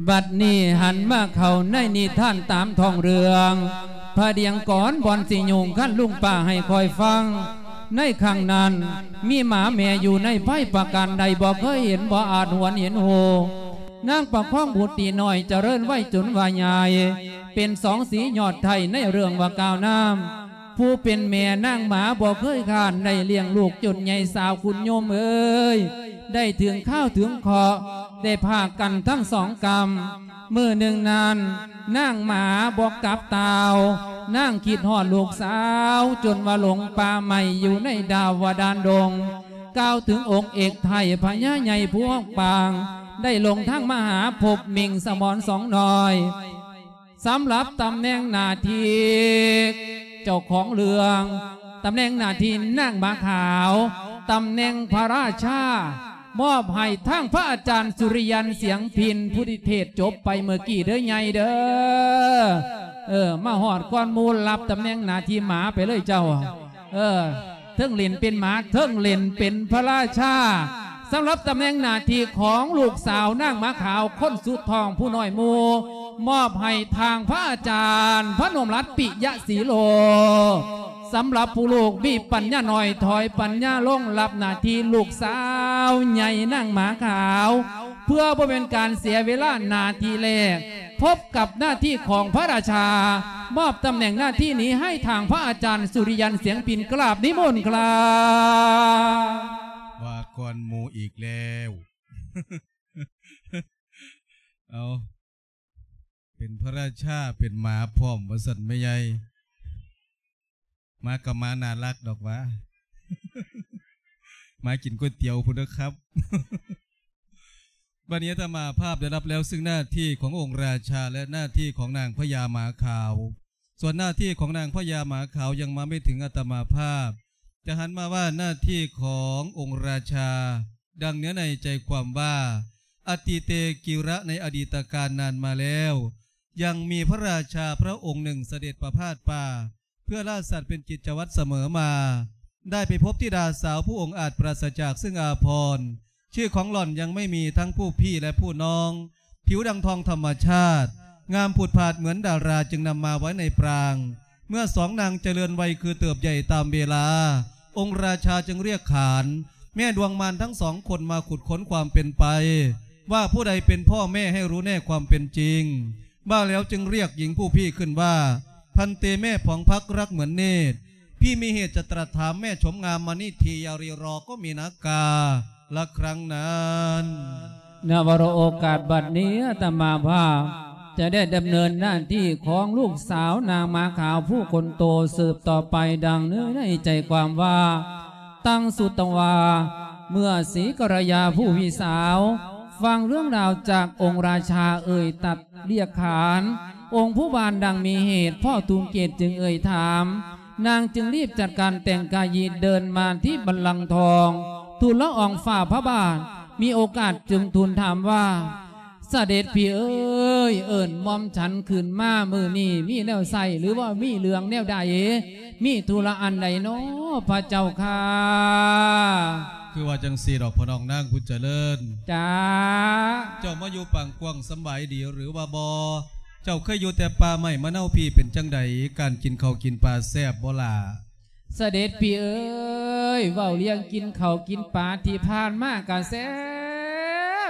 ບັດນີ້ຫັນມາເຂົ້າໃນນິທານຕາມທ້ອງເລື່ອງ ພະດຽງກ່ອນບ່ອນຊິຍຸງຄັນລຸງປ້າໃຫ້ຂ້ອຍຟັງ. ໃນຄັ້ງນັ້ນ ມີໝາແມ່ຢູ່ໃນໄພປະການໃດ ບໍ່ເຄີຍເຫັນ ບໍ່ອາດຫວນເຫັນຮູ້. ນາງປະຄອງບຸດຕີນ້ອຍ ຈະເລີນໄວຈົນວ່າໃຫຍ່ ເປັນສອງສີຍອດໄທໃນເລື່ອງວ່າກ່າວນາມ. ຜູ້ເປັນແມ່ນາງໝາບໍ່ເຄີຍຄ້ານ ໄດ້ລ້ຽງລູກຈົນໃຫຍ່ສາວຄຸນໂຍມເອີຍ ໄດ້ເຖິງຄາວເຖິງເຄາະ ໄດ້ພາກກັນທັງສອງກຳ. ມື້ໜຶ່ງນັ້ນ ນາງໝາບໍ່ກັບຕາວ ນາງຄິດຮອດລູກສາວ ຈົນວ່າຫຼົງປ່າໄມ້ຢູ່ໃນດາວດານດົງ ກ່າວເຖິງອົງເອກໄທພະຍາໃຫຍ່ຜູ້ຮອກປາງ ໄດ້ລົງທາງມາຫາພົບມິງສະໝອນສອງນ້ອຍ. ສຳລັບຕຳແໜ່ງໜ້າທີ່ເຈົ້າຂອງເລື່ອງ ຕຳແໜ່ງໜ້າທີ່ນາງໝາຂາວ ຕຳແໜ່ງພະລາຊາ ມອບໃຫ້ທາງພະອາຈານສຸລິຍັນ ສຽງພິນ ຜູ້ທີ່ເທດຈົບໄປເມື່ອກີ້ເດີໃຫຍ່ເດີ. ເອີ ມາຮອດກ່ອນໝູ່ ຮັບຕຳແໜ່ງໜ້າທີ່ໝາໄປເລີຍເຈົ້າ. ເອີ ເທິງຫຼິ້ນເປັນໝາ ເທິງຫຼິ້ນເປັນພະລາຊາ. ສຳລັບຕຳແໜ່ງໜ້າທີ່ຂອງລູກສາວນາງໝາຂາວ ຄົນສຸດທ້ອງຜູ້ນ້ອຍໝູ່ ມອບໃຫ້ທາງພະອາຈານພະນົມລັດ ປິຍະສີໂລ. ສຳລັບຜູ້ລູກມີປັນຍາໜ້ອຍ ຖອຍປັນຍາລົງ ຮັບໜ້າທີ່ລູກສາວໃຫຍ່ນາງໝາຂາວ. ເພື່ອບໍ່ເປັນການເສຍເວລາ ໜ້າທີ່ແລກ ພົບກັບໜ້າທີ່ຂອງພະລາຊາ ມອບຕຳແໜ່ງໜ້າທີ່ນີ້ໃຫ້ທາງພະອາຈານສຸລິຍັນ ສຽງພິນ ກາບນິມົນຄບ. ວ່າກ່ອນໝູ່ອີກແລ້ວ. ເອົາ ເປັນພະລາຊາເປັນໝາພ້ອມວ່າຊັ້ນແມ່ໃຫຍ່. ໝາກະໝາໜ້າລັກດອກຫວາ ໝາກິນກ໋ວຍຕຽວພຸ້ນເດີຄັບ. ບັດນີ້ອາດຕະມາພາບໄດ້ຮັບແລ້ວ ຊຶ່ງໜ້າທີ່ຂອງອົງລາຊາ ແລະ ໜ້າທີ່ຂອງນາງພະຍາໝາຂາວ. ສ່ວນໜ້າທີ່ຂອງນາງພະຍາໝາຂາວຍັງມາໄມ່ເຖິງອາດຕະມາພາບ. ຈະຫັນມາວ່າໜ້າທີ່ຂອງອົງລາຊາ ດັ່ງເນື້ອໃນໃຈຄວາມວ່າ ອະຕິເຕ ກິລະ ໃນອະດີດຕະການນານມາແລ້ວ ຍັງມີພະລາຊາພະອົງໜຶ່ງສະເດັດປະພາດປ່າ ເພື່ອລ່າສັດເປັນກິດຈະວັດສະເໝີມາ ໄດ້ໄປພົບທິດາສາວຜູ້ອົງອາດປາສະຈາກເຊິ່ງອາພອນ ຊື່ຂອງຫຼ່ອນຍັງໄມ່ມີທັງຜູ້ພີ່ ແລະ ຜູ້ນ້ອງ ຜິວດັ່ງທອງທຳມະຊາດ ງາມຜຸດຜາດເໝືອນດາລາ ຈຶ່ງນຳມາໄວ້ໃນປາງ. ເມື່ອສອງນາງຈະເລີນໄວຄືເຕີບໃຫຍ່ຕາມເວລາ ອົງລາຊາຈຶ່ງລຽກຂານ ແມ່ດວງມານທັງສອງຄົນມາຂຸດຄົ້ນຄວາມເປັນໄປ ວ່າຜູ້ໃດເປັນພໍ່ແມ່ໃຫ້ຮູ້ແນ່ຄວາມເປັນຈິງ. ວ່າແລ້ວຈຶ່ງລຽກຍິງຜູ້ພີ່ຂຶ້ນວ່າ ພັນເຕແມ່ຜອງພັກລັກເໝືອນເນດ ພີ່ມີເຫດຈະຕຣັດຖາມແມ່ຊົມງາມມະນິທີ ຢ່າຣີລໍກໍມີນາກາລະຄັ້ງນັ້ນ. ນະວະໂລໂອກາດບັດນີ້ ອາດຕະມາພາບຈະໄດ້ດຳເນີນໜ້າທີ່ຂອງລູກສາວນາງໝາຂາວຜູ້ຄົນໂຕສືບຕໍ່ໄປ ດັ່ງເນື້ອໃນໃຈຄວາມວ່າ ຕັງສຸຕະວາ ເມື່ອສີກັນລະຍາຜູ້ພີ່ສາວຟັງເລື່ອງລາວຈາກອົງລາຊາເອີ່ຍຕັດລຽກຂານອົງຜູ້ບ້ານດັ່ງມີເຫດ ພໍ່ທຸງເກດຈຶ່ງເອີ່ຍຖາມ. ນາງຈຶ່ງລີບຈັດການແຕ່ງກາຍຍິດເດີນມາທີ່ບັນລັງທອງ ທູນລະອອງຟ້າພະບາດ ມີໂອກາດຈຶ່ງທູນຖາມວ່າ ສະເດັດພີ່ເອີຍ ເອີ້ນໝ່ອມສັນຂຶ້ນມາມື້ນີ້ມີແນວໃສ ຫຼືວ່າມີເລື່ອງແນວໃດ ມີທຸລະອັນໃດນໍພະເຈົ້າຂ້າ? ຄືວ່າຈັ່ງຊີ້ດອກພໍ່ນ້ອງນາງບຸນຈະເລີນ. ຈ້າ. ເຈົ້າມາຢູ່ປາງກວ້າງສຳບາຍດີຫຼືວ່າບໍ່? ເຈົ້າເຄີຍຢູ່ແຕ່ປ່າໄມ້ມະນາວພີ້ ເປັນຈັ່ງໃດ ການກິນເຂົ້າກິນປາແຊບບໍ່ລະ? ສະເດັດພີ່ເອີຍ ເວົ້າເລື່ອງກິນເຂົ້າກິນປາທີ່ຜ່ານມາກະແຊ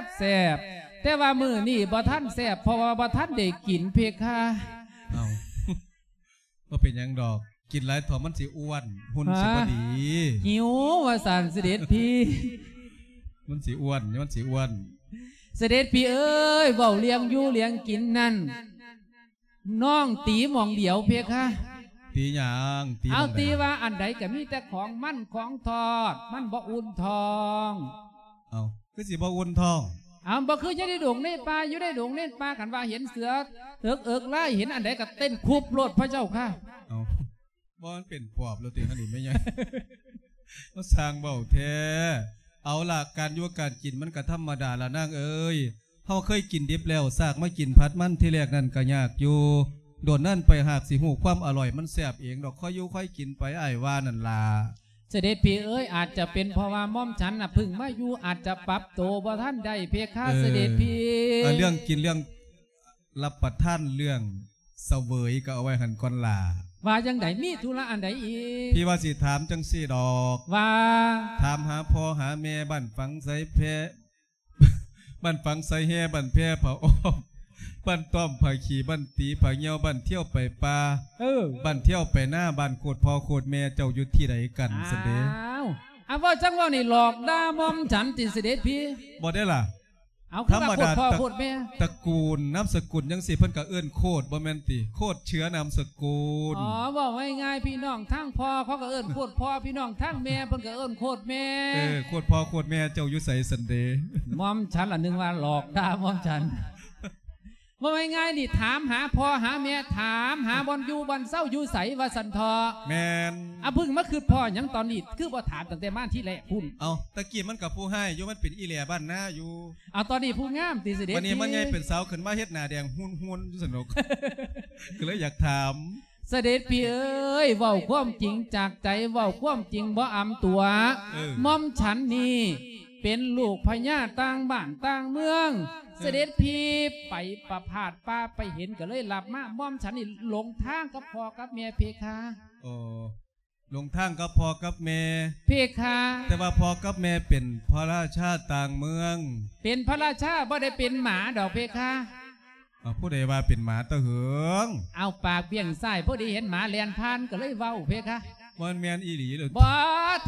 ບແຊບ ແຕ່ວ່າມື້ນີ້ບໍ່ທັນແຊບ ເພາະວ່າບໍ່ທັນໄດ້ກິນເພຄະ. ເອົ້າ ບໍ່ເປັນຫຍັງດອກ ກິນຫຼາຍເທົ່າມັນຊິອ້ວນ ຫຸ່ນຊິບໍ່ດີ. ຫິວວ່າຊັ້ນສະເດັດພີ່. ມັນຊິອ້ວນ ມັນຊິອ້ວນ. ສະເດັດພີ່ເອີຍ ເວົ້າເລື່ອງຢູ່ເລື່ອງກິນນັ້ນ ນ້ອງຕີໝ່ອງດຽວເພຄະ. ຕີຫຍັງ? ຕີ ເອົາ ໝ່ອງໃດ? ຕີວ່າອັນໃດກະມີແຕ່ຂອງມັນຂອງທອດ ມັນບໍ່ອຸ່ນທ້ອງ. ເອົ້າ ຄືຊິບໍ່ອຸ່ນທ້ອງ? ເອົາ ບໍ່ຄືຢູ່ໃນດົງໃນປ່າ ຢູ່ໃນດົງໃນປ່າ ຄັນວ່າເຫັນເສືອເອິກເອິກລາຍ ເຫັນອັນໃດກະເຕັ້ນຄຸບໂລດພະເຈົ້າຂ້າ. ເອົ້າ ບໍ່ ມັນເປັນປອບໂລດຕິ ອັນນີ້ແມ່ໃຫຍ່ ມາສ້າງເວົ້າແທ້. ເອົາລະ ການຢູ່ການກິນມັນກະທຳມະດາລະນາງເອີຍ. ເຮົາເຄີຍກິນດິບແລ້ວ ຊາກມາກິນຜັດມັນ ທີແລກນັ້ນກະຍາກຢູ່ ໂດນນັ້ນໄປຫາກຊິຮູ້ຄວາມອະລ່ອຍ ມັນແຊບເອງດອກ ຄ່ອຍຢູ່ຄ່ອຍກິນໄປ ອ້າຍວ່ານັ້ນລະ. ສະເດັດພີ່ເອີຍ ອາດຈະເປັນເພາະວ່າໝ່ອມສັນນະເພິ່ງມາຢູ່ ອາດຈະປັບໂຕບໍ່ທັນໄດ້ເພຄະ ເອີ ສະເດັດພີ່. ເອີ ເລື່ອງກິນເລື່ອງ ຮັບປະທານເລື່ອງສະເຫວີຍກໍເອົາໄວ້ຫັ້ນກ່ອນຫຼ້າ. ວ່າຈັ່ງໃດ? ມີທຸລະອັນໃດອີກ? ພີ່ວ່າຊິຖາມຈັ່ງຊີ້ດອກ ວ່າ ຖາມຫາພໍ່ຫາແມ່ ບ້ານຝັງໄຊແພ ບ້ານຝັງໄຊແຮ ບ້ານແພຜາອ້ອມ ບ້ານຕ້ອມຜາຂີ້ ບ້ານຕີຜາຍ່ຽວ ບ້ານທ່ຽວໄປປ່າ ເອີ ບ້ານທ່ຽວໄປນາ ບ້ານໂຄດພໍ່ໂຄດແມ່ເຈົ້າຢູ່ທີ່ໃດກັນຊັ້ນເດ? ອ້າວ ອາ ເວົ້າຈັ່ງເວົ້ານີ້ຫຼອກດ່າໝ່ອມສັນຕິສະເດັດພີ່? ບໍ່ໄດ້ລະ. ເອົາ ຄືວ່າໂຄດພໍ່ໂຄດແມ່ ທຳມະດາຕະ ຕະກູນນາມສະກຸນຈັ່ງຊີ້ ເພິ່ນກໍເອີ້ນໂຄດ ບໍ່ແມ່ນຕິ? ໂຄດເຊື້ອນາມສະກຸນ. ອໍ ເວົ້າງ່າຍໆ ພີ່ນ້ອງທາງພໍ່ເຂົາກໍເອີ້ນໂຄດພໍ່ ພີ່ນ້ອງທາງແມ່ເພິ່ນກໍເອີ້ນໂຄດແມ່. ເອີ ໂຄດພໍ່ໂຄດແມ່ເຈົ້າຢູ່ໃສຊັ້ນເດ? ໝ່ອມສັນລະນຶກວ່າຫຼອກດ່າໝ່ອມສັນ. ເວົ້າງ່າຍໆນີ້ ຖາມຫາພໍ່ຫາແມ່ ຖາມຫາບ່ອນຢູ່ບ່ອນເຊົາຢູ່ໃສວ່າຊັ້ນເຖາະ. ແມ່ນ. ອາ ເພິ່ງມາຄິດພໍ້ຫຍັງຕອນນີ້ ຄືບໍ່ຖາມຕັ້ງແຕ່ມາທີແລກພຸ້ນ? ເອົ້າ ຕະກີ້ມັນກໍຜູ້ຮ້າຍຢູ່ ມັນເປັນອີແຫຼບ້ານນາຢູ່. ເອົາ ຕອນນີ້ຜູ້ງາມຕິສະເດັດພີ່? ບັດນີ້ມັນໃຫຍ່ເປັນສາວຂຶ້ນມາເຮັດໜ້າແດງຮຸນໆຢູ່ຊັ້ນດອກ ກໍເລີຍຢາກຖາມ. ສະເດັດພີ່ເອີຍ ເວົ້າຄວາມຈິງຈາກໃຈ ເວົ້າຄວາມຈິງບໍ່ອຳຕົວະ. ເອີ ໝ່ອມສັນນີ້ເປັນລູກພະຍາຕ່າງບ້ານຕ່າງເມືອງ. ເອີ ສະເດັດພີ່ໄປປະພາດປ່າໄປເຫັນກໍເລີຍລັບມາ. ໝ່ອມສັນນີ້ຫຼົງທາງກັບພໍ່ກັບແມ່ເພຄະ. ໂອ້ ຫຼົງທາງກັບພໍ່ກັບແມ່ເພຄະ. ແຕ່ວ່າພໍ່ກັບແມ່ເປັນພະລາຊາຕ່າງເມືອງ. ເປັນພະລາຊາ ບໍ່ໄດ້ເປັນໝາດອກເພຄະ. ເອົາ ຜູ້ໃດວ່າເປັນໝາຕະເຫີງ? ເອົາ ປາກບ້ຽງຊ້າຍ ພໍດີເຫັນໝາແລ່ນຜ່ານ ກໍເລີຍເວົ້າເພຄະ. ບໍ່ແມ່ນອີ່ຫຼີເລີຍ. ບໍ່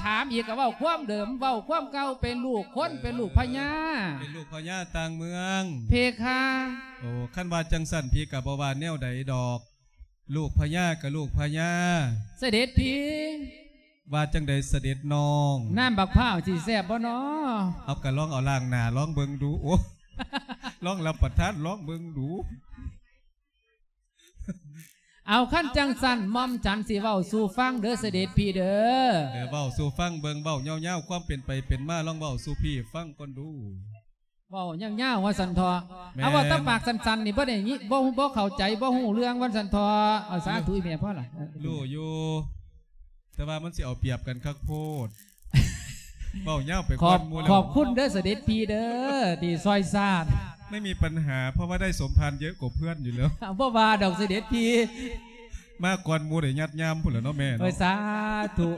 ຖາມອີກກໍເວົ້າຄວາມເດີມ ເວົ້າຄວາມເກົ່າ ເປັນລູກຄົນ ເອີ ເປັນລູກພະຍາ ເປັນລູກພະຍາຕ່າງເມືອງເພຄະ. ໂອ້ ຄັນວ່າຈັ່ງຊັ້ນ ພີ່ກໍບໍ່ວ່າແນວໃດດອກ. ລູກພະຍາກໍລູກພະຍາ. ສະເດັດພີ່. ວ່າຈັ່ງໃດສະເດັດນ້ອງ? ນ້ຳບັກພ້າວຊິແຊບບໍ່ນໍ? ເອົາ ກໍລອງເອົາລ້າງໜ້າລອງເບິ່ງດູ. ໂອ້ ລອງຮັບປະທານລອງເບິ່ງດູ. ເອົາ ຄັນຈັ່ງຊັ້ນ ໝ່ອມສັນຊິເວົ້າສູ່ຟັງເດີ ສະເດັດພີ່ເດີ. ເອີ ເວົ້າສູ່ຟັງເບິ່ງ ເວົ້າຍາວໆ ຄວາມເປັນໄປເປັນມາ ລອງເວົ້າສູ່ພີ່ຟັງກ່ອນດູ. ເວົ້າຍາວໆວ່າຊັ້ນເຖາະ. ແມ່ນ. ເອົາ ເວົ້າແຕ່ປາກສັ້ນໆນີ້ ບໍ່ໄດ້ຍິນ ບໍ່ ບໍ່ເຂົ້າໃຈ ບໍ່ຮູ້ເລື່ອງວ່າຊັ້ນເຖາະ. ເອົາ ສາທຸ ອີ່ແມ່ ພໍລະ. ເອີ ຮູ້ຢູ່ ແຕ່ວ່າມັນຊິເອົາປຽບກັນຄັກໂພດ. ເວົ້າຍາວໄປກ່ອນໝູ່ແລ້ວ. ຂອບ ຂອບຄຸນເດີ ສະເດັດພີ່ເດີ ທີ່ຊ່ອຍຊາດ. ໄມ່ມີປັນຫາ ເພາະວ່າໄດ້ສົມພານເຍອະກວ່າເພື່ອນຢູ່ແລ້ວ. ບໍ່ວ່າດອກ ສະເດັດພີ່. ມາກ່ອນໝູ່ໄດ້ຍັດຍາມພຸ້ນແຫຼະເນາະແມ່ເນາະ. ເອີ ສາທຸ.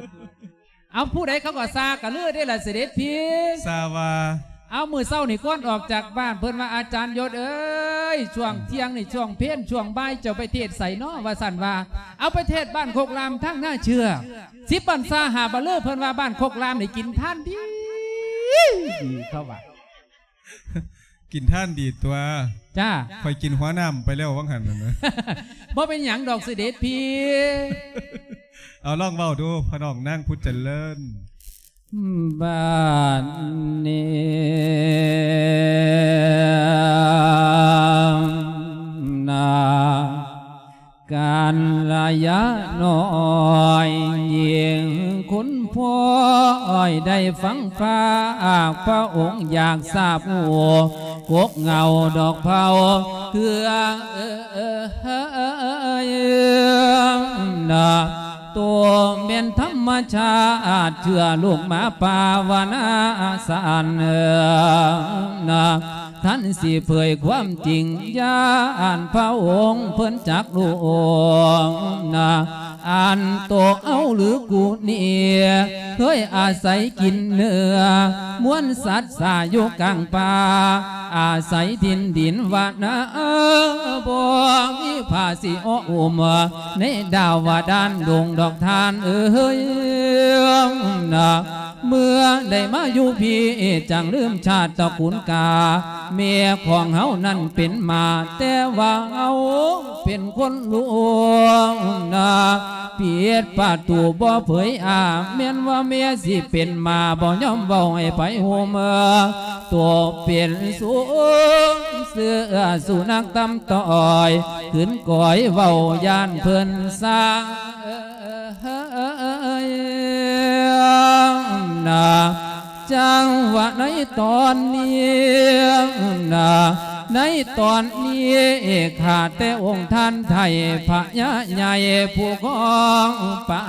ເອົາ ຜູ້ໃດເຂົາກໍຊາກັນເລີຍເດ້ລະ ສະເດັດພີ່. ຊາວ່າ? ເອົາ ມື້ເຊົ້ານີ້ກ່ອນອອກຈາກບ້ານ ເພິ່ນວ່າ ອາຈານຍົດເອີຍ ຊ່ວງທ່ຽງນີ້ ຊ່ວງເພນ ຊ່ວງບ່າຍ ເຈົ້າໄປເທດໃສນໍ ວ່າຊັ້ນວ່າ. ເອົາ ໄປເທດບ້ານໂຄກລາມທາງນາເຊືອກ ສິບພັນສາຫ້າບັນລື ເພິ່ນວ່າບ້ານໂຄກລາມນີ້ກິນທານດີ ດີ ເຂົາວ່າ. ກິນທານດີຕົວະ. ຈ້າ. ຂ້ອຍກິນຫົວນ້ຳໄປແລ້ວຫວ່າງຫັ້ນນະ. ບໍ່ເປັນຫຍັງດອກ ສະເດັດພີ່. ເອົາ ລອງເວົ້າດູ ພໍ່ນ້ອງນາງຜູ້ຈະເລີນ. ບັດນີ້ນາ ກັນລະຍານ້ອຍ ຍິ່ງຄຸນພອຍໄດ້ຟັງພາກພະອົງ ຢາກຊາບຮູ້ກົກເຫງົ້າດອກເພົາເຄືອ ນະ ໂຕແມ່ນທຳມະຊາດ ເຊື່ອລູກໝາປ່າວະນາສັນ ນະ. ທ່ານຊິເຜີຍຄວາມຈິງ ຢ້ານພະອົງເພິ່ນຈັກຮູ້ ນະ ອັນໂຕເອົາຫຼືກູນີ້ ເຄີຍອາໄສກິນເນື້ອ ມວນສັດສາຢູ່ກາງປ່າ ອາໄສຖິ່ນດິນວະນາ ບໍ່ມີຜາຊິເອາະອຸມ ໃນດາວະດານດົງດອກທ່ານເອີຍ ນະ. ເມື່ອໄດ້ມາຢູ່ພີ້ ຈັ່ງລືມຊາດຕະກູນກາ ແມ່ຂອງເຮົານັ້ນເປັນໝາ ແຕ່ວ່າເຮົາເປັນຄົນຫຼວງນະ ປິດປະຕູບໍ່ເຜີຍອາ ແມ່ນວ່າແມ່ຊິເປັນໝາ ບໍ່ຍອມເວົ້າໃຫ້ໃຜຮູ້ເມືອ ຕົວເປັນສູງເສືອສຸນັກຕຳ ຕ້ອຍຂຶ້ນກ້ອຍເວົ້າຢ້ານເພິ່ນສ້າງນາ ຈັ່ງວ່າໃນຕອນນີ້ນາ ໃນຕອນນີ້ ຂ້າແຕ່ອົງທ່ານໄທ ພະຍາໃຫຍ່ຜູ້ຄອງປາ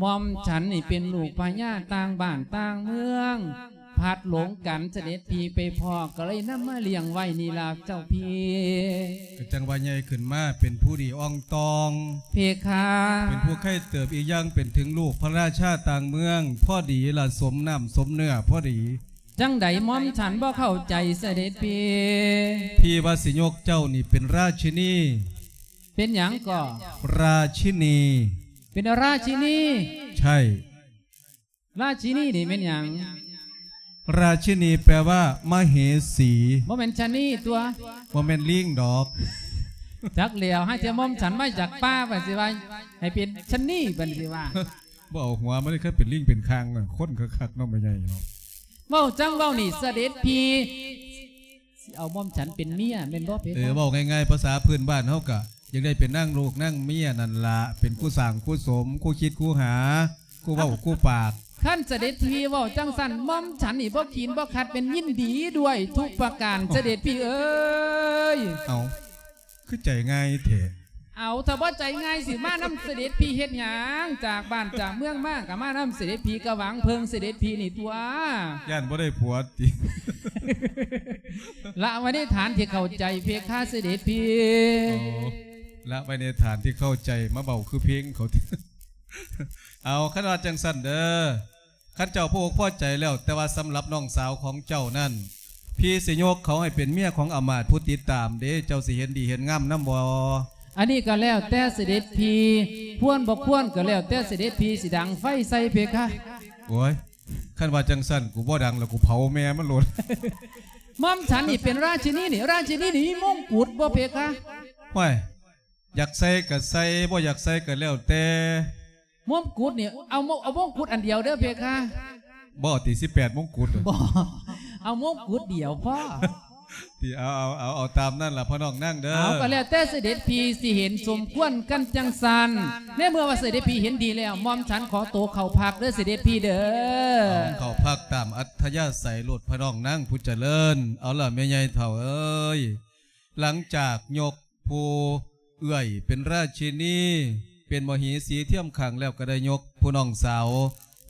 ໝ່ອມສັນນີ້ເປັນລູກພະຍາຕ່າງບ້ານຕ່າງເມືອງ ພລັດຫຼົງກັນ ສະເດັດພີ່ໄປພໍ້ ກໍເລີຍນຳມາລ້ຽງໄວ້ນີ້ລະເຈົ້າພີ່. ກໍຈັ່ງວ່າໃຫຍ່ຂຶ້ນມາເປັນຜູ້ດີອ່ອງຕອງ ເພຄາ ເປັນຜູ້ໄຄເຕີບ ອີກຢ່າງເປັນເຖິງລູກພະລາຊາຕ່າງເມືອງ ພໍດີລະ ສົມນ້ຳສົມເນື້ອພໍດີ. ຈັ່ງໃດໝ່ອມສັນບໍ່ເຂົ້າໃຈສະເດັດພີ່? ພີ່ວ່າຊິຍົກເຈົ້ານີ້ເປັນລາຊິນີ. ເປັນຫຍັງກໍ? ລາຊິນີ. ເປັນລາຊິນີ? ໃຊ່. ລາຊິນີນີ້ແມ່ນຫຍັງ? ລາຊິນີແປວ່າມະເຫສີ. ບໍ່ແມ່ນຊະນີຕົວະ? ບໍ່ແມ່ນລີງດອກ. ຈັກແລ້ວ ຫາເທື່ອໝ່ອມສັນມາຈາກປ່າ ບັດຊິວ່າໃຫ້ເປັນຊະນີ ບັດຊິວ່າ. ບໍ່ເອົາຫົວມາເລີຍ ຄືເປັນລີງເປັນຄາງ ຄົນຄັກໆເນາະ ແມ່ໃຫຍ່ເນາະ. ເວົ້າຈັ່ງເວົ້ານີ້ ສະເດັດພີ່ຊິເອົາໝ່ອມສັນເປັນເມຍແມ່ນບໍ່ເພຄາ? ເອີ ເວົ້າງ່າຍໆ ພາສາພື້ນບ້ານເຮົາກະຢາກໄດ້ເປັນນາງລູກນາງເມຍນັ້ນລະ ເປັນຄູ່ສ້າງຄູ່ສົມ ຄູ່ຄິດຄູ່ຫາ ຄູ່ເວົ້າຄູ່ປາກ. ຄັນສະເດັດພີ່ເວົ້າຈັ່ງຊັ້ນ ໝ່ອມສັນນີ້ບໍ່ຂີນບໍ່ຂັດ ແມ່ນຍິນດີດ້ວຍທຸກປະການ ສະເດັດພີ່ເອີຍ. ເອົ້າ ຄືໃຈງ່າຍແທ້? ເອົາ ຖ້າບໍ່ໃຈງ່າຍຊິມານຳສະເດັດພີ່ເຮັດຫຍັງ? ຈາກບ້ານຈາກເມືອງມາກໍມານຳສະເດັດພີ່ ກໍຫວັງເພິ່ງສະເດັດພີ່ນີ້ຕົວະ. ຢ້ານບໍ່ໄດ້ຜົວຕິ? ລະໄວ້ໃນຖານທີ່ເຂົ້າໃຈເພຄາສະເດັດພີ່. ໂອ້ ລະໄວ້ໃນຖານທີ່ເຂົ້າໃຈ ມາເວົ້າຄືເພງເຂົາ. ເອົາ ຄັນວ່າຈັ່ງຊັ້ນເດີ ຄັນເຈົ້າພໍອົກພໍໃຈແລ້ວ ແຕ່ວ່າສຳລັບນ້ອງສາວຂອງເຈົ້ານັ້ນ ພີ່ຊິຍົກເຂົາໃຫ້ເປັນເມຍຂອງອາມາດຜູ້ຕິດຕາມເດ້ ເຈົ້າຊິເຫັນດີເຫັນງາມນຳບໍ່? ອັນນີ້ກໍແລ້ວແຕ່ເສດັດພີ່ ຄວນບໍ່ຄວນກໍແລ້ວແຕ່ເສດັດພີ່ຊິດັງໄຟໃສ່ເພຄະ. ໂອ້ຍ ຄັນວ່າຈັ່ງຊັ້ນ ກູບໍ່ດັງແລ້ວ ກູເຜົາແມ່ມັນໂລດ. ໝ່ອມສັນນີ້ເປັນລາຊິນີນີ້ ລາຊິນີນີ້ມີມົງກຸດບໍ່ເພຄະ? ຫ້ວຍ ຢາກໃສ່ກໍໃສ່ ບໍ່ຢາກໃສ່ກໍແລ້ວແຕ່. ມົງກຸດນີ້ ເອົາ ເອົາມົງກຸດອັນດຽວເດີເພຄະ. ບໍ່ຕິ ສິບແປດມົງກຸດ? ບໍ່ ເອົາມົງກຸດດຽວພໍ. ຕິ ເອົາ ເອົາ ເອົາ ເອົາຕາມນັ້ນລະພໍ່ນ້ອງນາງເດີ. ເອົາ ກໍແລ້ວແຕ່ເສດັດພີ່ຊິເຫັນສົມຄວນກັນຈັ່ງຊັ້ນ ໃນເມື່ອວ່າເສດັດພີ່ເຫັນດີແລ້ວ ໝ່ອມສັນຂໍໂຕເຂົ້າພັກເດີເສດັດພີ່ເດີ. ເອົາ ເຂົ້າພັກຕາມອັດທະຍາໄສໂລດພໍ່ນ້ອງນາງຜູ້ຈະເລີນ. ເອົາລະແມ່ໃຫຍ່ເຖົ້າເອີຍ ຫຼັງຈາກຍົກຜູ້ເອື້ອຍເປັນລາຊິນີ ເປັນມະເຫສີທຽມຂ້າງແລ້ວ ກໍໄດ້ຍົກຜູ້ນ້ອງສາວ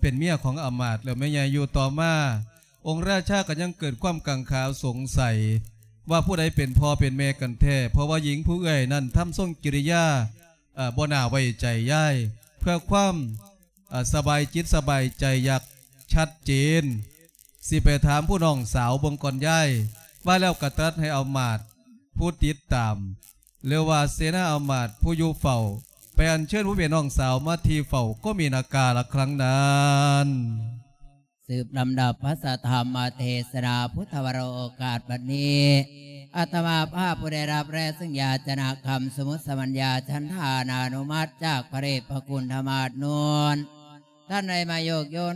ເປັນເມຍຂອງອາມາດແລ້ວ ແມ່ໃຫຍ່ ຢູ່ຕໍ່ມາ ອົງລາຊາກໍຍັງເກີດຄວາມກັງຂາສົງໄສວ່າຜູ້ໃດເປັນພໍ່ເປັນແມ່ກັນແທ້ ເພາະວ່າຍິງຜູ້ເອື້ອຍນັ້ນທຳຊົງກິລິຍາ ເອີ ບໍ່ໜ້າໄວ້ໃຈຢາຍ ເພື່ອຄວາມ ເອີ ສະບາຍຈິດສະບາຍໃຈ ຢາກຊັດເຈນ ຊິໄປຖາມຜູ້ນ້ອງສາວເບິ່ງກ່ອນຍາຍ. ວ່າແລ້ວກໍຕັດໃຫ້ອາມາດຜູ້ຕິດຕາມ ຫຼືວ່າເສນາອາມາດຜູ້ຢູ່ເຝົ້າ ໄປອັນເຊີນຜູ້ເປັນນ້ອງສາວມາທີ່ເຝົ້າ ກໍມີນາກາລະຄັ້ງນັ້ນ. ສືບລຳດັບພະສະທຳມະເທສະນາພຸດທະວະໂລ ໂອກາດບັດນີ້ ອາດຕະມາພາບຜູ້ໄດ້ຮັບແລະເຊິ່ງຢາຈະນະຄຳສົມມຸດສະບັນຍາ ສັນທານານຸມັດຈາກພະເດດພະຄຸນທະມາດນູນ ທ່ານໄດ້ມາໂຍກໂຍນ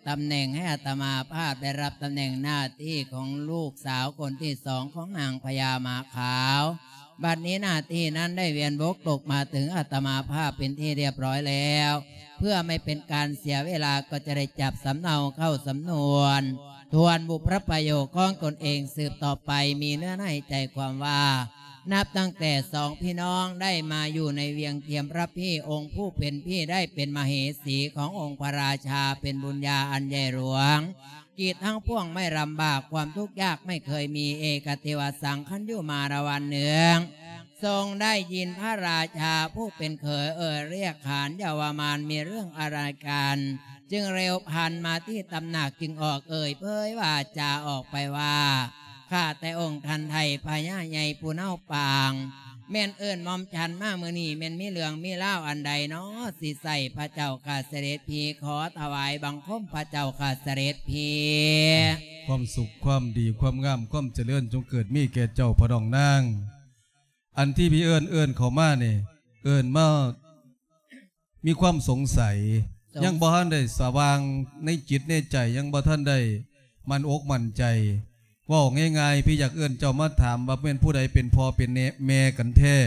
ຕຳແໜ່ງໃຫ້ອາດຕະມາພາບໄດ້ຮັບຕຳແໜ່ງໜ້າທີ່ຂອງລູກສາວຄົນທີສອງຂອງນາງພະຍາໝາຂາວ. ບັດນີ້ໜ້າທີ່ນັ້ນໄດ້ວຽນວົກຕົກມາເຖິງອາດຕະມາພາບເປັນທີ່ຮຽບຮ້ອຍແລ້ວ ເພື່ອໄມ່ເປັນການເສຍເວລາ ກໍຈະໄດ້ຈັບສຳເນົາເຂົ້າສຳນວນ ທວນບຸບພະປະໂຫຍດຂອງຕົນເອງສືບຕໍ່ໄປ. ມີເນື້ອໃນໃຈຄວາມວ່າ ນັບຕັ້ງແຕ່ສອງພີ່ນ້ອງໄດ້ມາຢູ່ໃນວຽງທຽມພະພີ່ ອົງຜູ້ເປັນພີ່ໄດ້ເປັນມະເຫສີຂອງອົງພະລາຊາ ເປັນບຸນຍາອັນໃຫຍ່ຫຼວງ ກີດທັງພວງໄມ່ລຳບາກ ຄວາມທຸກຍາກໄມ່ເຄີຍມີ ເອກະເທວະສັງ ຄັນຢູ່ມາລະວັນໜຶ່ງ ຊົງໄດ້ຍິນພະລາຊາຜູ້ເປັນເຂີຍເອີ່ຍລຽກຂານເຍົາວະມານມີເລື່ອງອາລະກັນ ຈຶ່ງເລັວພັນມາທີ່ຕຳໜັກ ຈຶ່ງອອກເອີ່ຍເຜີຍວາຈາອອກໄປວ່າ ຂ້າແຕ່ອົງທ່ານໄທພະຍາໃຫຍ່ຜູ້ເນົາປາງ ແມ່ນເອີ້ນໝ່ອມສັນມາມື້ນີ້ ແມ່ນມີເລື່ອງມີລາວອັນໃດນໍ ຊິໃສ່ພະເຈົ້າຂ້າສະເດັດພີ ຂໍຖວາຍບັງຄົມພະເຈົ້າຂ້າສະເດັດພີ. ຄວາມສຸກ ຄວາມດີ ຄວາມງາມ ຄວາມຈະເລີນ ຈົ່ງເກີດມີແກ່ເຈົ້າພໍ່ນ້ອງນາງ. ອັນທີ່ພີ່ເອີ້ນ ເອີ້ນເຂົ້າມານີ້ ເອີ້ນມາມີຄວາມສົງໄສ ສົງ ຍັງບໍ່ທັນໄດ້ສະຫວ່າງໃນຈິດໃນໃຈ ຍັງບໍ່ທັນໄດ້ໝັ້ນອົກໝັ້ນໃຈ. ເວົ້າງ່າຍໆ ພີ່ຢາກເອີ້ນເຈົ້າມາຖາມວ່າແມ່ນຜູ້ໃດເປັນພໍ່ເປັນແມ່ກັນແທ້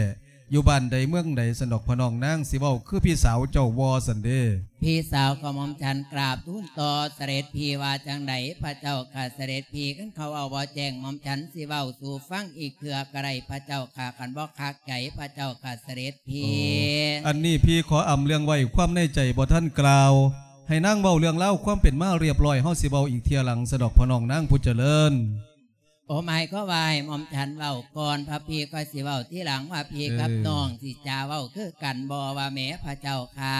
ຢູ່ບ້ານໃດເມືອງໃດ ຊັ້ນດອກ ພໍ່ນ້ອງນາງ ຊິເວົ້າຄືພີ່ສາວເຈົ້າບໍ່ ຊັ້ນເດ້. ພີ່ສາວຂອງໝ່ອມສັນກາບທູນຕໍ່ສະເດັດພີວ່າຈັ່ງໃດ ພະເຈົ້າຂ້າສະເດັດພີ? ຄັນເຂົາເວົ້າບໍ່ແຈ້ງ ໝ່ອມສັນຊິເວົ້າສູ່ຟັງອີກເທື່ອກໍໄດ້ ພະເຈົ້າຂ້າ ຄັນບໍ່ຄັກໃຈ ພະເຈົ້າຂ້າສະເດັດພີ. ໂອ້ ອັນນີ້ພີ່ຂໍອຳເລື່ອງໄວ້ ຄວາມໃນໃຈບໍ່ທັນກ່າວ ໃຫ້ນາງເວົ້າເລື່ອງລາວຄວາມເປັນມາຮຽບຮ້ອຍ ເຮົາຊິເວົ້າອີກເທື່ອຫຼັງ ຊັ້ນດອກ ພໍ່ນ້ອງນາງຜູ້ຈະເລີນ. ໂອ ໝາຍຄວາມວ່າໃຫ້ໝ່ອມສັນເວົ້າກ່ອນ ພະພີ່ຄ່ອຍຊິເວົ້າທີຫຼັງ ວ່າພີ່ກັບ ເອີ ນ້ອງຊິຈະເວົ້າຄືກັນບໍ່ ວ່າແໝ ພະເຈົ້າຂ້າ?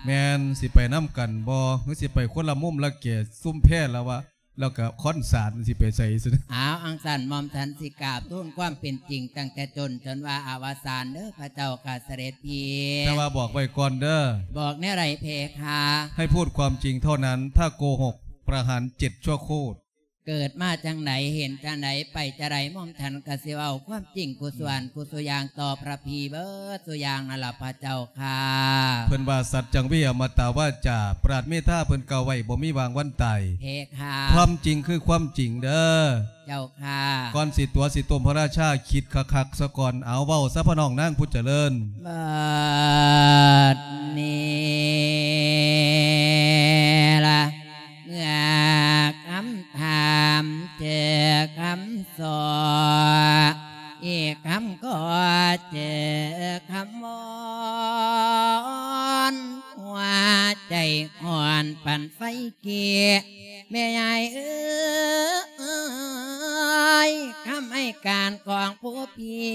ແມ່ນ ຊິໄປນຳກັນບໍ່ ຫຼືຊິໄປຄົນລະມຸມລະແກ ຊຸມແພລະວະ ແລ້ວກະຄອນສານ ຊິໄປໃສຊັ້ນ? ອ້າວ ອັງຊັ້ນໝ່ອມສັນຊິກາບທູນຄວາມເປັນຈິງ ຕັ້ງແຕ່ຕົ້ນຈົນວ່າອະວະສານເດີ ພະເຈົ້າຂ້າສະເດັດພີ. ແຕ່ວ່າບອກໄວ້ກ່ອນເດີ. ບອກແນວໃດເພຄາ? ໃຫ້ພູດຄວາມຈິງເທົ່ານັ້ນ ຖ້າໂກຫົກ ປະຫານເຈັດຊົ່ວໂຄດ. ເກີດມາຈັ່ງໃດ ເຫັນຈັ່ງໃດ ໄປຈັ່ງໃດ ໝ່ອມສັນກະຊິເວົ້າຄວາມຈິງ ຄູ່ສ່ວນ ອືມ ຄູ່ສູ່ຢ່າງຕໍ່ພະພີ່ເບິດສູ່ຢ່າງນັ້ນລະ ພະເຈົ້າຂ້າ. ເພິ່ນວ່າ ສັດຈັງ ວິ ອະມະຕະວາຈາ ປາດເມຕາເພິ່ນກ່າວໄວ້ ບໍ່ມີຫວ່າງວັນຕາຍ. ເພຄາ. ຄວາມຈິງຄືຄວາມຈິງເດີ. ເຈົ້າ ຂ້າ ກ່ອນຊິຕົວະຊິຕົ້ມພະລາຊາ ຄິດຄັກໆຊະກ່ອນ. ເອົາ ເວົ້າຊະ ພໍ່ນ້ອງນາງຜູ້ຈະເລີນ. ບັດນີ້ລະ ເມື່ອຄຳຖາມເຈີຄຳສໍ້ ອີກຄຳກໍເຈີຄຳວອນ ຫົວໃຈຮ້ອນປານໄຟກີ້ ແມ່ຍາຍເອີຍ ຄຳໃຫ້ການຂອງຜູ້ພີ່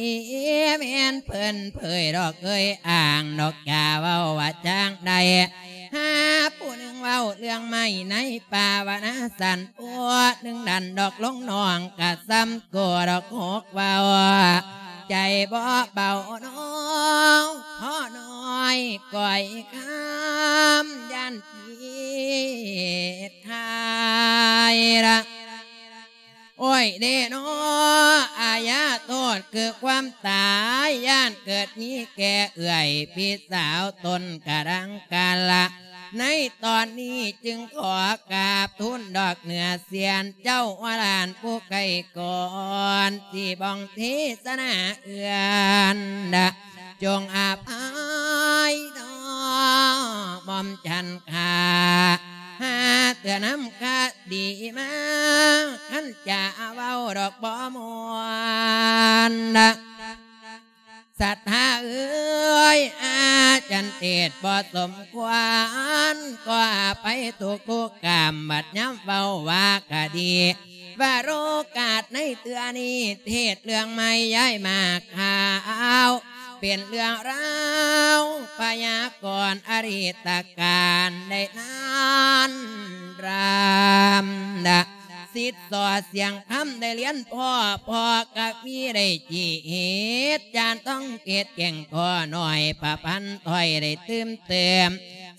ແມ່ນເພິ່ນເຜີຍດອກເອີຍອ້າງດອກ ຢ່າເວົ້າວ່າຈັ່ງໃດ ຜູ້ໜຶ່ງເວົ້າເລື່ອງໄມ້ໃນປ່າວະນາສັນ ຜູ້ໜຶ່ງດັນດອກລົງໜອງ ກະສ່ຳໂກດອກຫົກເວົ້າ ໃຈບໍ່ເບົານ້ອງ ພໍນ້ອຍກ້ອຍຄຳ ຢ້ານຜິດຂາຍລະ ໂອ້ຍເດເນາະ ອາຍາໂທດຄືຄວາມຕາຍ ຢ້ານເກີດມີແກ່ເອື້ອຍພີ່ສາວຕົນກະດັງກາລະ ໃນຕອນນີ້ຈຶ່ງຂໍກາບທູນດອກເໜືອສຽນ ເຈົ້າວະຫຼານຜູ້ໃກ້ກ່ອນ ທີ່ບ້ອງເທສະໜາເອື້ອນດະ ຈົ່ງອະໄພເນາະ ໝ່ອມຈັນຂ້າ ຫາເທື່ອນຳຄະດີມາ ຄັນຈະເວົ້າດອກບໍ່ມ່ວນນະ ສັດທາເອີຍ ອາຈານເທດບໍ່ສົມຄວນ ກໍອະໄພທຸກໆກາມ ບັດຍາມເວົ້າວ່າກະດີ ວາໂລກາດໃນເທື່ອນີ້ ເທດເລື່ອງໃໝ່ຍ້າຍມາຂາວ ເປັນເລື່ອງລາວພະຍາກອນອະດີດຕະການໄດ້ນານນຳນະ ສິດສໍ່ສຽງຄຳໄດ້ລຽນພໍ້ ພໍ້ກະວີໄດ້ຈີເຮັດ ຈານຕ້ອງເກດແກ່ງພໍ້ນ້ອຍ ປະພັນຖ້ອຍໄດ້ຕື່ມເຕີມ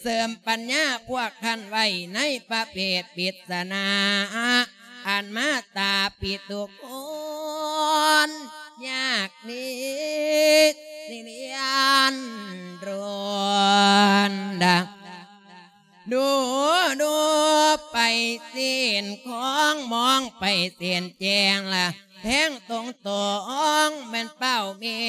ເສີມປັນຍາພວກທ່ານໄວ້ໃນປະເພດປິດສະໜາ ອັນມາຕາປິດທຸກຄົນ ຍາກນິດສິລຽນໂດນດາ ດູ ດູໄປເສັ້ນຂອງ ມອງໄປເສັ້ນແຈ້ງລະ ແທງຕົງຕອງແມ່ນເປົ້າແມ່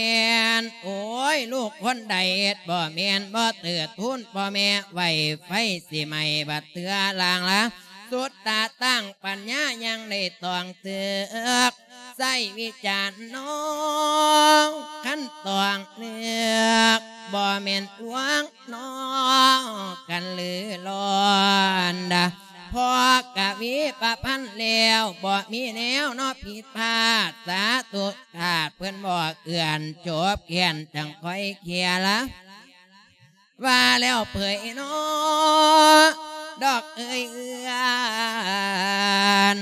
ນ ໂອ້ຍ ລູກຄົນໃດເຮັດບໍ່ແມ່ນ ບໍ່ເຕີດທູນພໍ່ແມ່ໄວ້ ໄຟຊິໄໝ້ບັດເທື່ອລ່າງລະ ສຸດຕາຕັ້ງປັນຍາຍັງໄດ້ຕ້ອງເຖືກ ໃຊ້ວິຈານນອ ຄັນຕ້ອງເລືອກ ບໍ່ແມ່ນລວງນອ ກັນຫຼືລ້ອນດາ ພໍກະວີປະພັນແລ້ວ ບໍ່ມີແນວເນາະຜິດພາດ ສາທຸທາດເພິ່ນບໍ່ເອື້ອນ ຈົບແຄ້ນຈັ່ງຄ່ອຍເຄຍລະ ວ່າແລ້ວເຜີຍເນາະ ດອກເອີຍເອື້ອນ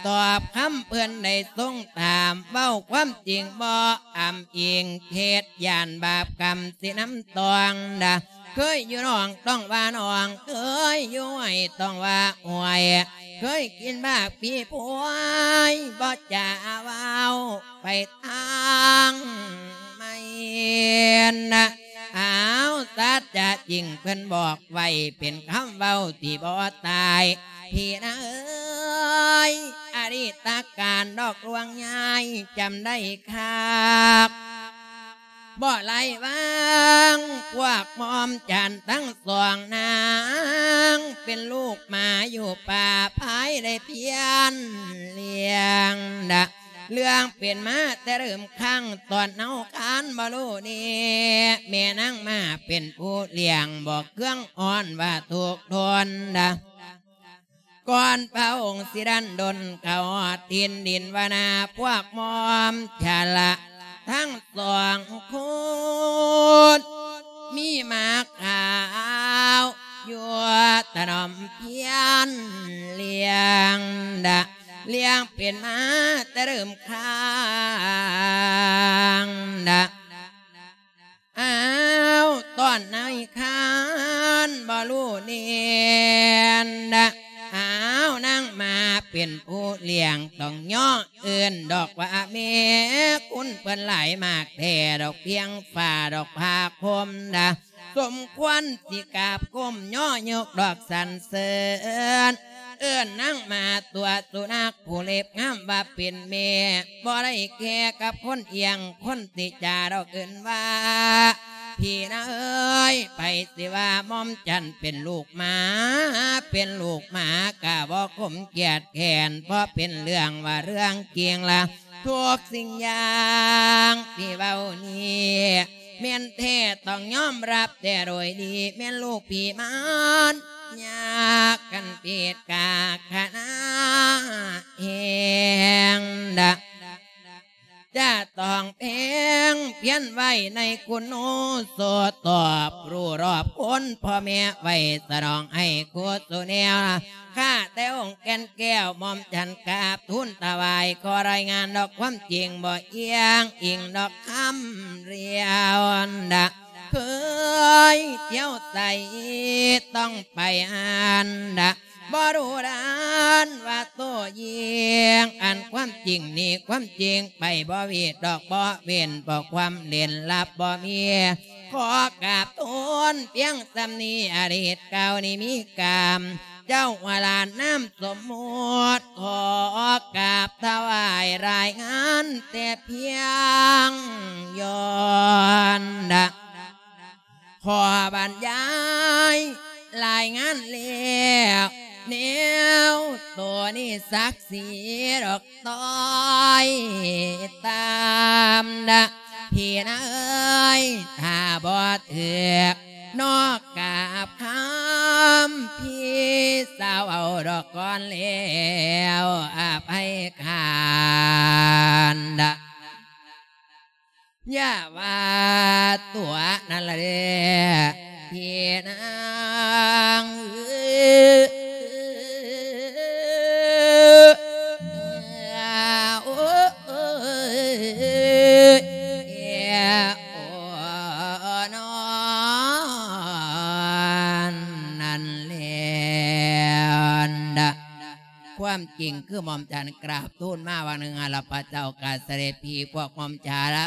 ຕອບຄຳເພິ່ນໄດ້ຊົງຖາມ ເວົ້າຄວາມຈິງບໍ່ອ້ຳອີງ ເທດຢ້ານບາບກຳຊິນຳຕ້ອງດາ ເຄີຍຢູ່ໜອງຕ້ອງວ່າໜອງ ເຄີຍຢູ່ຫ້ວຍຕ້ອງວ່າຫ້ວຍ ເຄີຍກິນໝາກຜີພວຍ ບໍ່ຈະເວົ້າ ໄປທາງໃໝ່ນະ ອ້າວ ສັດຈະຈິງເພິ່ນບອກໄວ້ ເປັນຄຳເວົ້າທີ່ບໍ່ຕາຍ ພີ່ນາເອີຍ ອະດີດຕະການດອກລວງຍາຍ ຈຳໄດ້ຄັກ ບໍ່ໄລ່ວາງ ພວກໝອມຈັນທັງສອງນາງ ເປັນລູກໝາຢູ່ປ່າພາຍໄດ້ພຽນລ້ຽງນະ ເລື່ອງເປັນມາແຕ່ເລີ່ມຄັ້ງ ຕອນເຮົາຄານບໍ່ຮູ້ແນ່ ແມ່ນາງມາເປັນຜູ້ລ້ຽງ ບໍ່ເຄືອງອ່ອນວ່າທຸກທົນນະ ກ່ອນພະອົງຊິດັນດົນເຂົ້າຮອດຖິ່ນດິນວະນາ ພວກໝອມຈະລະທັງສອງຄົນ ມີໝາຂາວຢູ່ຖະໜອມພຽນລ້ຽງດາ ລ້ຽງເປັນມາແຕ່ເລີ່ມຄາງດາ ອ້າວ ຕອນໃນຄານບໍ່ຮູ້ແນ່ນດາ ອ້າວ ນາງມາເປັນຜູ້ລ້ຽງ ຕ້ອງຍໍເອີ້ນດອກວ່າແມ່ ຄຸນເພິ່ນຫຼາຍມາກແທ້ ດອກພຽງຟ້າດອກຜ້າຄົມດາ ສົມຄວນຊິກາບກົ້ມຍໍຍົກດອກສັນເສີນ ເອີ້ນນາງມາຕົວະສຸນັກ ຜູ້ເລັບງາມວ່າເປັນແມ່ ບໍ່ໄດ້ແກ່ກັບຄົນອ່ຽງ ຄົນຕິຈາດອກເອີ້ນວ່າ ພີ່ນາເອີຍ ໃຜຊິວ່າໝອມຈັນເປັນລູກໝາ ເປັນລູກໝາກະບໍ່ຄົມກຽດແຄ້ນ ເພາະເປັນເລື່ອງວ່າເລື່ອງຈິງລະ ທຸກສິ່ງຢ່າງທີ່ເວົ້ານີ້ ແມ່ນແທ້ຕ້ອງຍອມຮັບແຕ່ໂດຍດີ ແມ່ນລູກພີ່ມານຍາກັນຜິດກາຄະນະແຮງດາ ຈະຕ້ອງແພງພຽນ ໄວ້ໃນຄຸນໂອສົດ ຕອບຮູ້ຮອບຄົນພໍ່ແມ່ໄວ້ສະໜອງໃຫ້ກຸສົນແນວ ຂ້າແຕ່ອົງແກ່ນແກ້ວ ໝ່ອມສັນກາບທູນຖວາຍ ຂໍລາຍງານດອກຄວາມຈິງ ບໍ່ອີງອີງດອກຄຳລຽວດະ ເຄີຍທ່ຽວໃສຕ້ອງໄປອັນດະ ບໍ່ຮູ້ດ້ານວ່າໂຕຍິງ ອັນຄວາມຈິງນີ້ຄວາມຈິງໄປ ບໍ່ຫວີດດອກບໍ່ເວັ້ນ ເພາະຄວາມເຫຼັ້ນລັບບໍ່ມີ ຂໍກາບທູນພຽງສ່ຳນີ້ ອະດີດເກົ່ານີ້ມີກາມ ເຈົ້າວາລານາມສົມມຸດ ຂໍກາບຖວາຍລາຍງານແຕ່ພຽງ ຍ້ອນດະ ຂໍບັນຍາຍລາຍງານແລ້ວ ແນວໂຕນີ້ສັກສີດອກຕ້ອຍຕາມນະ ພີ່ນາເອີຍ ຖ້າບໍ່ຖືກນອກກາບຄຳ ພີ່ສາວເວົ້າດອກກ່ອນແລ້ວ ອະໄພການນະ ຢ່າວ່າຕົວນັ້ນລະເດີ້ ພີ່ນາງເອີຍ ໂອ້ຍ ໂອ້ນອນ ນັ້ນແຫຼະ ຄວາມຈິງຄືໝ່ອມທ່ານກາບທູນມາວ່າໜຶ່ງ ອາລະພະເຈົ້າຂ້າສະເດັດພີ່ ພວກໝ່ອມທ່ານ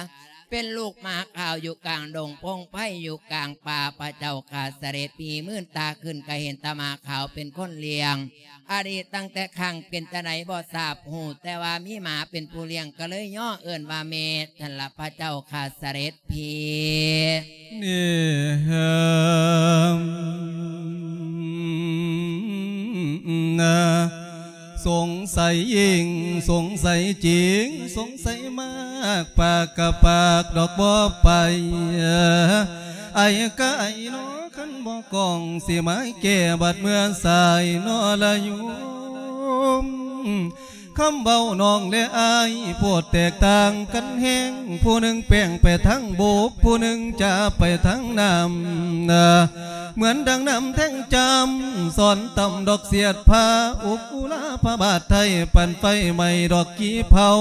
ເປັນລູກໝາຂາວຢູ່ກາງດົງພົງໄພ ຢູ່ກາງປ່າ ພະເຈົ້າຂ້າສະເດັດພີ່ ມື່ນຕາຂຶ້ນກະເຫັນແຕ່ໝາຂາວເປັນຄົນລ້ຽງ ອະດີດຕັ້ງແຕ່ຄັ້ງເປັນຈັ່ງໃດບໍ່ຊາບຮູ້ ແຕ່ວ່າມີໝາເປັນຜູ້ລ້ຽງ ກະເລີຍຍໍເອີ້ນວ່າແມ່ ນັ້ນລະພະເຈົ້າຂ້າສະເດັດ ພີ່ ນີ້ ສົງໄສຍິ່ງ ສົງໄສຈິງ ສົງໄສມາກ ປາກກະປາກດອກບໍ່ໄປ ໄອກະໄອນໍ ຄັນບໍ່ກ້ອງ ຊິມາແກ້ບາດເມື່ອສາຍນໍລະໂຍມ. ຄຳເວົ້ານ້ອງແລະອ້າຍ ໂພດແຕກຕ່າງກັນແຮງ ຜູ້ໜຶ່ງແປງໄປທາງບົກ ຜູ້ໜຶ່ງຈາໄປທາງນ້ຳ ເໝືອນດັ່ງນ້ຳແທງຈຳ ສອນຕ່ຳດອກສຽດພາ ອຸກອຸລາພະບາດໄທ ປັ່ນໄຟໄໝ້ດອກກີເຜົາ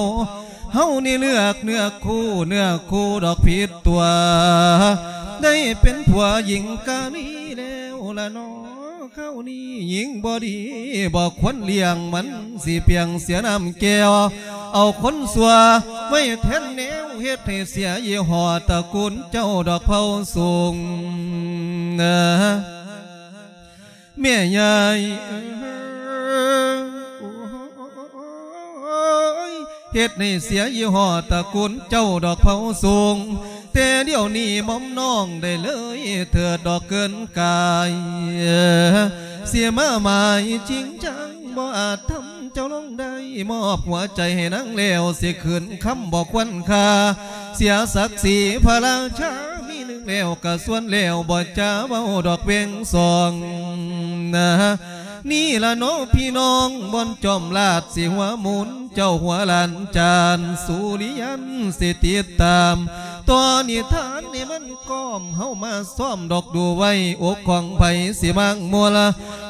ເຮົານີ້ເລືອກເນື້ອຄູ່ ເນື້ອຄູ່ດອກຜິດຕົວ ໄດ້ເປັນຜົວຍິງກາລີແລ້ວລະນໍ. ຄາວນີ້ຍິງບໍ່ດີບໍ່ຄວນລ້ຽງ ມັນຊິປ່ຽງເສຍນ້ຳແກ້ວ ເອົາຄົນຊົ່ວໄວ້ແທນແນວ ເຮັດໃຫ້ເສຍຍີ່ຫໍ້ຕະກູນເຈົ້າດອກເຜົ່າສູງ ແມ່ຍາຍເອີຍ ໂອ້ຍ ເຮັດໃຫ້ເສຍຍີ່ຫໍ້ຕະກູນເຈົ້າດອກເຜົ່າສູງ ແຕ່ດຽວນີ້ໝ່ອມນ້ອງໄດ້ເລີຍເທີດດອກເກີນກາຍ ເສຍມາໝາຍຈິງຈັງບໍ່ອາດທຳເຈົ້າລົງໄດ້ ມອບຫົວໃຈໃຫ້ນາງແລ້ວ ຊິຄືນຄຳບໍ່ຄວນຄ່າ ເສຍສັກສີພະລາຊາ ມີໜຶ່ງແລ້ວກະຊວນແລ້ວ ບໍ່ຈາເວົ້າດອກເວັງສອງ ນີ້ລະເນາະພີ່ນ້ອງ ບ່ອນຈອມລາດຊິຫົວໝູນ ເຈົ້າຫົວລ້ານຈານ ສຸລິຍັນຊິຕິດຕາມ ຕໍ່ນິທານໃຫ້ມັນກ້ອມ ເຮົາມາຊ້ອມດອກດູໄວ້ ອົກຂອງໃຜຊິມາກມົວລະ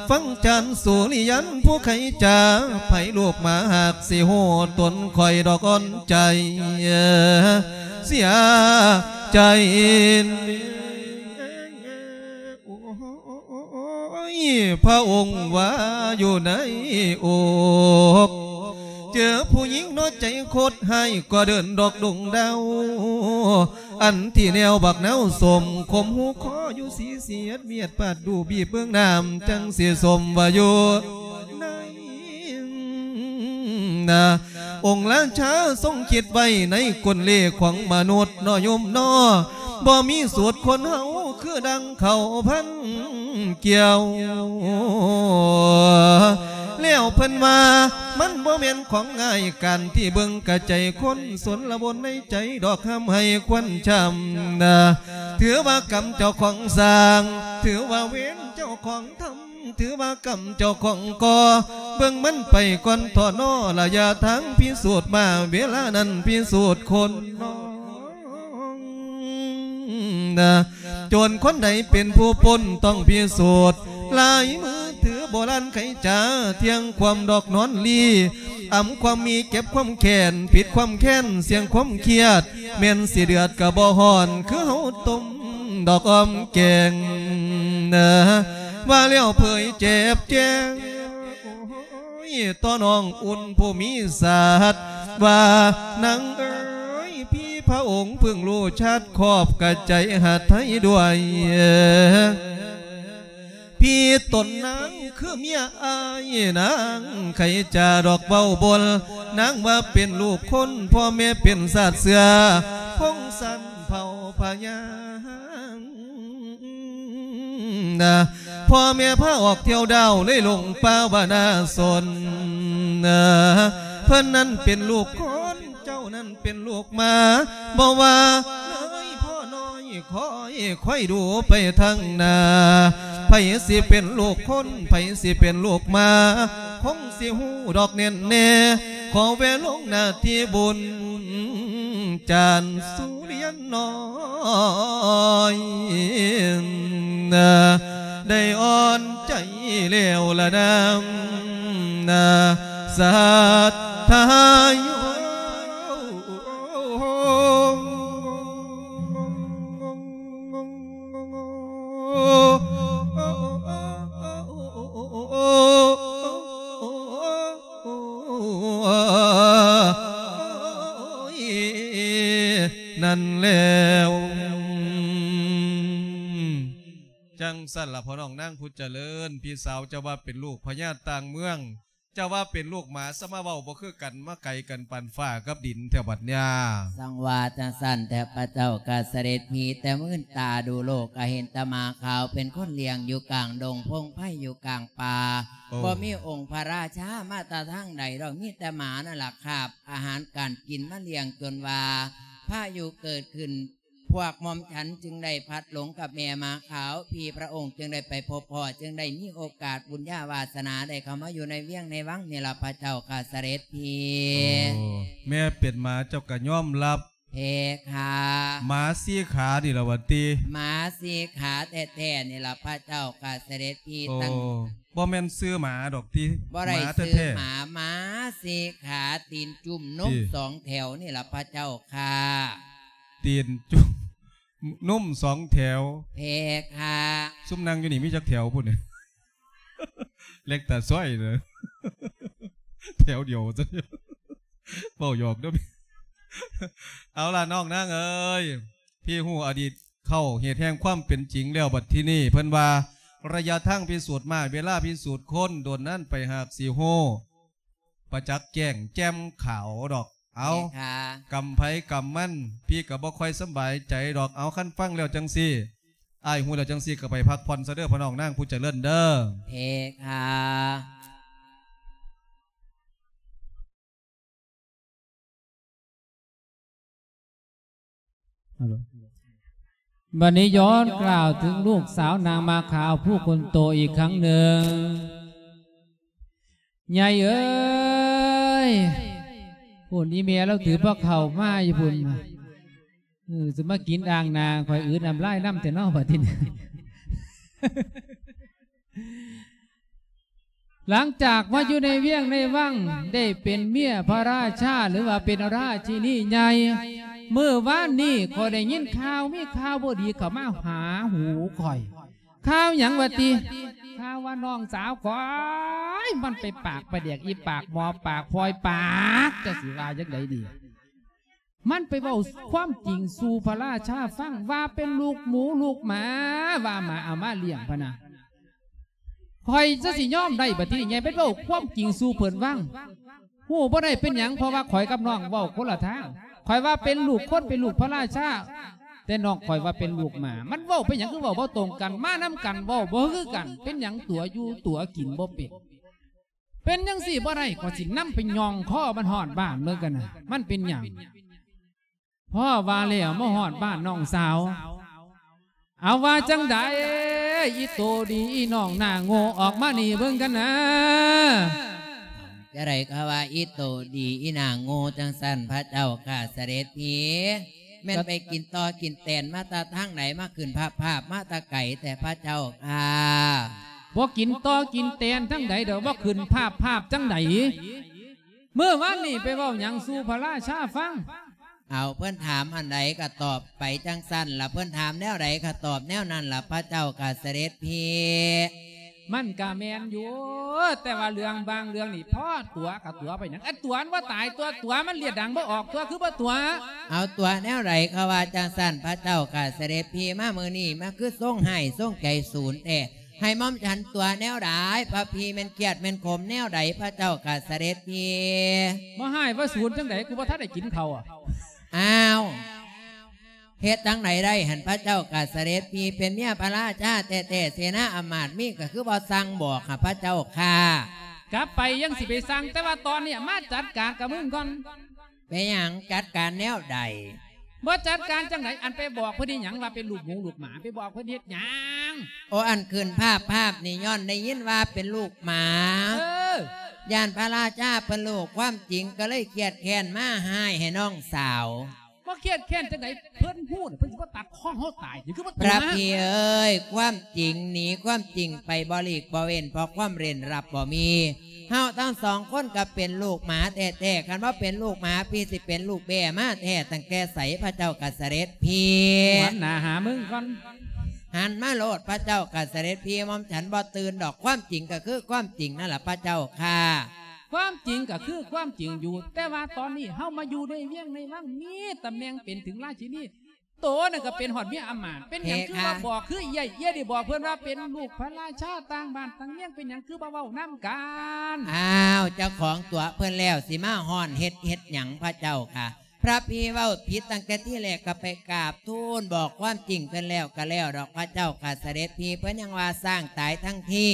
ຟັງຈານສຸລິຍັນຜູ້ໄຂຈາ ໃຜລູກໝາຫາກຊິຮູ້ຕົນຂ້ອຍດອກອ່ອນໃຈ ເສຍໃຈ ໂອ້ຍ ພະອົງວ່າຢູ່ໃນອົກ ເຈີຜູ້ຍິງເນາະໃຈໂຄດຮ້າຍ ກໍເດີນດອກດົງດາວ ອັນທີ່ແນວບັກນາວສົ້ມ ຂົ່ມຫູຄໍຢູ່ສີສຽດ ມຽດປາດດູບີບເບິ່ງນ້ຳ ຈັ່ງຊິສົມວ່າຢູ່ໃນນາ ອົງລາຊາຊົງຄິດໄວ້ໃນກົນເລຂອງມະນຸດເນາະໂຍມເນາະ ບໍ່ມີສູດຄົນເຮົາຄືດັ່ງເຂົ້າພັນກ່ຽວ ແລ້ວເພິ່ນວ່າມັນບໍ່ແມ່ນຂອງງ່າຍ ການທີ່ເບິ່ງກະໃຈຄົນ ສົນລະບົນໃນໃຈດອກ ຫ້າມໃຫ້ຄວັນຊ້ຳນາ ຖືວ່າກຳເຈົ້າຂອງສ້າງ ຖືວ່າເວນເຈົ້າຂອງທຳ ຖືວ່າກຳເຈົ້າຂອງກໍ່ ເບິ່ງມັນໄປກ່ອນເຖາະເນາະ ລະຍະທາງພິສູດມາ ເວລານັ້ນພິສູດຄົນນ້ອງ ນະ ໂຈນຄົນໃດເປັນຜູ້ປົນຕ້ອງພິສູດ ລາຍມືຖືໂບລານໄຂຈາ ທ່ຽງຄວາມດອກນອນລີ ອຳຄວາມມີເກັບຄວາມແຄ້ນ ປິດຄວາມແຄ້ນ ສ່ຽງຄວາມຄຽດ ແມ່ນຊິເດືອດກະບໍ່ຮ້ອນ ຄືເຮົາຕົ້ມດອກອອມແກງນະ ວ່າແລ້ວເຜີຍເຈັບແຈ້ງ ໂອ້ຍ ຕໍ່ນ້ອງອຸ່ນຜູ້ມີຊາດ ວ່າ ນາງເອີຍ ພີ່ພະອົງເພິ່ງຮູ້ຊາດ ຂອບກະໃຈຫາໄທດ້ວຍ ພີ່ຕົນນາງຄືເມຍອ້າຍ ນາງໄຂຈາດອກເວົ້າບົນ ນາງວ່າເປັນລູກຄົນ ພໍ່ແມ່ເປັນຊາດເຊື້ອ ພົງສັນເຜົ່າພະຍາ ນະ ພໍ່ແມ່ພາອອກທ່ຽວດາວໃນລົງປ່າວານາຊົນນະ ເພິ່ນນັ້ນເປັນລູກຄົນ ເຈົ້ານັ້ນເປັນລູກໝາ ບໍ່ວ່ານ້ອຍພໍ່ນ້ອຍ ຄອຍ ຄອຍດູໄປທາງໜ້າ ໃຜຊິເປັນລູກຄົນ ໃຜຊິເປັນລູກໝາ ຄົງຊິຮູ້ດອກແນ່ນແນ່ ຂໍແວ່ລົງໜ້າທີ່ບຸນ ຈານສຸລຽນນ້ອຍ ໄດ້ອ່ອນໃຈແລ້ວລະນາ ນາ ສັດທາໂຍ ນັ້ນແລ້ວ ຈັ່ງຊັ້ນລະ ພໍ່ນ້ອງນາງຜູ້ຈະເລີນ ພີ່ສາວເຈົ້າວ່າເປັນລູກພະຍາຕ່າງເມືອງ ເຈົ້າວ່າເປັນລູກໝາ ສະມາເວົ້າບໍ່ຄືກັນ ມາໄກກັນປານຟ້າກັບດິນແທ້ບັດຍາ. ສັງວ່າຈັ່ງຊັ້ນແທ້ພະເຈົ້າຂ້າສະເດັດພີ່ ແຕ່ມື່ນຕາດູໂລກກະເຫັນແຕ່ໝາຂາວ ເປັນຄົນລ້ຽງຢູ່ກາງດົງ ພົງໄພຢູ່ກາງປ່າ ໂອ້ ບໍ່ມີອົງພະລາຊາມາແຕ່ທາງໃດດອກ ມີແຕ່ໝານັ້ນລະຄາບອາຫານການກິນມາລ້ຽງ ຈົນວ່າພາຍຸເກີດຂຶ້ນ ພວກໝ່ອມສັນຈຶ່ງໄດ້ພລັດຫຼົງກັບແມ່ໝາຂາວ ພີ່ພະອົງຈຶ່ງໄດ້ໄປພົບພໍ້ ຈຶ່ງໄດ້ມີໂອກາດບຸນຍາວາສະໜາໄດ້ເຂົ້າມາຢູ່ໃນວຽງໃນວັງນີ້ລະພະເຈົ້າຂ້າສະເດັດພີ່. ໂອ້ ແມ່ເປັນໝາເຈົ້າກະຍອມຮັບ ເພຄະ. ໝາສີ່ຂານີ້ລະຫວາຕິ? ໝາສີ່ຂາແທ້ໆນີ້ລະພະເຈົ້າຂ້າສະເດັດພີ່. ໂອ້ ຕັ້ງ ບໍ່ແມ່ນຊື່ໝາດອກຕິ? ບໍ່ໄດ້ຊື່ໝາ ໝາສີ່ຂາ ຕີນຈຸ້ມ ນົມສອງແຖວນີ້ລະພະເຈົ້າຂ້າ. ຕີນຈຸ້ມ ນົມສອງແຖວ. ເພຄະ. ຊຸມນັ່ງຢູ່ນີ້ມີຈັກແຖວພຸ້ນ? ເລັກຕາຊອຍເດີ ແຖວດຽວ ເວົ້າຫຍອກເດີ. ເອົາລະ ນ້ອງນາງເອີຍ ພີ່ຮູ້ອະດີດເຄົ້າ ເຫດແຫ່ງຄວາມເປັນຈິງແລ້ວ ບັດທີນີ້ເພິ່ນວ່າ ໄລຍະທາງພິສູດມ້າ ເວລາພິສູດຄົນ ດົນນານໄປຫາກຊິຮູ້ ປະຈັກແຈ້ງແຈ່ມຂາວດອກ. ເອົາ ເພຄະ. ກຳໃຜກຳມັນ ພີ່ກະບໍ່ຄ່ອຍສຳບາຍໃຈດອກ. ເອົາ ຄັນຟັງແລ້ວຈັ່ງຊີ້ ອ້າຍຮູ້ແລ້ວຈັ່ງຊີ້ ກະໄປພັກຜ່ອນຊະເດີ ພໍ່ນ້ອງນາງຜູ້ຈະເລີນເດີ. ເພຄະ. ບັດນີ້ຍ້ອນກ່າວເຖິງລູກສາວນາງໝາຂາວຜູ້ຄົນໂຕອີກຄັ້ງໜຶ່ງ. ໃຫຍ່ເອີຍ ພຸ້ນອີ່ແມ່ລາວຖືພາເຂົ້າມາຢູ່ພຸ້ນ. ເອີ ຊິມາກິນອ່າງໜ້າຂ້ອຍ ອືດນ້ຳລາຍນຳແທ້ເນາະ ບັດທີນີ້. ຫຼັງຈາກມາຢູ່ໃນວຽງໃນວັງ ໄດ້ເປັນເມຍພະລາຊາ ຫຼືວ່າເປັນລາຊິນີໃຫຍ່ ມື້ວານນີ້ຂ້ອຍໄດ້ຍິນຂ່າວ ມີຂ່າວບໍ່ດີເຂົ້າມາຫາຫູຂ້ອຍ. ຂ່າວຫຍັງວະຕິ? ຂ່າວວ່ານ້ອງສາວຂ້ອຍ ມັນໄປປາກປາແດກອີປາກໝໍປາກພອຍປາກ ຈັກຊິວ່າຈັ່ງໃດດີ? ມັນໄປເວົ້າຄວາມຈິງສູ່ພະລາຊາຟັງ ວ່າເປັນລູກໝູລູກໝາ ວ່າໝາເອົາມາລ້ຽງພະນະ. ຂ້ອຍຈະຊິຍອມໄດ້ບັດທີນີ້ ໃຫຍ່ໄປເວົ້າຄວາມຈິງສູ່ເພິ່ນຟັງ. ຮູ້ບໍ່ໄດ້ເປັນຫຍັງ ເພາະວ່າຂ້ອຍກັບນ້ອງເວົ້າຄົນລະທາງ. ຂ້ອຍວ່າເປັນລູກຄົນ ເປັນລູກພະລາຊາ ແຕ່ນ້ອງຂ້ອຍວ່າເປັນລູກໝາ. ມັນເວົ້າໄປຫຍັງຄືເວົ້າບໍ່ຕົງກັນ ມານຳກັນເວົ້າບໍ່ຄືກັນ ເປັນຫຍັງຕົວຢູ່ຕົວກິນບໍ່ເປັນ. ເປັນຈັ່ງຊີ້ບໍ່ໄດ້ ຂ້ອຍຊິນຳໄປຍ່ອງຄໍມັນຮອດບ້ານເບິ່ງກັນນະ ມັນເປັນຫຍັງ. ພໍວ່າແລ້ວມາຮອດບ້ານນ້ອງສາວ ເອົາວ່າຈັ່ງໃດ ອີໂຕດີ ອີນ້ອງໜ້າໂງ່ ອອກມານີ້ເບິ່ງກັນນະ. ຈັ່ງໃດກະວ່າອີໂຕດີ ອີໜ້າໂງ່ ຈັ່ງຊັ້ນພະເຈົ້າຂ້າສະເດັດພີ. ແມ່ນໄປກິນຕໍ່ກິນແຕນມາແຕ່ທາງໃດ ມາຂຶ້ນພາບພາບມາແຕ່ໄກແທ້ພະເຈົ້າຂ້າ. ບໍ່ກິນຕໍ່ກິນແຕນທາງໃດດອກ ບໍ່ຂຶ້ນພາບພາບຈັ່ງໃດ. ມື້ວານນີ້ໄປເວົ້າຫຍັງສູ່ພະລາຊາຟັງ? ເອົາ ເພິ່ນຖາມອັນໃດກໍຕອບໄປຈັ່ງຊັ້ນລະ ເພິ່ນຖາມແນວໃດກໍຕອບແນວນັ້ນລະ ພະເຈົ້າຂ້າສະເດັດພີ່. ມັນກະແມ່ນຢູ່ ແຕ່ວ່າເລື່ອງບາງເລື່ອງນີ້ ພໍຕົວະກະຕົວະໄປຫຍັງ? ອັນຕົວະມັນບໍ່ຕາຍຕົວະ ຕົວະມັນລຽດດັງບໍ່ອອກຕົວະ ຄືບໍ່ຕົວະ? ເອົາ ຕົວະແນວໃດ ເຂົາວ່າຈັ່ງຊັ້ນ ພະເຈົ້າຂ້າສະເດັດພີ່. ມາມື້ນີ້ມາຄືຊົງຮ້າຍຊົງໃຈສູນແທ້ ໃຫ້ໝ່ອມສັນຕົວະແນວໃດ? ພະພີ່ແມ່ນຄຽດແມ່ນຂົມແນວໃດ ພະເຈົ້າຂ້າສະເດັດພີ່? ບໍ່ຮ້າຍບໍ່ສູນຈັ່ງໃດ ກູບໍ່ທັນໄດ້ກິນເຂົ້າ. ອ້າວ ເຮັດຈັ່ງໃດໄດ້ຫັ້ນ ພະເຈົ້າຂ້າສະເດັດພີ່ ເປັນເມຍພະລາຊາແທ້ໆ ເສນາອຳມາດມີກໍຄືບໍ່ສັ່ງບອກຫາພະເຈົ້າຂ້າ. ກັບໄປຍັງຊິໄປສັ່ງ ແຕ່ວ່າຕອນນີ້ມາຈັດການກັບມຶງກ່ອນ. ເປັນຫຍັງ ຈັດການແນວໃດ? ບໍ່ຈັດການຈັ່ງໃດ ອັນໄປບອກເພິ່ນອີຫຍັງວ່າເປັນລູກໝູລູກໝາ ໄປບອກເພິ່ນເຮັດຫຍັງ? ໂອ ອັນຂຶ້ນພາບພາບນີ້ ຍ້ອນໄດ້ຍິນວ່າເປັນລູກໝາ ເອີ ຢ້ານພະລາຊາເພິ່ນຮູ້ຄວາມຈິງ ກໍເລີຍຄຽດແຄ້ນມາຮ້າຍໃຫ້ນ້ອງສາວ. ບໍ່ຄຽດແຄ້ນຈັ່ງໃດ ເພິ່ນຮູ້ນະ ເພິ່ນຊິບໍ່ຕັດຄໍເຮົາຕາຍ ຄືບໍ່ຕົວະ? ພະພີ່ເອີຍ ຄວາມຈິງໜີຄວາມຈິງໄປບໍ່ຫຼີກບໍ່ເວັ້ນ ເພາະຄວາມເລັ່ນລັບບໍ່ມີ. ເຮົາທັງສອງຄົນກໍເປັນລູກໝາແທ້ໆ ຄັນບໍ່ເປັນລູກໝາ ພີ່ຊິເປັນລູກແບ້ມາແທ້ຕັ້ງແຕ່ໃສ ພະເຈົ້າຂ້າສະເດັດພີ່? ຫັນໜ້າຫາມຶງກ່ອນ ຫັນມາໂລດ ພະເຈົ້າຂ້າສະເດັດພີ່. ໝ່ອມສັນບໍ່ຕື່ນດອກ ຄວາມຈິງກໍຄືຄວາມຈິງນັ້ນລະ ພະເຈົ້າຂ້າ. ຄວາມຈິງກໍຄືຄວາມຈິງຢູ່ ແຕ່ວ່າຕອນນີ້ເຮົາມາຢູ່ໃນວຽງໃນວັງ ມີຕຳແໜ່ງເປັນເຖິງລາຊິນີ ໂຕນັ້ນກໍເປັນຮອດເມຍອຳມາດ ເປັນຫຍັງຄືວ່າບອກຄືເອື້ອຍ ເອື້ອຍໄດ້ບອກເພິ່ນວ່າເປັນລູກພະລາຊາຕ່າງບ້ານຕ່າງເມືອງ ເປັນຫຍັງຄືບໍ່ເວົ້ານຳກັນ? ອ້າວ ເຈົ້າຂອງຕົວະເພິ່ນແລ້ວ ຊິມາຮ້ອນເຮັດ ເຮັດຫຍັງ ພະເຈົ້າຂ້າ? ພະພີ່ເວົ້າຜິດຕັ້ງແຕ່ທີແລກ ກໍໄປກາບທູນບອກຄວາມຈິງເພິ່ນແລ້ວກໍແລ້ວດອກ ພະເຈົ້າຂ້າສະເດັດພີ່. ເພິ່ນຍັງວ່າຊ້າງຕາຍທັງທີ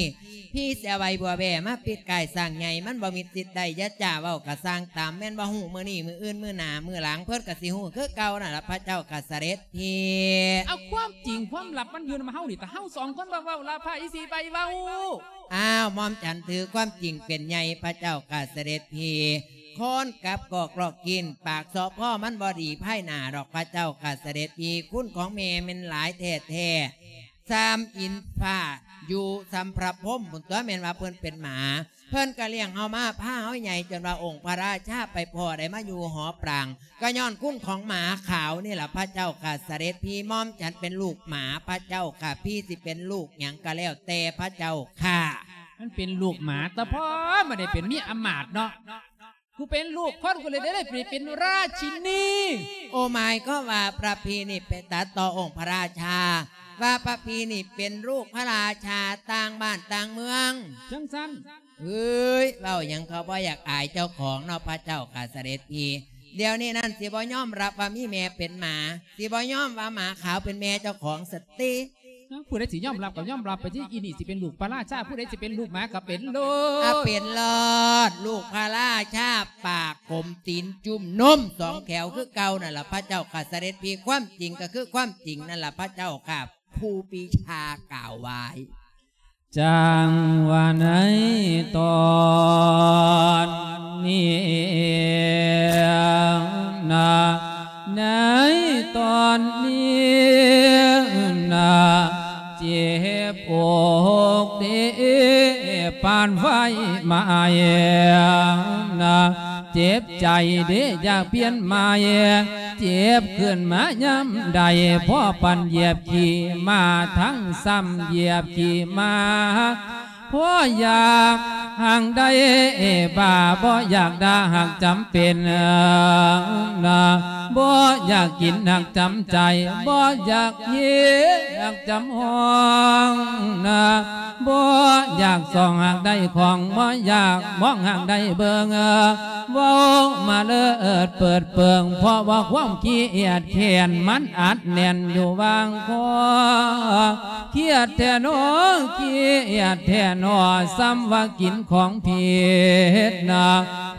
ພີ່ເສຍໄວ້ບົວແບ້ມາປິດກ້າຍຊ້າງໃຫຍ່ ມັນບໍ່ມີສິດໄດ້ ຢ່າຈ້າເວົ້າກະສ້າງຕາມ ແມ່ນບໍ່ຮູ້ມື້ນີ້ ມື້ອື່ນ ມື້ໜ້າ ມື້ຫຼັງ ເພິ່ນກະຊິຮູ້ຄືເກົ່ານັ້ນລະ ພະເຈົ້າຂ້າສະເດັດພີ່. ເອົາ ຄວາມຈິງຄວາມລັບມັນຢູ່ນຳເຮົານີ້ ແຕ່ເຮົາສອງຄົນບໍ່ເວົ້າລະ ໃຜຊິໄປເວົ້າ? ອ້າວ ໝ່ອມສັນຖືຄວາມຈິງເປັນໃຫຍ່ ພະເຈົ້າຂ້າສະເດັດພີ່. ຄົນກັບກອກລອກກິນ ປາກເຊາະພໍມັນບໍ່ດີພາຍໜ້າດອກ ພະເຈົ້າຂ້າສະເດັດພີ່. ຄຸນຂອງແມ່ແມ່ນຫຼາຍແທ້ໆ ສ່ຳອິນຟ້າ ຢູ່ສ່ຳພະພົມພຸ້ນຕົວະ ແມ່ນວ່າເພິ່ນເປັນໝາ ເພິ່ນກໍລ້ຽງເຮົາມາ ພາເຮົາໃຫຍ່ ຈົນວ່າອົງພະລາຊາໄປພໍ້ໄດ້ມາຢູ່ຫໍປາງ ກໍຍ້ອນຄຸນຂອງໝາຂາວນີ້ລະ ພະເຈົ້າຂ້າສະເດັດພີ່. ໝ່ອມສັນເປັນລູກໝາ ພະເຈົ້າຂ້າ ພີ່ຊິເປັນລູກຫຍັງກໍແລ້ວແຕ່ ພະເຈົ້າຂ້າ. ມັນເປັນລູກໝາ ແຕ່ພໍມາໄດ້ເປັນມີອຳນາດເນາະ ກູເປັນລູກຄົນ ກູເລີຍໄດ້ໄດ້ເປັນລາຊິນີ. ໂອ ໝາຍຄວາມວ່າພະພີ່ນີ້ໄປຕັດຕໍ່ອົງພະລາຊາ ວ່າພະພີ່ນີ້ເປັນລູກພະລາຊາຕ່າງບ້ານຕ່າງເມືອງ ຈັ່ງຊັ້ນ. ເອີຍ ເວົ້າຫຍັງເຂົາບໍ່ຢາກອາຍເຈົ້າຂອງເນາະ ພະເຈົ້າຂ້າສະເດັດພີ່. ດຽວນີ້ນັ້ນຊິບໍ່ຍອມຮັບວ່າມີແມ່ເປັນໝາ ຊິບໍ່ຍອມວ່າໝາຂາວເປັນແມ່ເຈົ້າຂອງຊັ້ນຕິ. ເອົ້າ ຜູ້ໃດຊິຍອມຮັບກໍຍອມຮັບໄປຕິ ອີນີ້ຊິເປັນລູກພະລາຊາ ຜູ້ໃດຊິເປັນລູກໝາກໍເປັນໂລດ ອາ ເປັນໂລດ ລູກພະລາຊາ ປາກກົມຕີນຈຸ້ມນົມສອງແຖວຄືເກົ່ານັ້ນລະ ພະເຈົ້າຂ້າສະເດັດພີ່. ຄວາມຈິງກໍຄືຄວາມຈິງນັ້ນລະ ພະເຈົ້າຂ້າ. ຄູປີຊາກ່າວໄວ້. ຈັ່ງວ່າໃນຕອນນີ້ນະ ໃນຕອນນີ້ນະ ເຈັບອົກເດ ປານໄຟໄໝ້ນະ ເຈັບໃຈເດ ຢາກປ່ຽນໃໝ່ ເຈັບຂຶ້ນມາຍາມໃດ ພໍປານຢຽບຂີ້ໝາ ທັງຊ້ຳຢຽບຂີ້ໝາ ພໍຢາກຫາກໄດ້ບ້າ ບໍ່ຢາກດ່າຫາກຈຳເປັນນະ ບໍ່ຢາກກິນຫາກຈຳໃຈ ບໍ່ຢາກຮີຫາກຈຳຫ້ອງນະ ບໍ່ຢາກສ່ອງຫາກໄດ້ຂອງ ບໍ່ຢາກມອງຫາກໄດ້ເບິ່ງ ເວົ້າມາເລີດເປີດເປິງ ເພາະວ່າຄວາມຂີ້ອຽດແຄ້ນ ມັນອັດແໜ້ນຢູ່ຫວ່າງຄໍ. ຄຽດແທ້ໜໍ ຄຽດແທ້ໜໍ ສ່ຳວ່າກິນຂອງຜິດນະ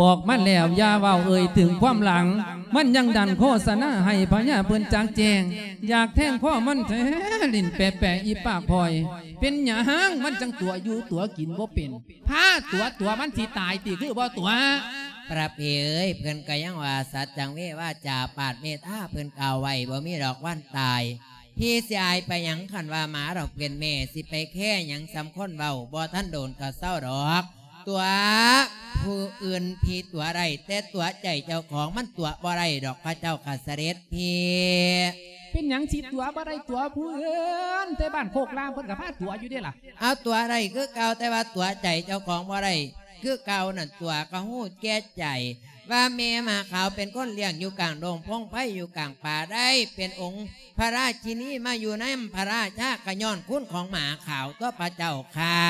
ບອກມັນແລ້ວຢ່າເວົ້າເອີ່ຍເຖິງຄວາມຫຼັງ ມັນຍັງດັນໂຄສະນາໃຫ້ພະຍາເພິ່ນຈັກແຈ້ງ ຢາກແທງຄໍມັນແທ້ ຫຼິ້ນແປະໆ ອີປາກພອຍ ເປັນຫຍັງມັນຈັ່ງຕົວະຢູ່ຕົວະກິນບໍ່ເປັນ ພາຕົວະຕົວະ ມັນຊິຕາຍຕິ ຄືບໍ່ຕົວະ? ພະເພເອີຍ ເພິ່ນກໍຍັງວ່າ ສັດຈັງເວວາຈາ ປາດເມຕຕາເພິ່ນກ່າວໄວ້ ບໍ່ມີດອກວັນຕາຍ ພີ່ຊິອາຍໄປຫຍັງ ຄັນວ່າໝາດອກເປັນແມ່ ຊິໄປແຄຫຍັງສ່ຳຄົນເວົ້າ ບໍ່ທັນໂດນກໍເຊົາດອກ ຕົວະຜູ້ອື່ນພີ່ຕົວະໄດ້ ແຕ່ຕົວະໃຈເຈົ້າຂອງມັນຕົວະບໍ່ໄດ້ດອກ ພະເຈົ້າຂ້າສະເດັດພີ່. ເປັນຫຍັງຊິຕົວະບໍ່ໄດ້ ຕົວະຜູ້ອື່ນ ແຕ່ບ້ານໂຄກລາມເພິ່ນກໍພາຕົວະຢູ່ເດ້ລະ. ເອົາ ຕົວະໄດ້ຄືເກົ່າ ແຕ່ວ່າຕົວະໃຈເຈົ້າຂອງບໍ່ໄດ້ຄືເກົ່ານັ້ນ ຕົວະກໍຮູ້ແກ່ໃຈ ວ່າແມ່ໝາຂາວເປັນຄົນລ້ຽງຢູ່ກາງດົງພົງໄພ ຢູ່ກາງປ່າ ໄດ້ເປັນອົງພະລາຊິນີມາຢູ່ນຳພະລາຊາ ກໍຍ້ອນຄຸນຂອງໝາຂາວຕົວະ ພະເຈົ້າຂ້າ.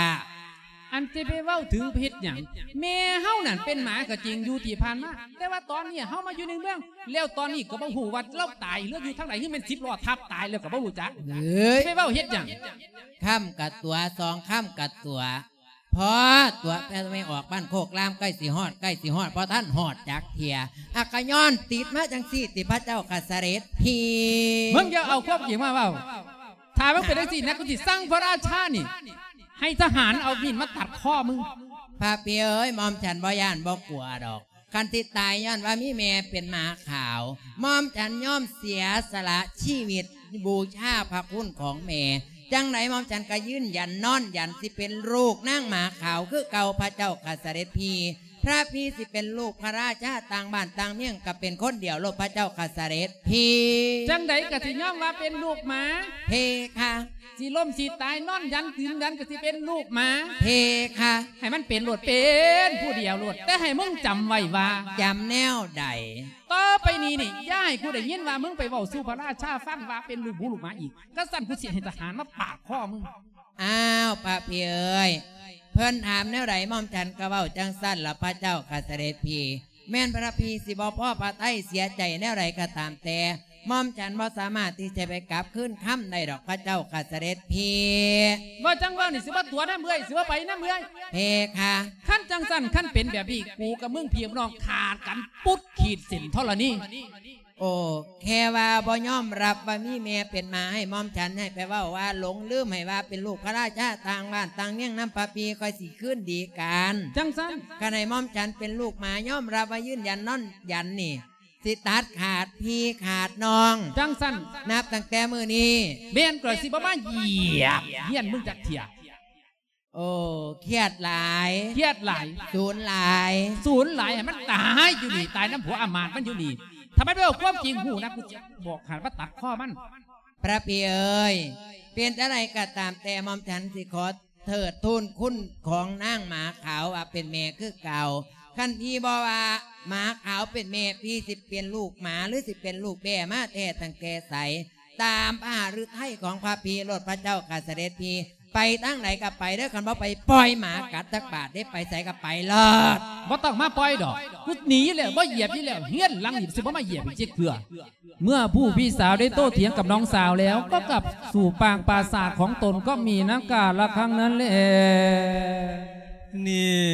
ອັນຊິໄປເວົ້າເຖິງເຮັດຫຍັງ? ແມ່ເຮົານັ້ນເປັນໝາກໍຈິງຢູ່ທີ່ຜ່ານມາ, ແຕ່ວ່າຕອນນີ້ເຮົາມາຢູ່ໃນເມືອງ ແລ້ວຕອນນີ້ກໍບໍ່ຮູ້ວ່າລາວຕາຍ ຫຼືຢູ່ທາງໃດ, ຫຼືແມ່ນສິບລໍ້ທັບຕາຍແລ້ວກໍບໍ່ຮູ້ຈັກ. ເອີຍ ຊິໄປເວົ້າເຮັດຫຍັງ? ຄຳກະຕົວະ ສອງຄຳກະຕົວະ ພໍຕົວະ ແຕ່ແມ່ອອກບ້ານໂຄກລາມ ໃກ້ຊິຮອດ ໃກ້ຊິຮອດ ບໍ່ທັນຮອດຈັກເທື່ອ. ອາ ກະຍ້ອນຕິດມາຈັ່ງຊີ້ຕິ ພະເຈົ້າຂ້າສະເດັດພີ່. ມຶງຢ່າເອົາຄວາມຈິງມາເວົ້າ. ຖ້າມັນເປັນຈັ່ງຊີ້ນະ ກູຊິສັ່ງພະລາຊານີ້ ໃຫ້ທະຫານເອົາມີດມາຕັດຄໍມຶງ. ພະພີ່ເອີຍ ໝ່ອມສັນບໍ່ຢ້ານບໍ່ກົວດອກ. ຄັນຊິຕາຍຍ້ອນວ່າມີແມ່ເປັນໝາຂາວ, ໝ່ອມສັນຍອມເສຍສະຫຼະຊີວິດບູຊາພະຄຸນຂອງແມ່. ຈັ່ງໃດໝ່ອມສັນກໍຢືນຢັນນອນຢັນ ຊິເປັນລູກນາງໝາຂາວຄືເກົ່າ ພະເຈົ້າຂ້າສະເດັດພີ່. ພະພີ່ຊິເປັນລູກພະລາຊາຕ່າງບ້ານຕ່າງເມືອງ ກໍເປັນຄົນດຽວໂລດ ພະເຈົ້າຂ້າສະເດັດພີ່. ຈັ່ງໃດກໍຊິຍອມວ່າເປັນລູກໝາ ເພຄະ. ຊິລົ້ມຊິຕາຍນອນຢັນຢືນຢັນກໍຊິເປັນລູກໝາ ເພຄະ. ໃຫ້ມັນເປັນໂລດ ເປັນຜູ້ດຽວໂລດ, ແຕ່ໃຫ້ມຶງຈຳໄວ້ວ່າ ຈຳແນວໃດ? ຕໍ່ໄປນີ້ນີ້ ຢ່າໃຫ້ກູໄດ້ຍິນວ່າມຶງໄປເວົ້າສູ່ພະລາຊາຟັງວ່າເປັນລູກໝູລູກໝາອີກ, ຄັນຊັ້ນກູຊິໃຫ້ທະຫານມາປາດຄໍມຶງ. ອ້າວ ພະພີ່ເອີຍ ເພິ່ນຖາມແນວໃດ ໝ່ອມສັນກໍເວົ້າຈັ່ງຊັ້ນລະ ພະເຈົ້າຂ້າສະເດັດພີ່. ແມ່ນພະພີ່ຊິບໍ່ພໍພະໄທເສຍໃຈແນວໃດກໍຕາມແຕ່, ໝ່ອມສັນບໍ່ສາມາດທີ່ຈະໄປກັບຄືນຄຳໄດ້ດອກ ພະເຈົ້າຂ້າສະເດັດພີ່. ເວົ້າຈັ່ງເວົ້ານີ້ ຊິບໍ່ຕົວະນຳເອື້ອຍ ຊິບໍ່ໄປນຳເອື້ອຍ ເພຄະ. ຄັນຈັ່ງຊັ້ນ ຄັນເປັນແບບນີ້ ກູກັບມຶງພີ່ນ້ອງຂາດກັນປຸດ ຂີດເສັ້ນທໍລະນີ. ໂອ້ ແຄ່ວ່າບໍ່ຍອມຮັບວ່າມີແມ່ເປັນໝາ ໃຫ້ໝ່ອມສັນໃຫ້ໄປເວົ້າວ່າຫຼົງລືມ ໃຫ້ວ່າເປັນລູກພະລາຊາຕ່າງບ້ານຕ່າງເມືອງນຳພະພີ່ ຄ່ອຍຊິຄືນດີກັນ. ຈັ່ງຊັ້ນ ຄັນໃຫ້ໝ່ອມສັນເປັນລູກໝາ ຍອມຮັບວ່າຢືນຢັນນອນຢັນນີ້ ຊິຕັດຂາດພີ່ຂາດນ້ອງ. ຈັ່ງຊັ້ນ ນັບຕັ້ງແຕ່ມື້ນີ້ ແມ່ນກໍຊິບໍ່ມາຢຽບເຮືອນມຶງຈັກເທື່ອ. ໂອ້ ຄຽດຫຼາຍ ຄຽດຫຼາຍ ສູນຫຼາຍ ສູນຫຼາຍ ໃຫ້ມັນຕາຍຢູ່ນີ້ ຕາຍນຳຜົວອາມາດມັນຢູ່ນີ້. ຖ້າມັນໄປເວົ້າຄວາມຈິງ ຮູ້ນະ ກູຊິບອກໃຫ້ມາຕັດຄໍມັນ. ພະພີ່ເອີຍ ເປັນຈັ່ງໃດກໍຕາມແຕ່ ໝ່ອມສັນຊິຂໍເທີດທູນຄຸນຂອງນາງໝາຂາວວ່າເປັນແມ່ຄືເກົ່າ. ຄັນພີ່ບໍ່ວ່າໝາຂາວເປັນແມ່ ພີ່ຊິເປັນລູກໝາ ຫຼືຊິເປັນລູກແບ້ມາແທ້ຕັ້ງແຕ່ໃສ? ຕາມພະຫະລືໄທຂອງພະພີ່ໂລດ ພະເຈົ້າຂ້າສະເດັດພີ່. ໄປທາງໃດກໍໄປເດີ ຄັນບໍ່ໄປປ່ອຍໝາກັດຈັກບາດເດ້ ໄປໃສກໍໄປໂລດ. ບໍ່ຕ້ອງມາປ່ອຍດອກ ກູໜີຢູ່ແລ້ວ ບໍ່ຢຽບຢູ່ແລ້ວ ເຮືອນຫຼັງນີ້ຊິບໍ່ມາຢຽບອີກຈັກເທື່ອ. ເມື່ອຜູ້พี่สาวได้โต้เถียงกับน้องสาวแล้ว ก็กลับสู่ปางปราสาทของตน ก็มีนักกาละครั้งนั้นแล. ນີ້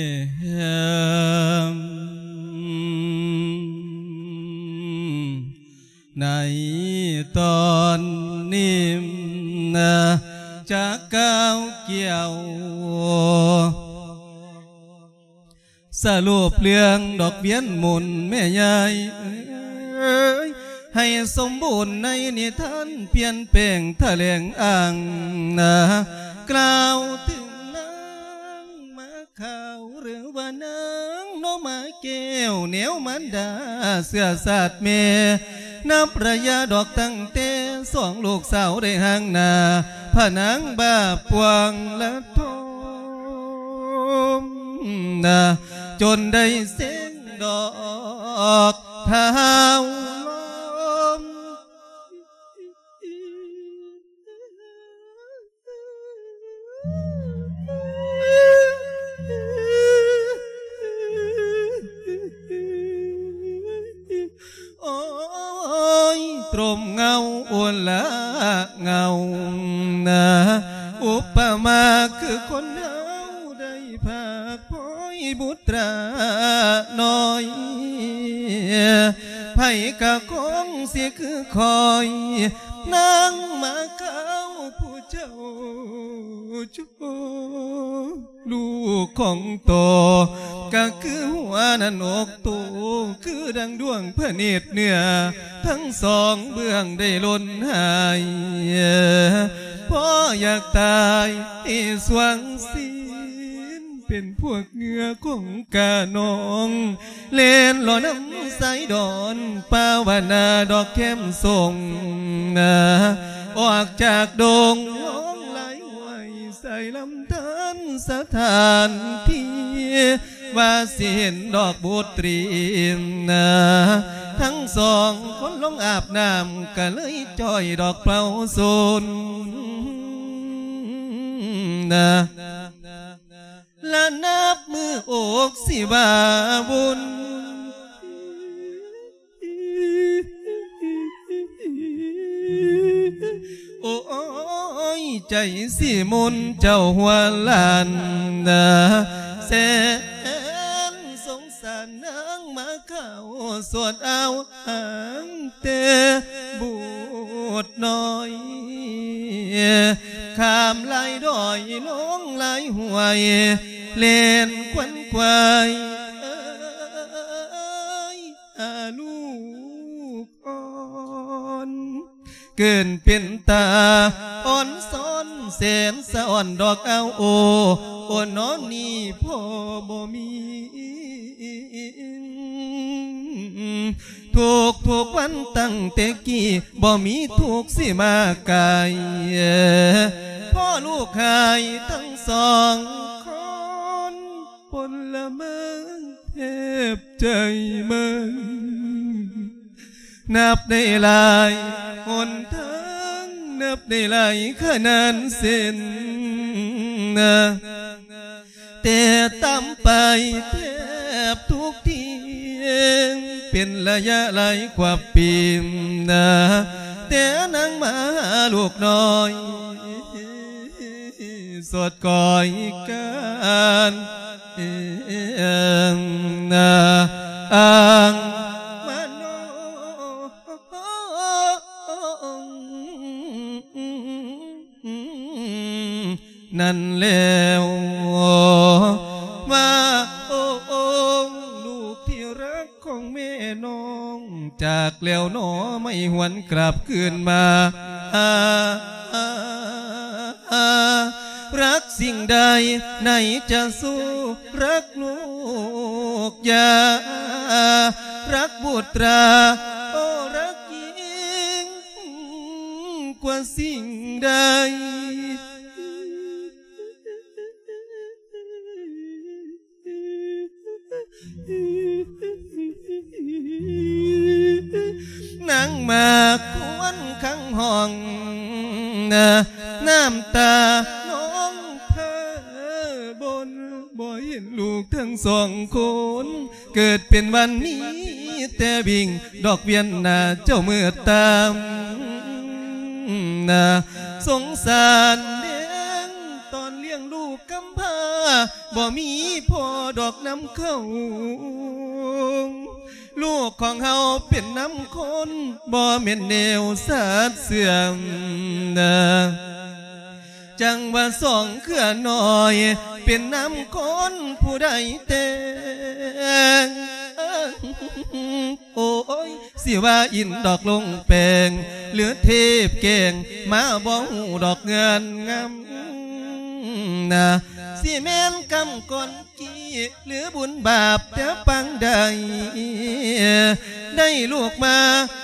ໃນຕອນນີ້ນະ ຈະກ່າວກ່ຽວ ສະຫຼຸບເລື່ອງດອກວຽນໝູນແມ່ຍາຍເອີຍ ໃຫ້ສົມບູນໃນນິທານ ປ່ຽນແປງຖະແຫຼງອ້າງນະ ກ່າວເຖິງນາງມາຂາວ ຫຼືວ່ານາງໜໍ່ມາແກ້ວ ແນວມານດາເຊື້ອຊາດແມ່ ນັບໄລຍະດອກຕັ້ງແຕ່ສອງລູກສາວໄດ້ຫ່າງໜ້າ ພະນາງບາບປວງລະທົມນະ ຈົນໄດ້ເສັງດອກທ້າວລົມ. ໂອ້ຍ ຕົມເງົາ ໂອລະເງົານະ ອຸປະມາຄືຄົນເຮົາໄດ້ພາກພ້ອຍບຸດຕານ້ອຍ ໃຜກະຄົງຊິຄືຂ້ອຍ ນາງໝາຂາວຜູ້ເຈົ້າ ລູກຂອງໂຕ ກະຄືຫົວໜ້າອົກໂຕ ຄືດັ່ງດວງພະເນດເນື້ອ ທັງສອງເບື້ອງໄດ້ຫຼົ່ນຫາຍ ພໍຢາກຕາຍໃຫ້ສວງສີນ ເປັນພວກເຫຍື່ອຂອງການ້ອງ ແລ່ນຫຼໍ່ນຳສາຍດອນ ປາວະນາດອກແຄມສົ່ງນາ ອອກຈາກດົງ ຮ້ອງໄຫ້ໄຫວ້ ໃສ່ລຳທານສະຖານທີ່ ວ່າຊິເຫັນດອກບຸດຕີນນາ ທັງສອງຄົນລົງອາບນ້ຳ ກະເລີຍຈ່ອຍດອກເປົ່າສົນນາ. ປາບຸນ. ໂອ້ຍ ໃຈຊິມົນເຈົ້າຫົວລ້ານນາ ແສນສົງສານນາງມາເຂົ້າສວດອາວຫາງແຕ່ບຸດນ້ອຍ ຂ້າມຫຼາຍດອຍ ລົງຫຼາຍຫ້ວຍ ແລ່ນຂວັນຂວາຍ ເອີຍ ອາລູກອ່ອນ ເກີນເປັນຕາອ່ອນຊ້ອນ ແສນສະອອນດອກອາວໂອ ໂອນອນນີ້ພໍ່ບໍ່ມີ ທຸກໆວັນຕັ້ງແຕ່ກີ້ ບໍ່ມີທຸກຊິມາກາຍ ພໍ່ລູກຫາຍທັງສອງຄົນ ພົນລະເມືອງແທບໃຈເມີ ນັບໄດ້ຫຼາຍຫົນທາງ ນັບໄດ້ຫຼາຍຂະໜານເສັ້ນ ແຕ່ຕາມໄປແທບທຸກທີ ເປັນໄລຍະຫຼາຍກວ່າປີ ແຕ່ນາງມາຫາລູກນ້ອຍ ສອດກ້ອຍການ ເອີງນາ ອ່າງມານອງ ນັ້ນແລ້ວວ່າ ໂອ້ ໂອ້ ລູກທີ່ຮັກຂອງແມ່ນ້ອງ ຈາກແລ້ວໜໍ ໄມ່ຫວນກລັບຄືນມາ ອາ ອາ ອາ ລັກສິ່ງໃດໃນຈະສູ້ ລັກລູກຢ່າ ລັກບຸດຕາ ໂອ້ ລັກຍິ່ງກວ່າສິ່ງໃດ ນາງມາຄວນຄັງຫ້ອງ ນ້ຳຕານອງພາບົນ ບໍ່ເຫັນລູກທັງສອງຄົນ ເກີດເປັນວັນມີແຕ່ວິ່ງ ດອກວຽນໜ້າເຈົ້າມືດຕາມ ສົງສານແດງຕອນລ້ຽງລູກກຳພ້າ ບໍ່ມີພໍ່ດອກນຳເຂົ້າ ລູກຂອງເຮົາເປັນນຳຄົນ ບໍ່ແມ່ນແນວຊາດເສື່ອມ ຈັ່ງວ່າສອງເຄືອນ້ອຍ ເປັນນຳຄົນຜູ້ໃດແຕ່ງ ໂອ້ຍ ຊິວ່າອິນດອກລົງແປງ ຫຼືເທບແກງ ມາບໍ່ຮູ້ດອກເງືອນງຳນາ ຊິແມ່ນກຳກ່ອນ ກີ້ ຫຼືບຸນບາບແຕ່ປາງໃດ ໄດ້ລູກມາ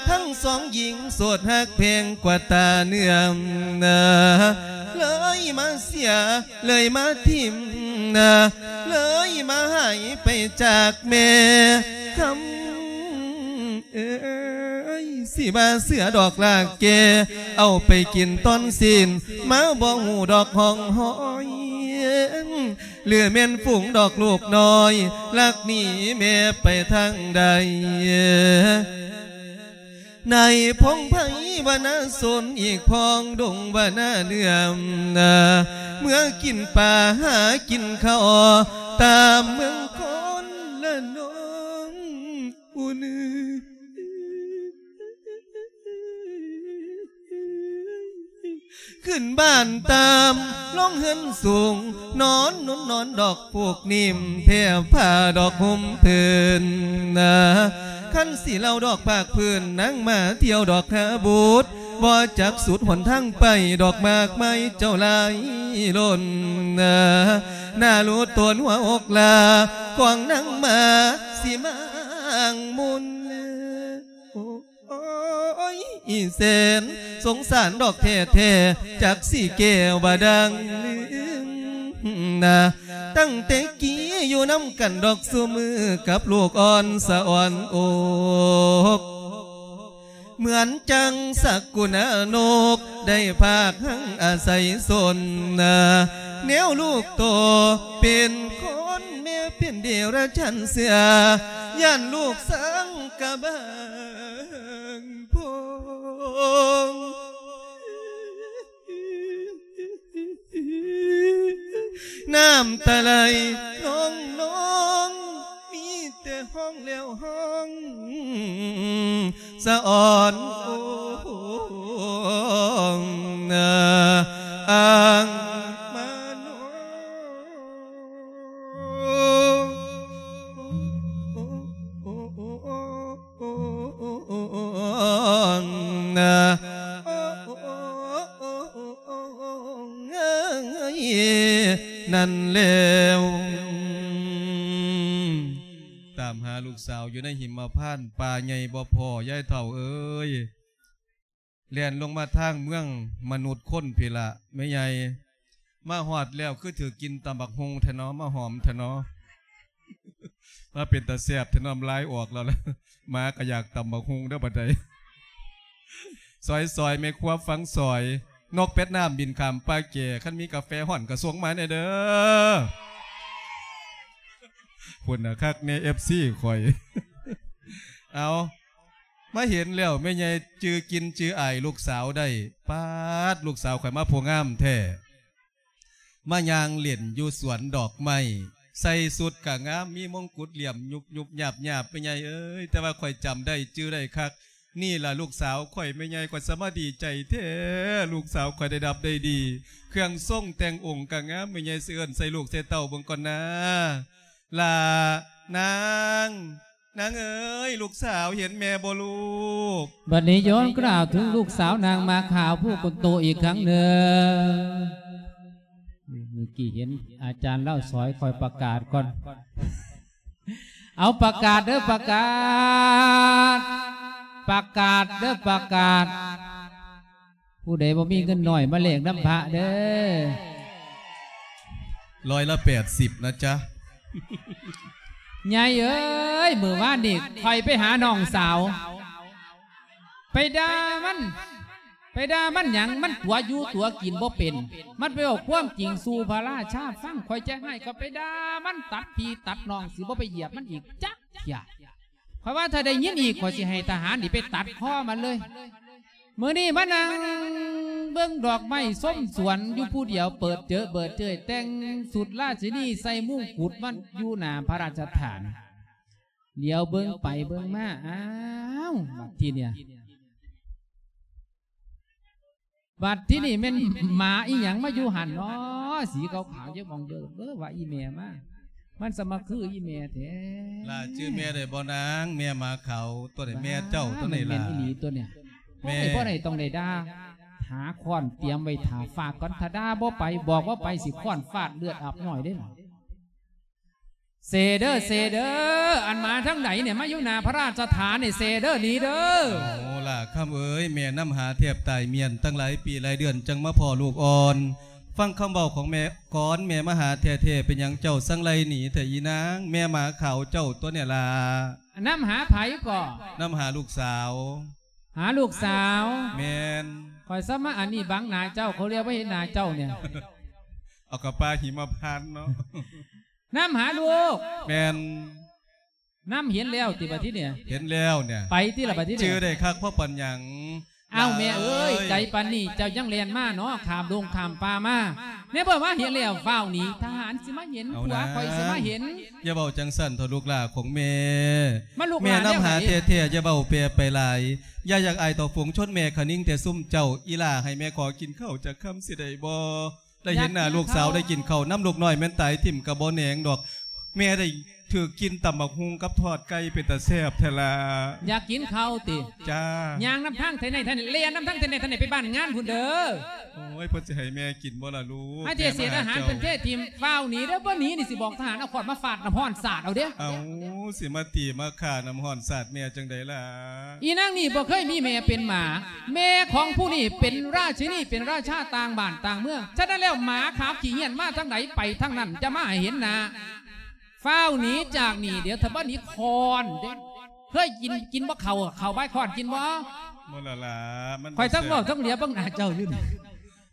ທັງສອງຍິງ ໂສດຮັກແພງກວ່າຕາເນື້ອ ເລີຍມາເສຍ ເລີຍມາຖິ້ມ ເລີຍມາຫາຍໄປຈາກແມ່ຄຳ ເອີຍ ຊິວ່າເສືອດອກລາກແກ່ ເອົາໄປກິນຕອນຊີ້ນ ມາບໍ່ຮູ້ດອກຮ່ອງຮອຍ ຫຼືແມ່ນຝູງດອກລູກນ້ອຍ ລັກໜີແມ່ໄປທາງໃດ ໃນພົງໄພວະນາຊົນ ອີກພ້ອງດົງວະນາເໜືອມ ເມືອກິນປາຫາກິນເຂົ້າ ຕາມເມືອງຄົນລະນ້ອງ ອຸນ ຂຶ້ນບ້ານຕາມ ລົງເຮືອນສູງ ນອນນຸນນອນດອກປູກນິ້ມ ແຜ່ຜ້າດອກຫົ່ມພື້ນນາ ຄັນຊິເລົ່າດອກພາກພື້ນ ນາງມາທ່ຽວດອກຫາບຸດ ບໍ່ຈັກສຸດຫົນທາງໄປ ດອກມາກໄມ້ເຈົ້າຫຼາຍລົ້ນນາ ໜ້າລູດໂຕນຫົວອົກຫຼ້າ ຂອງນາງມາ ຊິມາອ້າງມຸນ ໂອ້ຍ ອີແສນສົງສານດອກແທ້ໆ ຈັກຊິແກ້ວ່າດັ່ງນາ ຕັ້ງແຕ່ກີ້ຢູ່ນຳກັນດອກຊຸມື້ ກັບລູກອ່ອນສະອອນອົກ ເໝືອນຈັ່ງສັກກຸນານົກ ໄດ້ພາກຮັ່ງອາໄສຊົນນາ ແນວລູກໂຕເປັນຄົນ ແມ່ເປັນເດລະຈານເສືອ ຢ້ານລູກສັງກະບາງໂພງ ນ້ຳຕາໄຫຼນອງໆ ມີແຕ່ຮ້ອງແລ້ວຮ້ອງສະອອນ ໂອ້ ອາງມາໂນ ນັ້ນແລ້ວ ຕາມຫາລູກສາວຢູ່ໃນຫິມມະພານປ່າໃຫຍ່ບໍ່ພໍ້ ຍາຍເຖົ້າເອີຍ. ແລ່ນລົງມາທາງເມືອງມະນຸດຄົນພີ້ລະ ແມ່ໃຫຍ່ ມາຮອດແລ້ວຄືຖືກກິ່ນຕຳບັກຫຸ່ງແທ້ນໍ ມາຫອມແທ້ນໍ ມາເປັນຕາແຊບແທ້ນໍ ນ້ຳລາຍອອກແລ້ວລະ ໝາກະຢາກຕຳບັກຫຸ່ງເດີບັດໃດ ຊອຍໆ ແມ່ຄົວຟັງຊອຍ ນົກເປັດນ້ຳບິນຂ້າມປ່າແກ່ ຄັນມີກາແຟຮ້ອນກະສົ່ງມາແດ່ເດີ ພຸ້ນນະ ຄັກແນ່ ເອັຟຊີ ຂ້ອຍ ເອົາ ມາເຫັນແລ້ວແມ່ໃຫຍ່ຈື່ກິ່ນຈື່ອາຍລູກສາວໄດ້ ປາດ ລູກສາວຂ້ອຍມາຜູ້ງາມແທ້ ມາຍ່າງຫຼິ້ນຢູ່ສວນດອກໄມ້ ໃສ່ຊຸດກະງາມ ມີມົງກຸດຫຼ້ຽມຍຸບໆຍາບໆ ແມ່ໃຫຍ່ເອີຍ ແຕ່ວ່າຂ້ອຍຈຳໄດ້ຈື່ໄດ້ຄັກ ນີ້ລະລູກສາວຂ້ອຍ ແມ່ໃຫຍ່ ຂ້ອຍສະມາດີໃຈແທ້ ລູກສາວຂ້ອຍໄດ້ດັບໄດ້ດີ ເຄື່ອງຊົງແຕ່ງອົງກະງາມ ແມ່ໃຫຍ່ຊິເອີ້ນໃສ່ລູກໃສ່ເຕົ້າເບິ່ງກ່ອນນາ ຫຼ້ານາງ ນາງເອີຍ ລູກສາວເຫັນແມ່ບໍ່ລູກ? ບັດນີ້ຍ້ອນກ່າວເຖິງລູກສາວນາງໝາຂາວຜູ້ຄົນໂຕອີກຄັ້ງໜຶ່ງ. ມື້ກີ້ເຫັນອາຈານລາວສອຍ ຂ້ອຍປະກາດກ່ອນ. ເອົາປະກາດເດີ ປະກາດ, ປະກາດເດີ ປະກາດ. ຜູ້ໃດບໍ່ມີເງິນໜ້ອຍມາແລກນຳພະເດີ. ຮ້ອຍລະແປດສິບນະຈ໊ະ. ໃຫຍ່ເອີຍ ມື້ວານນີ້ຂ້ອຍໄປຫານ້ອງສາວ ໄປດ່າມັນ ໄປດ່າມັນຫຍັງ? ມັນຕົວຢູ່ຕົວກິນບໍ່ເປັນ ມັນໄປເວົ້າຄວາມຈິງສູ່ພະລາຊາຟັງ. ຂ້ອຍໃຈຮ້າຍ ຂ້ອຍໄປດ່າມັນ ຕັດພີ່ຕັດນ້ອງ ຊິບໍ່ໄປຢຽບມັນອີກຈັກເທື່ອ. ຂ້ອຍວ່າຖ້າໄດ້ຍິນອີກ ຂ້ອຍຊິໃຫ້ທະຫານນີ້ໄປຕັດຄໍມັນເລີຍ. ມື້ນີ້ມານັ່ງເບິ່ງດອກໄມ້ຊົມສວນຢູ່ຜູ້ດຽວ ເປີດເຈີເບີດເຈີຍ ແຕ່ງຊຸດລາຊິນີ ໃສ່ມຸງກຸດມາຢູ່ໜ້າພະລາຊະຖານ. ຫຼຽວເບິ່ງໄປເບິ່ງມາ ອ້າວ ບັດທີເນີ້ຍ ບັດທີນີ້ແມ່ນໝາອີ່ຫຍັງມາຢູ່ຫັ້ນເນາະ ສີຂາວໆ ຢູ່ໝ່ອງເດີມ. ເອີ ວ່າອີ່ແມ່ມາ ມັນສະມາຄືອີ່ແມ່ແທ້. ຫຼ້າຈື່ແມ່ໄດ້ບໍ່ນາງ? ແມ່ໝາຂາວຕົວນີ້ ແມ່ເຈົ້າຕົວນີ້ຫຼ້າ. ແມ່ນອີ່ຫຼີຕົວເນີ້ຍ. ແມ່ ບໍ່ໄດ້ ຕ້ອງໄດ້ດ່າ ຫາຄ້ອນຕຽມໄວ້ຖ້າຟາດກ່ອນ ຖ້າດ່າບໍ່ໄປ ບອກວ່າໄປ ຊິຄ້ອນຟາດເລືອດອາບຍ້ອຍເດ້. ເຊເດີ ເຊເດີ ອັນມາທາງໃດນີ້ ມາຢູ່ໜ້າພະລາຊະຖານນີ້ ເຊເດີ ໜີເດີ. ໂອ້ ຫຼ້າຄຳເອີຍ ແມ່ນຳຫາແທບຕາຍ ມ້ຽນຕັ້ງຫຼາຍປີຫຼາຍເດືອນ ຈັ່ງມາພໍ້ລູກອ່ອນ. ຟັງຄຳເວົ້າຂອງແມ່ກ່ອນ ແມ່ມາຫາແທ້ໆ ເປັນຫຍັງເຈົ້າຈັ່ງໄລ່ໜີແທ້ອີ່ນາງ? ແມ່ໝາຂາວເຈົ້າຕົວນີ້ລະ. ນຳຫາໃຜກໍ? ນຳຫາລູກສາວ. ຫາລູກສາວ? ແມ່ນ. ຂ້ອຍສະມາອັນນີ້ບັງໜ້າເຈົ້າ ເຂົາລຽວບໍ່ເຫັນໜ້າເຈົ້ານີ້. ເອົາກະປ່າຫິມະພານເນາະ. ນຳຫາລູກ. ແມ່ນ. ນຳເຫັນແລ້ວຕິບັດທີນີ້? ເຫັນແລ້ວເນຍ. ໄປຕິລະບັດທີນີ້? ຈື່ໄດ້ຄັກພໍປານຫຍັງ. ອ້າວ ຫຼ້າເອີຍ ແມ່ເອີຍ ໄກປານນີ້ເຈົ້າຍັງແລ່ນມາເນາະ ຂ້າມດົງຂ້າມປ່າມາ. ໃນເມື່ອວ່າເຫັນແລ້ວຟ້າວໜີ ທະຫານຊິມາເຫັນ ເອົາ ຜົວ ນະ ຂ້ອຍຊິມາເຫັນ. ຢ່າເວົ້າຈັ່ງຊັ້ນເຖາະລູກຫຼ້າຂອງແມ່. ມາລູກຫຼ້າ ແມ່ນຳຫາແທ້ໆ ຢ່າເວົ້າແປໄປຫຼາຍ. ຢ່າຢາກອາຍຕໍ່ຝູງຊົນແມ່ຄະນິງແຕ່ຊຸມເຈົ້າ. ອີຫຼ້າ ໃຫ້ແມ່ຂໍກິນເຂົ້າຈັກຄຳຊິໄດ້ບໍ່? ໄດ້ເຫັນໜ້າລູກສາວ ຢາກກິນເຂົ້າ ໄດ້ກິນເຂົ້ານຳລູກນ້ອຍ ແມ່ນຕາຍຖິ້ມກະບໍ່ແໜງດອກ. ແມ່ໄດ້ຖືກກິນຕຳບັກຫຸ່ງກັບທອດໄກ່ ເປັນຕາແຊບແທ້ລະ. ຢາກກິນເຂົ້າຕິ? ຈ້າ. ຍ່າງນຳທາງໄທໃນໄທໃນ ແລ່ນນຳທາງໄທໃນໄທໃນ ໄປບ້ານງານພຸ້ນເດີ. ໂອ້ຍ ເພິ່ນຊິໃຫ້ແມ່ກິນບໍ່ລະລູກ? ໃຫ້ເສດອາຫານເພິ່ນເທຖິ້ມ ຟ້າວໜີເດີ. ບໍ່ໜີນີ້ຊິບອກທະຫານເອົາຄ້ອນມາຟາດ ນ້ຳຮ້ອນສາດເອົາເດ້. ເອົ້າ ຊິມາຕີມາຂ້າ ນ້ຳຮ້ອນສາດແມ່ຈັ່ງໃດລະ? ອີນາງນີ້ບໍ່ເຄີຍມີແມ່ເປັນໝາ. ແມ່ຂອງຜູ້ນີ້ເປັນລາຊິນີ ເປັນລາຊາຕ່າງບ້ານຕ່າງເມືອງ. ສະນັ້ນແລ້ວ ໝາຂາວຂີ້ເຫຍື້ອນມາທາງໃດໄປທາງນັ້ນ ຢ່າມາໃຫ້ເຫັນໜ້າ. ຟ້າວໜີຈາກນີ້ ດຽວຖ້າບໍ່ໜີຄ້ອນເດ້. ເຄີຍກິນ ກິນບໍ່ເຂົ້າ ເຂົ້າບາຍຄ້ອນກິນບໍ່? ບໍ່ລະລະ ມັນ ຂ້ອຍທັງເວົ້າທັງຫຼຽວເບິ່ງໜ້າເຈົ້າຢູ່ນີ້.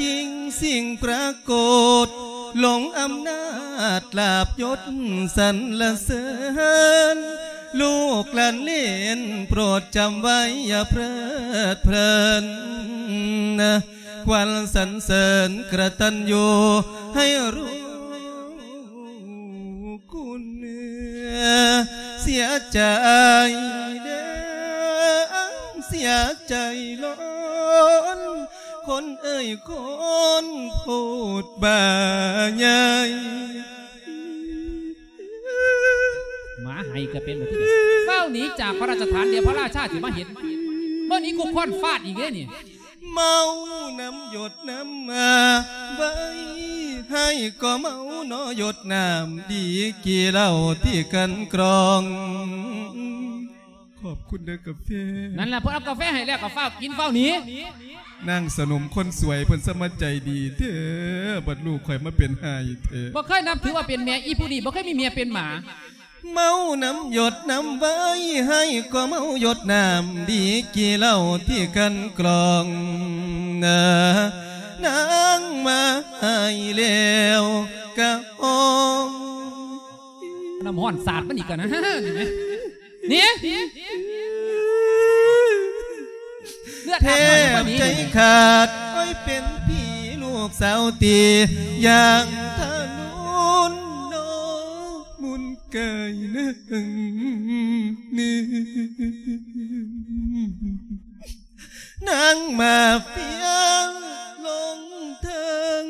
ຈິງສິ່ງປາກົດ ຫຼົງອຳນາດລາບຍົດສັນລະເສີນ ລູກຫຼານເລນໂປດຈຳໄວ້ຢ່າເພີດເພີນ ຄວັນສັນເສີນກະຕັນຍູໃຫ້ຮູ້ ຄຸນເສຍໃຈເດີ້ ເສຍໃຈຫຼອນ ຄົນເອີຍຄົນໂພດບາໃຫຍ່. ໝາໄຫ້ກະເປັນແບບນີ້ ເຝົ້າໜີຈາກພະລາຊະຖານ ດຽວພະລາຊາຊິມາເຫັນ ເບິ່ງນີ້ກູຄ້ອນຟາດອີກເດ້ນີ້. ເມົານ້ຳຢົດນ້ຳມາໄວ ໃຫ້ກໍເມົາເນາະຢົດນ້ຳ ດີກີເຫຼົ້າທີ່ກັ່ນກລອງ. ຂອບຄຸນເດີ້ກາເຟ. ນັ້ນລະ ເພິ່ນເອົາກາເຟໃຫ້ແລ້ວກໍຟ້າວກິນຟ້າວໜີ. ນາງສະໜົມຄົນສວຍເພິ່ນສະມາໃຈດີແທ້ ບັດລູກຂ້ອຍມາເປັນຮ້າຍແທ້. ບໍ່ເຄີຍນັບຖືວ່າເປັນແມ່ ອີຜູ້ນີ້ບໍ່ເຄີຍມີເມຍເປັນໝາ. ເມົານ້ຳຢົດນ້ຳໄວ ໃຫ້ກໍເມົາຢົດນ້ຳ ດີກີເຫຼົ້າທີ່ກັ່ນກລອງ. ນາງມາໃຫ້ແລ້ວກະອອງ ນ້ຳຮ້ອນສາດມັນອີກກະນະ ນີ້ແມະ ນີ້ ເລືອດອາບໃໝ່ກວ່ານີ້ ແທບໃຈຂາດ ໂອ້ຍ ເປັນຜີລູກສາວຕີ ຢ່າງທະນຸນເນາະ ມຸນກາຍນາງນີ້ ນາງມາເຟຍນລົງເທິງ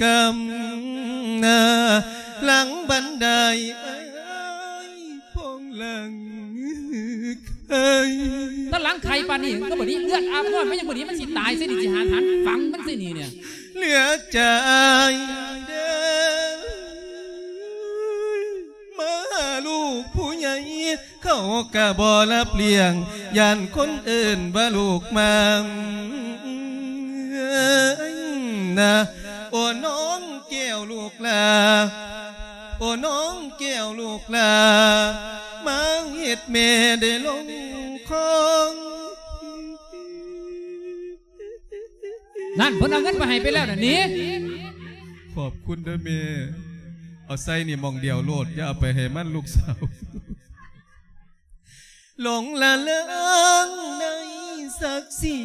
ກຳ ຫຼັງບັນໄດ ເອີຍ ພອງຫຼັງໄຄ ຖ້າຫຼັງໄຄປານນີ້ກໍບໍ່ດີ ເລືອດອາບນ້ອຍ ມັນຍັງບໍ່ດີ ມັນຊິຕາຍຊະນີ້ ຊິຫາຖັນຝັງມັນຊະນີ້ເນຍ ເຫຼືອໃຈເດີ ມາຫາລູກຜູ້ໃຫຍ່ ເຂົາກະບໍ່ຮັບລ້ຽງ ຢ້ານຄົນເອີ້ນວ່າລູກມານນະ ໂອ້ ນ້ອງແກ້ວລູກຫຼ້າ ໂອ້ ນ້ອງແກ້ວລູກຫຼ້າ ມາເຮັດແມ່ໄດ້ລົງຄອງ. ນັ້ນ ເພິ່ນເອົາເງິນໄປໃຫ້ໄປແລ້ວນະ ໜີ. ຂອບຄຸນເດີ້ແມ່ ເອົາໃສ່ນີ້ໝ່ອງດຽວໂລດ ຢ່າເອົາໄປໃຫ້ມັນ ລູກສາວ. ຫຼົງລະເລີງໃນສັກສີ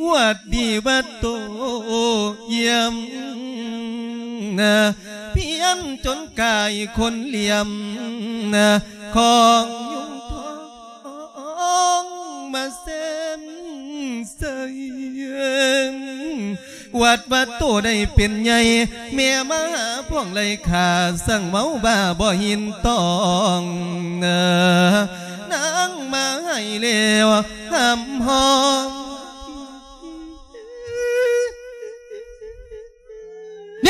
ອວດດີວ່າໂຕຢ້ຽມນະ ພຽນຈົນກາຍຄົນຫຼ້ຽມນະ ຂອງຍຸງທອງມາແຊນໃສ່ ອວດວ່າໂຕໄດ້ເປັນໃຫຍ່ ແມ່ມະຫາພວງໄລ່ຂ້າ ສັ່ງເມົາບ້າບໍ່ຫີນຕອງ ນາງມາໃຫ້ແລ້ວຫ້ຳຮ້ອງ ເນ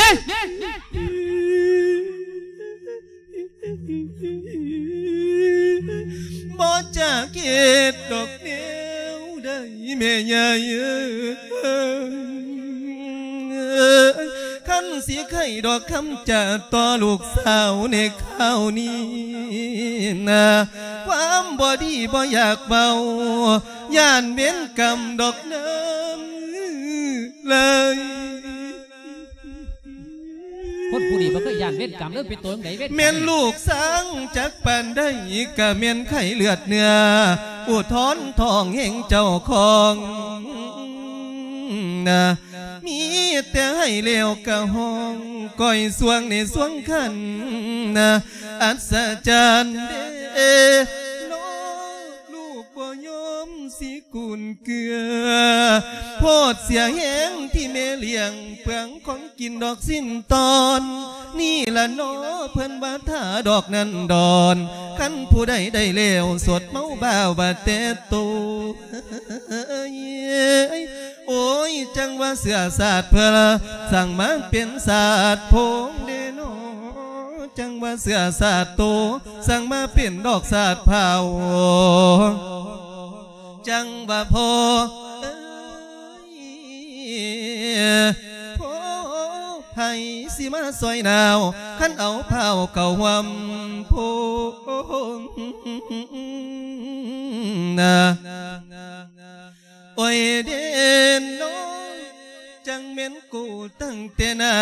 ບໍ່ຈັກເຮັດດອກແນວໃດແມ່ໃຫຍ່ເອີຍ ຄັນຊິໄຂດອກຄຳຈາຕໍ່ລູກສາວໃນຄາວນີ້ນະ ຄວາມບໍ່ດີບໍ່ຢາກເວົ້າ ຢ້ານເວນກຳດອກນາງເອີຍ. ຄົນຜູ້ນີ້ບໍ່ເຄີຍຢ້ານເວນກຳເລີຍ ເປັນໂຕຈັ່ງໃດເວນກຳ ແມ່ນລູກຊ້າງຈັກປານໃດ ກະແມ່ນໄຂ້ເລືອດເນື້ອ ອຸທອນທ້ອງແຫ່ງເຈົ້າຂອງນະ ມີແຕ່ໄຫ້ແລ້ວກະຮ້ອງ ກ່ອຍຊ່ວງໃນຊ່ວງຄັນນະ ອັດສະຈັນເດເນາະ ລູກບໍ່ຍອມຊິ ກຸນເກືອ ໂພດເສຍແຮງທີ່ແມ່ລ້ຽງ ເປືອງຂອງກິນດອກສິ້ນຕອນ ນີ້ລະເນາະ ເພິ່ນວ່າຖ້າດອກນັ້ນດອນ ຄັນຜູ້ໃດໄດ້ແລ້ວ ສົດເມົາບ້າວ່າແຕ່ໂຕ ໂອ້ຍ ຈັ່ງວ່າເຊື້ອຊາດເພິ່ນ ສັ່ງມາເປັນຊາດໂພງເດເນາະ ຈັ່ງວ່າເຊື້ອຊາດໂຕ ສັ່ງມາເປັນດອກຊາດເຜົ່າ ຈັ່ງວ່າພໍ່ເອີຍ ພໍ່ໃຜຊິມາຊ່ອຍໜາວ ຄັນເອົາພ້າວເຂົ້າຮ່ວມໂພງນະ ໂອ້ຍເດເນາະ. ຈັ່ງແມ່ນກູຕັ້ງແຕ່ໜ້າ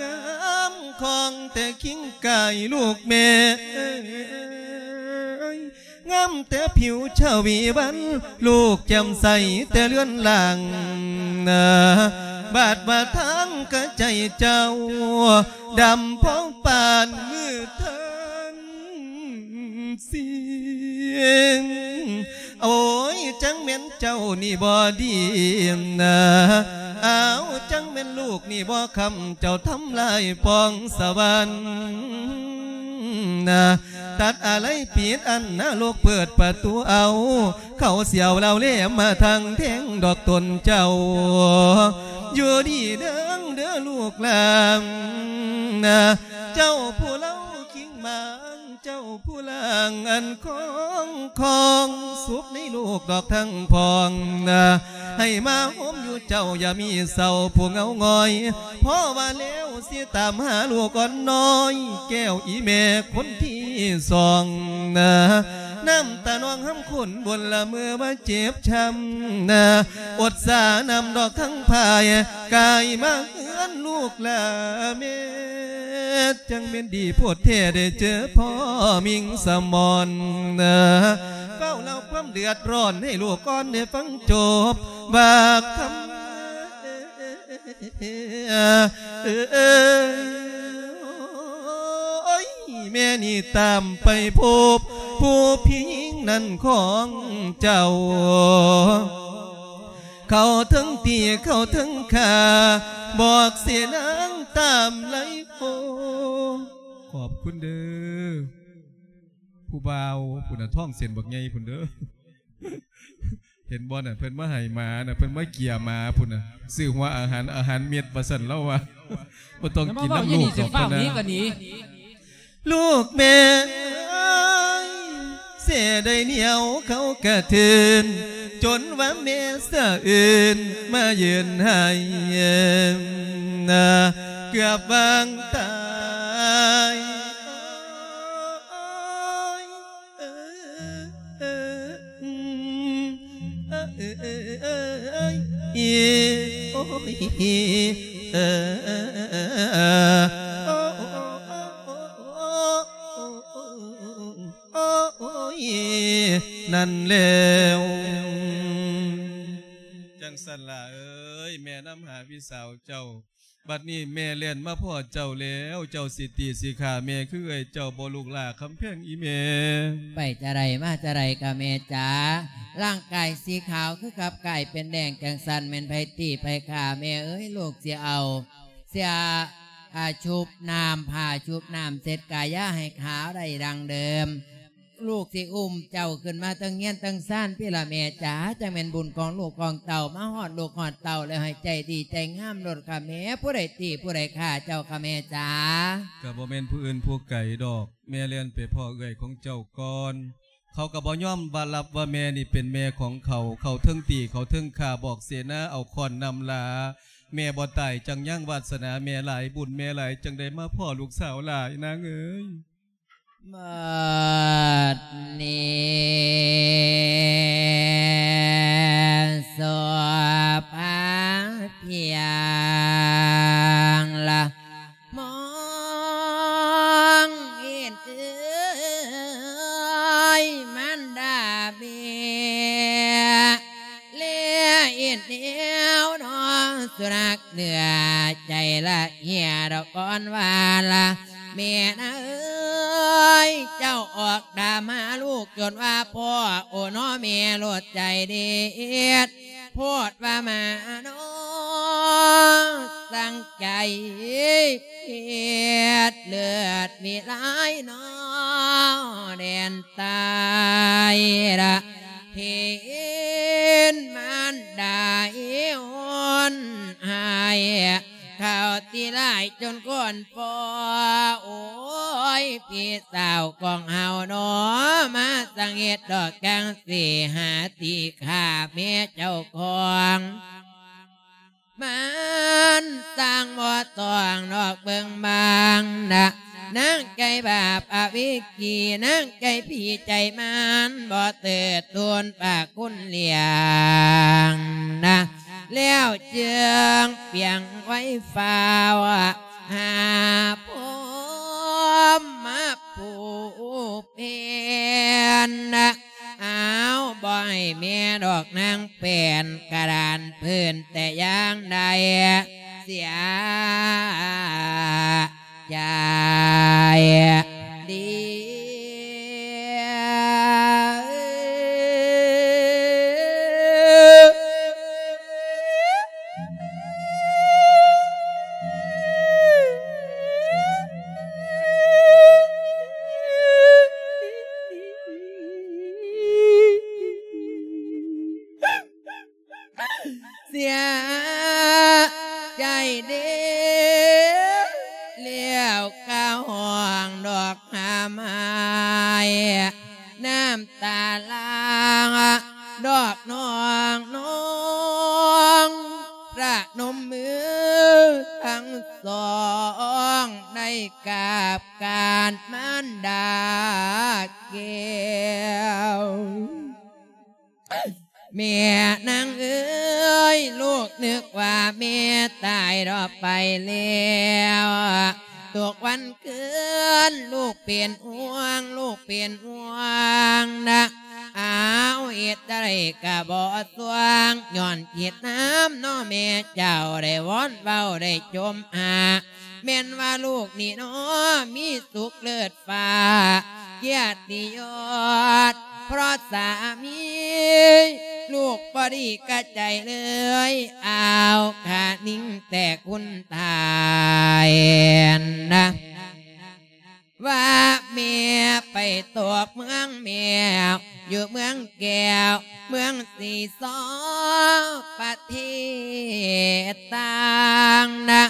ງາມຄອງແຕ່ຄິງກາຍລູກແມ່ເອີຍ ງາມແຕ່ຜິວຊະວີວັນ ລູກແຈ່ມໃສແຕ່ເລືອນລ່າງນາ ບາດວ່າທາງກະໃຈເຈົ້າ ດຳພໍປານມືເທິງ ເສຍງ ໂອ້ຍ ຈັ່ງແມ່ນເຈົ້ານີ້ບໍ່ດີນາ ອ້າວ ຈັ່ງແມ່ນລູກນີ້ບໍ່ຄຳ ເຈົ້າທຳລາຍປອງສະຫວັນນາ ຕັດອາໄລປິດອັນນະໂລກ ເປີດປະຕູເອົາ ເຂົາສຽວລາວແລມມາທາງແທງດອກຕົນເຈົ້າ ຢູ່ດີເດີງເດີລູກຫຼານນາ ເຈົ້າຜູ້ເລົ່າຄິງມາງ ເຈົ້າຜູ້ລ່າງອັນຄອງ ຄອງສຸກໃນໂລກດອກທັງພອງນາ ໃຫ້ມາໂຮມຢູ່ເຈົ້າຢ່າມີເສົ້າຜູ້ເຫງົາຫງອຍ ເພາະວ່າແລ້ວຊິຕາມຫາລູກອ່ອນນ້ອຍ ແກ້ວອີແມ່ຄົນທີສອງນາ ນ້ຳຕານອງຫຳຄົນບົນລະເມີວ່າເຈັບຊ້ຳນາ ອົດສານ້ຳດອກທັງພາຍ ກາຍມາເຮືອນລູກຫຼາແມ່ ຈັ່ງແມ່ນດີໂພດແທ້ໄດ້ເຈີພໍ່ມິງສະໝອນນາ ເຝົ້າເລົ່າຄວາມເດືອດຮ້ອນໃຫ້ລູກອ່ອນໄດ້ຟັງຈົບ ບາກຄຳ ເອີຍ ແມ່ນີ້ຕາມໄປພົບຜູ້ພີ່ຍິງນັ້ນຂອງເຈົ້າ ເຂົາເທິງຕີເຂົາເທິງຂ້າ ບອກເສນາງຕາມໄລໂຄ ຂອບຄຸນເດີ ຜູ້ບ່າວພຸ້ນນະ ທ້ອງເສັ້ນບັກໃຫຍ່ພຸ້ນເດີ ເຫັນບໍ່ນະ ເພິ່ນມາໃຫ້ໝານະ ເພິ່ນມາເກຍໝາພຸ້ນນະ ຊື້ຫົວອາຫານ ອາຫານເມັດວ່າຊັ້ນ ລາວວ່າ ບໍ່ຕ້ອງກິນນຳລູກດອກ ເພິ່ນນະ ລູກແມ່ເອີຍ ເສຍໄດ້ໜຽວເຂົາກະເທີນ ຈົນວ່າແມ່ສະເອີນມາຢືນໄຫ້ນາ ເກືອບວາງຕາຍ ໂອ້ຍ ນັ້ນແລ້ວ ຈັ່ງຊັ້ນລະເອີຍ ແມ່ນຳຫາພີ່ສາວເຈົ້າ ບັດນີ້ແມ່ແລ່ນມາພໍ້ເຈົ້າແລ້ວ ເຈົ້າຊິຕີຊິຂ້າແມ່ຄືເອື້ອຍເຈົ້າບໍ່ ລູກຫຼ້າຄຳແພງອີ່ແມ່? ໄປຈະໃດມາຈະໃດກະແມ່ຈ໋າ ຮ່າງກາຍສີຂາວຄືກັບກາຍເປັນແດງ ຈັ່ງຊັ້ນແມ່ນໃຜຕີໃຜຂ້າແມ່ເອີຍ ລູກຊິເອົາເສື້ອຜ້າຊຸບນ້ຳ ຜ້າຊຸບນ້ຳເຊັດກາຍາໃຫ້ຂາວໄດ້ດັ່ງເດີມ ລູກຊິອຸ້ມເຈົ້າຂຶ້ນມາເທິງເຮືອນເທິງຊານພີ້ລະແມ່ຈ໋າ ຈັ່ງແມ່ນບຸນຂອງລູກຂອງເຕົ້າ ມາຮອດລູກຮອດເຕົ້າແລ້ວໃຫ້ໃຈດີໃຈງາມໂລດຄ່າແມ່ ຜູ້ໃດຕີຜູ້ໃດຂ້າເຈົ້າຄ່າແມ່ຈ໋າ ກະບໍ່ແມ່ນຜູ້ອື່ນຜູ້ໄກດອກ ແມ່ແລ່ນໄປພໍ້ເອື້ອຍຂອງເຈົ້າກ່ອນ ເຂົາກະບໍ່ຍອມວ່າຮັບວ່າແມ່ນີ້ເປັນແມ່ຂອງເຂົາ ເຂົາເທິງຕີເຂົາເທິງຂ້າ ບອກເສນາເອົາຄ້ອນນຳລາ ແມ່ບໍ່ຕາຍຈັ່ງຍັງ ວາດສະໜາແມ່ຫຼາຍ ບຸນແມ່ຫຼາຍ ຈັ່ງໄດ້ມາພໍ້ລູກສາວຫຼາຍນາງເອີຍ. ບັດນີ້ສອບພາພຽງລະ ມອງເຫັນເອີຍ ມານດາແມ່ ແລເຫັນແນວນອງສຸນັກເໜືອໃຈລະເຫຍດອກກ່ອນວ່າລະ ແມ່ນາເອີຍ ເຈົ້າອອກຕາມຫາລູກຈົນວ່າພໍ້ ໂອນໍແມ່ໂລດໃຈເດັດ ໂພດວ່າມານໍ ສັງໃຈເຮັດເລືອດມີຫຼາຍນໍ ແດນຕາຍລະ ເຫັນມານດາເອວໂຫນຫາຍ ເຂົາຕິຫຼາຍຈົນຄົນພໍ້ ໂອ້ຍ ພີ່ສາວຂອງເຮົານໍ ມາສັງເຫດດອກຈັ່ງຊີ້ ຫາຕີຂ້າແມ່ເຈົ້າຂອງ ມັນສ້າງບໍ່ຕ້ອງນອກເບິ່ງບາງນະ ນາງໃຈບາບອະວິກີ ນາງໃຈຜີໃຈມານ ບໍ່ເຕີດຕູນປາກຄຸນລ້ຽງນະ ແລ້ວຈຶ່ງ ພຽງໄວຟ້າວຫາພົມມະຜູ້ເປັນ ອ້າວ ບໍ່ໃຫ້ແມ່ດອກນາງແປ້ນກະດານພື້ນແຕ່ຢ່າງໃດ ເສຍໃຈດີ. ເສຍໃຈເດ້ ແລ້ວກະຮ້ອງດອກຮ່ຳໄຫ້ ນ້ຳຕາຫຼາງດອກນ້ອງໆ ປະນົມມືທັງສອງ ໄດ້ກາບການມານດາແກ້ວ. ແມ່ນາງເອີຍ ລູກນຶກວ່າແມ່ຕາຍດອກໄປແລ້ວ ທຸກວັນຄືນລູກເປັນຫ່ວງ ລູກເປັນຫ່ວງນະ ອ້າວ ເຮັດໃດກະບໍ່ຊ່ວງ ຍ້ອນຄິດນຳເນາະແມ່ເຈົ້າ ໄດ້ວອນເວົ້າໄດ້ຈົ່ມຫາ ແມ່ນວ່າລູກນີ້ເນາະ ມີສຸກເລີດຟ້າ ກຽດຕິຍົດ ເພາະສາມີລູກບໍ່ດີກະໃຈເລີຍ ອ້າວ ຂະນິງແຕ່ຄຸນທ່ານນະ ວ່າແມ່ໄປຕົກເມືອງແມວ ຢູ່ເມືອງແກ້ວ ເມືອງສີຊໍ ປະເທດຕ່າງນະ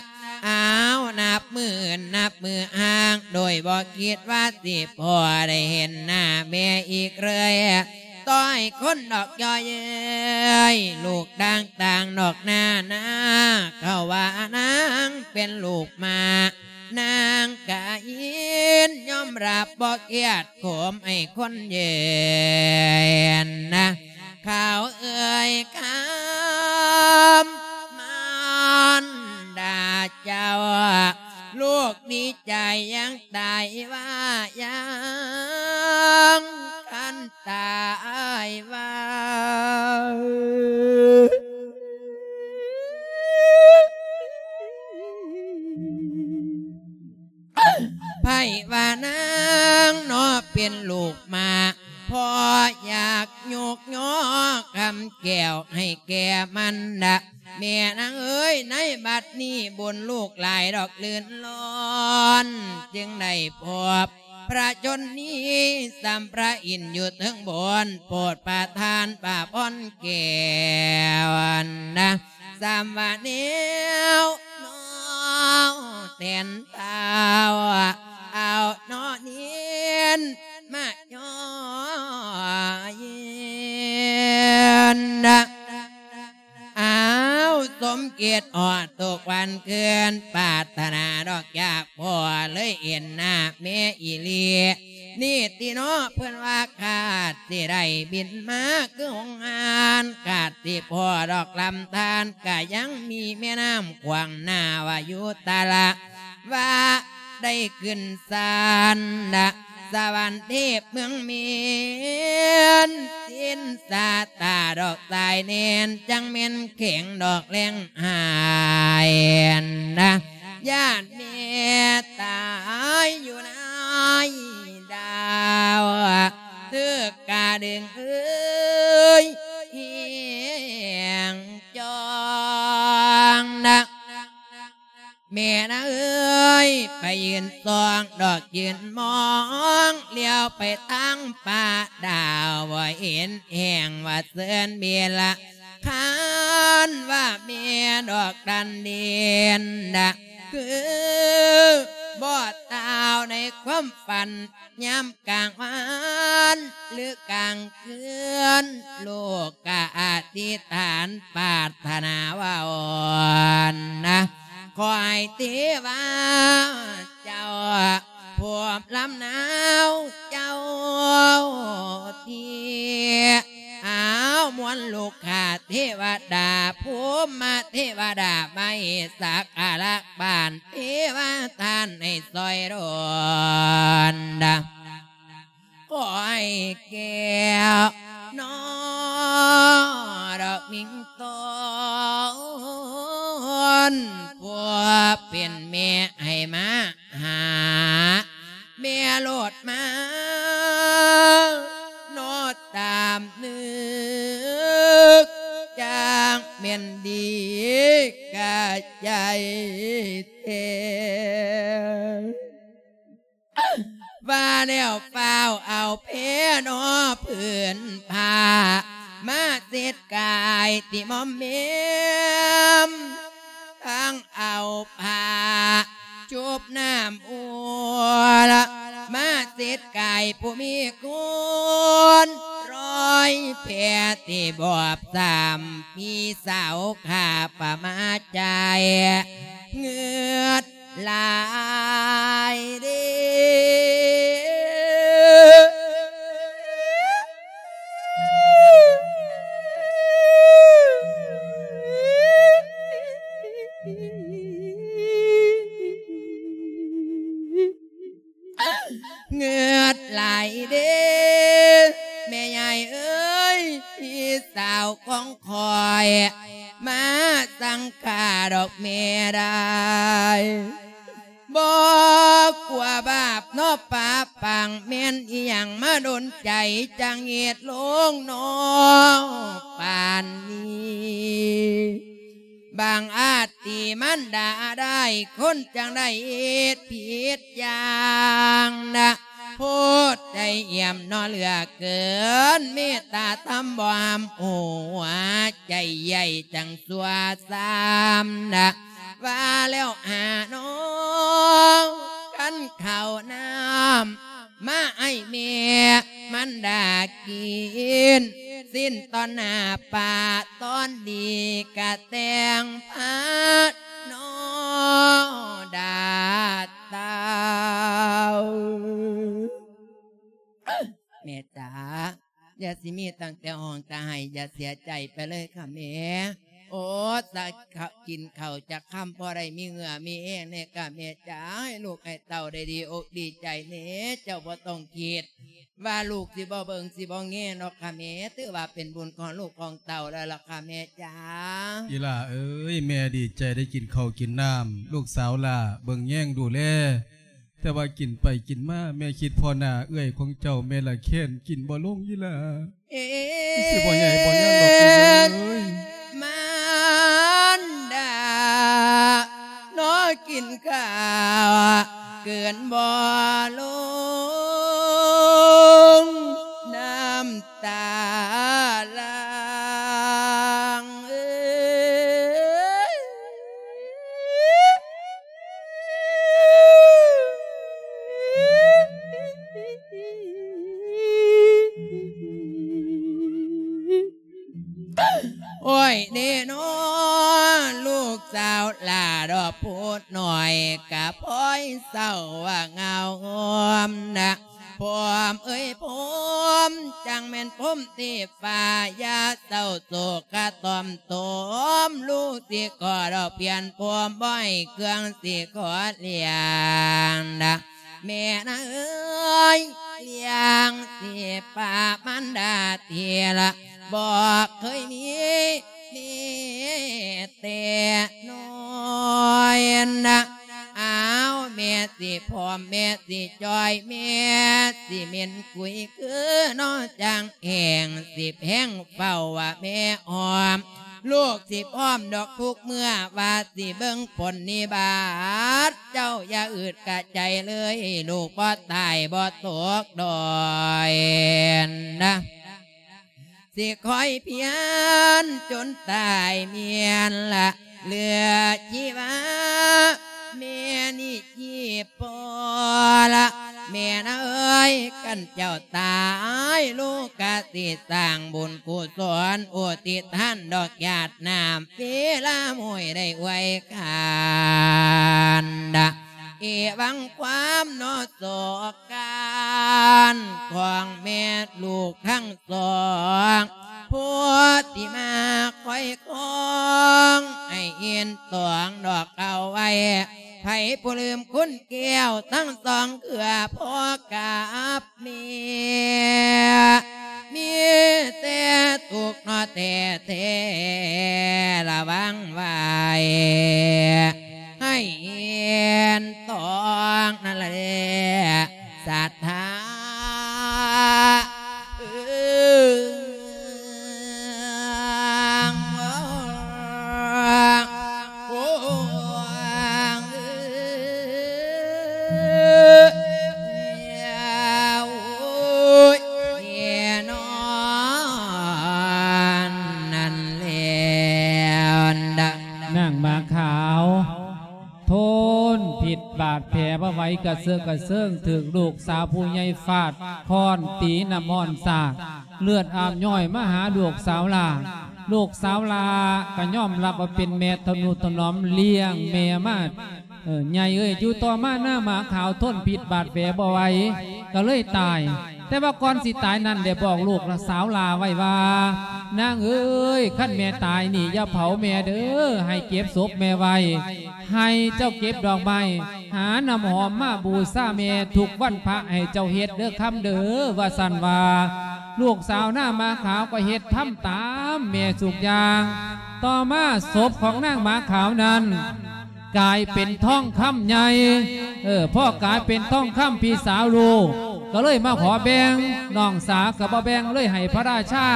ອ້າວ ນັບມື້ອື່ນນັບມື້ຫ່າງ ໂດຍບໍ່ຄິດວ່າຊິພໍໄດ້ເຫັນໜ້າແມ່ອີກເລີຍ ຕໍ່ໃຫ້ຄົນດອກຍໍ້ເອີຍ ລູກຕ່າງໆ ດອກໜ້ານາ ເຂົາວ່ານາງເປັນລູກໝາ ນາງກະຍິນຍອມຮັບບໍ່ຄຽດໂຄມໃຫ້ຄົນເຍີນນະ ເຂົາເອີຍຄຳມານດາເຈົ້າ ລູກດີໃຈຢ່າງຕາຍວ່າ ຢ່າງຄັນຕາຍວ່າ. ໃຜວ່ານາງເນາະເປັນລູກໝາ ພໍ່ຢາກຍົກຍໍຄຳແກ້ວໃຫ້ແກ່ມັນນະ ແມ່ນາງເອີຍ ໃນບັດນີ້ບຸນລູກຫຼາຍດອກລື່ນລ້ອນ ຈຶ່ງໄດ້ພົບ ພະຊົນນີ້ ສ່ຳພະອິນຢູ່ເທິງບົນ ໂປດປະທານພະພອນແກ້ວນະ ສ່ຳວ່າແນວນ້ອງແຕນທ້າວ ເອົານ້ອງເນນມາຍໍເຢັນນະ. ອ້າວ ສົມຄິດຮອດທຸກວັນຄືນ ປາດຖະໜາດອກຢາກພໍເລີຍເຫັນໜ້າແມ່ອີ່ຫຼີ ນີ້ຕິເນາະ ເພິ່ນວ່າຄາດຊິໄດ້ບິນມາຄືຫົງຫານ ຄາດຊິພໍດອກລຳທານ ກະຍັງມີແມ່ນ້ຳຂວາງໜ້າວ່າຢູ່ຕະລະ ວ່າໄດ້ຂຶ້ນສານນະ ສະຫວັນເທບເມືອງເມນ ສິນສາຕາດອກສາຍແນນ ຈັ່ງແມ່ນແຂງດອກແລງຫາຍນະ ຢ້ານແມ່ຕາຍຢູ່ໃນດາວ ຖືກກະດຶງເອີຍແຮງຈ່ອງນະ. ແມ່ນາເອີຍ ໄປຢືນສ່ອງດອກຢືນມອງ ຫຼຽວໄປທາງຟ້າດາວ ບໍ່ເຫັນແຮງວ່າເຊີນເວລາ ຄັນວ່າແມ່ດອກດັນເດັ່ນນະ ຄືບໍ່ຕາວໃນຄວາມຝັນ ຍາມກາງວັນ ຫຼືກາງຄືນ ລູກກະອະທິຖານປາດຖະໜາວ່າອ່ອນນະ ຂໍໃຫ້ເທວາເຈົ້າ ພວມລຳນາວເຈົ້າທີ່ ອ້າວ ມວນລູກຂ້າ ເທວະດາ ພູມມະເທວະດາ ມາເຮັດສັກກາລະບານເທວະທ່ານໃຫ້ຊ່ອຍດົນ ຂໍໃຫ້ແກ້ວນອດອກມິງຕອນ ຜູ້ເປັນແມ່ໃຫ້ມາຫາແມ່ໂລດມາ ນອດຕາມນຶກ ຈັ່ງແມ່ນດີກະໃຈແທ້. ວ່າແລ້ວຟ້າວເອົາແພນອຜືນຜ້າ ມາເຊັດກາຍຕິໝອມແໝມ ທັງເອົາຜ້າຊຸບນ້ຳອຸ່ນ ມາເຊັດກາຍຜູ້ມີຄຸນ ລອຍແພທີ່ບອບຊ້ຳ ພີ່ສາວຂ້າປະມາໃຈເງືອດ ຫຼາຍເດ້. ເງືອດຫຼາຍເດ້ ແມ່ຍາຍເອີຍ ພີ່ສາວຂອງຂ້ອຍ ມາສັ່ງຂ້າດອກແມ່ໄດ້ ບໍ່ກົວບາບເນາະປາປັງ ແມ່ນອີ່ຫຍັງມາດົນໃຈ ຈັ່ງເຮັດລົງເນາະປານນີ້ ບາງອາດຕີມານດາໄດ້ ຄົນຈັ່ງໄດ້ເຮັດຜິດຢ່າງນະ ໂພດໃຈອ່ຽມເນາະເຫຼືອເກີນ ເມດຕາທຳບໍ່ຫ້າມຫົວໃຈໃຫຍ່ ຈັ່ງຊົ່ວຊ້ຳນະ ວ່າແລ້ວຫານ້ອງ ຄັນເຂົ້ານ້ຳ ມາໃຫ້ແມ່ມັນດາກິນ ສິ້ນຕອນໜ້າປາຕອນດີກະແຕ່ງພານອດາດເຕົ້າ. ແມ່ຈ໋າ ຢ່າຊິມີຕັ້ງແຕ່ຮ້ອງແຕ່ໄຫ້ ຢ່າເສຍໃຈໄປເລີຍຄ່ະແມ່. ໂອ້ ສາ ກິນເຂົ້າຈັກຄຳ ພໍໄດ້ມີເຫື່ອມີແຮງແດ່ຄ່ະແມ່ຈ໋າ ໃຫ້ລູກໃຫ້ເຕົ້າໄດ້ດີອົກດີໃຈແດ່ ເຈົ້າບໍ່ຕ້ອງຄິດວ່າລູກຊິບໍ່ເບິ່ງຊິບໍ່ແຍງດອກຄ່ະແມ່ ຖືວ່າເປັນບຸນຂອງລູກຂອງເຕົ້າແລ້ວລະຄ່ະແມ່ຈ໋າ. ອີ່ຫຼ້າເອີຍ ແມ່ດີໃຈໄດ້ກິນເຂົ້າກິນນ້ຳ ລູກສາວຫຼ້າເບິ່ງແຍງດູແລ ແຕ່ວ່າກິນໄປກິນມາ ແມ່ຄິດພໍ້ໜ້າເອື້ອຍຂອງເຈົ້າ ແມ່ລະແຄ້ນກິນບໍ່ລົງອີ່ຫຼ້າ. ເອີ ຊິບໍ່ໃຫຍ່ບໍ່ຍາວດອກເອີຍ ມານດາ ນອກິນຂ້າວ ກືນບໍ່ລົງ ນ້ຳຕາຫຼັ່ງເອີຍ. ໂອ້ຍ ເນນອ ລູກສາວຫຼ້າດອກຜູ້ນ້ອຍ ກະພ້ອຍເສົ້າວ່າເຫງົາງອມນະ ພວມເອີຍພວມ ຈັ່ງແມ່ນພວມທີ່ ຟ້າຢ່າເສົ້າໂສກກະຕ່ອມໂຕມ ລູກຊິຂໍດອກພຽນພວມ ບໍ່ໃຫ້ເຄື່ອງຊິຂໍລ້ຽງນະ ແມ່ນາເອີຍ ລ້ຽງຊິປາມານດາທີລະ ບໍ່ເຄີຍມີແມ່ແຕ່ນ້ອຍນະ. ອ້າວ ແມ່ຊິພ້ອມ ແມ່ຊິຈ່ອຍ ແມ່ຊິເໝັ້ນກຸຍ ຄືນ້ອງຈາງແຫ່ງ ສິບແຫ່ງເຝົ້າວ່າແມ່ອ້ອມ ລູກຊິພ້ອມດອກທຸກເມື່ອ ວ່າຊິເບິ່ງຜົນນິບາດ ເຈົ້າຢ່າອຶດກະໃຈເລີຍ ລູກບໍ່ຕາຍບໍ່ຕົກດອຍນະ. ຊິຄອຍພຽນຈົນຕາຍແມ່ນລະ ເຫຼືອຊີວາແມ່ນີ້ຈີບພໍລະ ແມ່ນາເອີຍ ຄັນເຈົ້າຕາຍ ລູກກະຊິສ້າງບຸນກຸສົນ ອຸທິດທານດອກຫຍາດນ້ຳ ເວລາໂມຍໄດ້ອວຍຄານນະ. ອີຫຍັງຄວາມເນາະ ສອກການຂອງແມ່ລູກທັງສອງ ໂພທິມາຄອຍຄອງ ໃຫ້ເອັນຕອງດອກເກົ່າໄວ້ ໃຜຜູ້ລືມຄຸນແກ້ວທັງສອງເກືອ ພໍກັບເມຍ ມີແຕ່ທຸກເນາະແທ້ໆ ລະວັງໄວ້ ໃຫ້ເອັນຕອງນັ້ນແຫຼະ ສັດທາ ເອີ ໂອ້ ໂອ້ຍ ແນ່ນອນນັ້ນແລ້ວນະ ນາງໝາຂາວ ທົນພິດບາດແຜບໍ່ໄຫວ ກະເຊີກກະເຊີງ ຖືກລູກສາວຜູ້ໃຫຍ່ຟາດຄ້ອນຕີ ນ້ຳຮ້ອນສາດ ເລືອດອາບຍ້ອຍມາຫາລູກສາວຫຼ້າ. ລູກສາວຫຼ້າກະຍອມຮັບວ່າເປັນແມ່ທະນຸຖະໜອມລ້ຽງແມ່ມາ ເອີ ໃຫຍ່ເອີຍ. ຢູ່ຕໍ່ມານາງໝາຂາວທົນພິດບາດແຜບໍ່ໄຫວ ກະເລີຍຕາຍ. ແຕ່ວ່າກ່ອນຊິຕາຍນັ້ນ ໄດ້ບອກລູກສາວຫຼ້າໄວ້ວ່າ ນາງເອີຍ ຄັນແມ່ຕາຍນີ້ ຢ່າເຜົາແມ່ເດີ ໃຫ້ເກັບສົບແມ່ໄວ້ ໃຫ້ເຈົ້າເກັບດອກໄມ້ ຫານ້ຳຫອມມາບູຊາແມ່ທຸກວັນພະ ໃຫ້ເຈົ້າເຮັດເດີຄຳເດີ ວ່າຊັ້ນວ່າ. ລູກສາວນາງໝາຂາວກໍເຮັດທຳຕາມແມ່ທຸກຢ່າງ. ຕໍ່ມາສົບຂອງນາງໝາຂາວນັ້ນ ກາຍເປັນທອງຄຳໃຫຍ່. ເອີ ພໍກາຍເປັນທອງຄຳ ພີ່ສາວຮູ້ ກໍເລີຍມາຂໍແບ່ງ ນ້ອງສາວກໍບໍ່ແບ່ງ ເລີຍໃຫ້ພະລາຊາ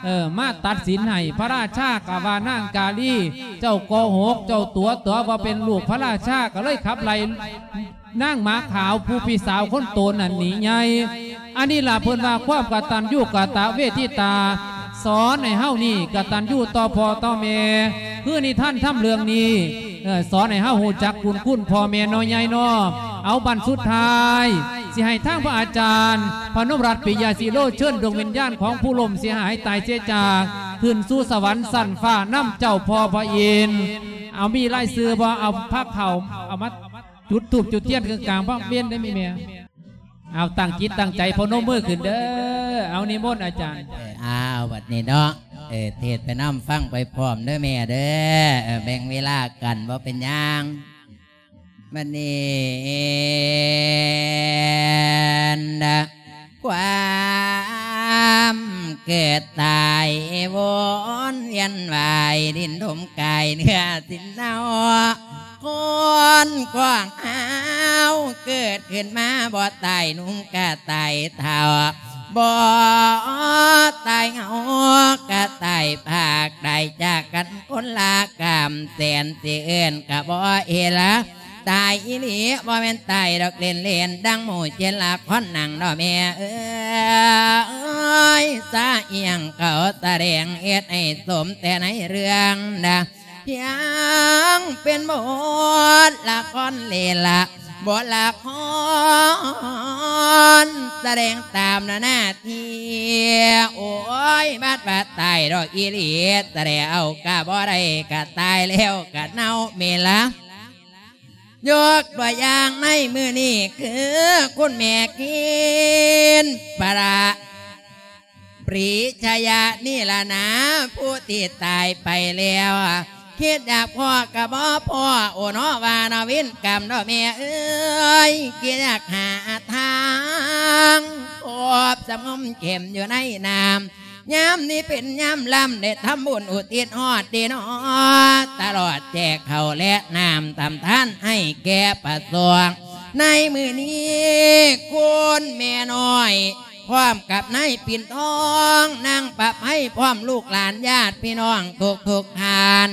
ເອີ ມາຕັດສິນໃຫ້. ພະລາຊາກໍວ່າ ນາງກາລີ ເຈົ້າໂກຫົກ ເຈົ້າຕົວະຕົວະ ບໍ່ເປັນລູກພະລາຊາ ກໍເລີຍຂັບໄລ່ ນາງໝາຂາວຜູ້ພີ່ສາວຄົນໂຕນັ້ນໜີໃຫຍ່. ອັນນີ້ລະເພິ່ນວ່າຄວາມກະຕັນຍູກະຕະເວທິຕາ ສອນໃຫ້ເຮົານີ້ກະຕັນຍູຕໍ່ພໍ່ຕໍ່ແມ່. ຄືນິທານທຳເລື່ອງນີ້ ເອີ ສອນໃຫ້ເຮົາຮູ້ຈັກບຸນຄຸນພໍ່ແມ່ເນາະໃຫຍ່ເນາະ. ເອົາ ບັດສຸດທ້າຍ ຊິໃຫ້ທາງພະອາຈານ ພະນົມລັດ ປິຍະສີໂລ ເຊີນດວງວິນຍານຂອງຜູ້ລົ້ມເສຍຫາຍຕາຍເສຍຈາກ ຂຶ້ນສູ່ສະຫວັນຊັ້ນຟ້ານຳເຈົ້າພໍ່ພະອິນ. ເອົາ ມີລາຍຊື່ບໍ່? ເອົາພາເຂົ້າ ເອົາມາ ຈຸດທູບຈຸດທຽນເຄິ່ງກາງພາກເວັນໄດ້ມີແມ່. ເອົາ ຕັ້ງຈິດຕັ້ງໃຈ ພະນົມມືຂຶ້ນເດີ. ເອົາ ນິມົນອາຈານ. ເອີ ເອົາ ບັດນີ້ເນາະ ເອີ ເທດໄປນຳ ຟັງໄປພ້ອມເດີແມ່ເດີ. ເອີ ແບ່ງເວລາກັນ ບໍ່ເປັນຫຍັງ. ບັດນີ້ ຄວາມເກີດຕາຍວົນວຽນວາຍ ດິນຖົມກາຍເນື້ອສິນເນົາ ຄົນຂອງເຮົາເກີດຂຶ້ນມາບໍ່ຕາຍໜຸ່ມກະຕາຍເຖົ້າ ບໍ່ຕາຍເຫງົາກະຕາຍພາກ ໄດ້ຈາກກັນຄົນລະກຳແສນ ຊິເອີ້ນກະບໍ່ເອລະ ຕາຍອີ່ຫຼີ ບໍ່ແມ່ນຕາຍດອກເລ່ນໆ ດັ່ງໝູ່ເຈັນລະຄອນໜັງເນາະແມ່ເອີຍ. ສາອີ່ຫຍັງເຂົາສະແດງ ເຮັດໃຫ້ສົມແຕ່ໃນເລື່ອງນະ ພຽງເປັນບົດລະຄອນເລ່ນລະ ບົດລະຄອນສະແດງຕາມໜ້າທີ່. ໂອ້ຍ ບັດວ່າຕາຍດອກອີ່ຫຼີ ສະແດງເອົາກະບໍ່ໄດ້ ກະຕາຍແລ້ວກະເນົ່າແມ່ນລະ. ຍົກຕົວຢ່າງໃນມື້ນີ້ຄືຄຸນແມ່ເຄນ ປະລະ ປຣີຊະຍະນີ້ລະນາ ຜູ້ທີ່ຕາຍໄປແລ້ວ ຄິດຢາກພໍ້ກະບໍ່ພໍ້ ໂອເນາະວ່າເນາະ ເວນກຳເນາະແມ່ເອີຍ. ຄິດຢາກຫາທາງຄອບສະຫງົມເຂັມຢູ່ໃນນ້ຳ ຍາມນີ້ເປັນຍາມລຳ ໄດ້ທຳບຸນອຸທິດຮອດເດເນາະ ຕະຫຼອດແຈກເຂົ້າແລະນ້ຳທຳທານໃຫ້ແກ່ພະສົງ. ໃນມື້ນີ້ຄຸນແມ່ນ້ອຍ ພ້ອມກັບນາຍປິ່ນທອງ ນາງປະໄພ ພ້ອມລູກຫຼານຍາດພີ່ນ້ອງທຸກໆທ່ານ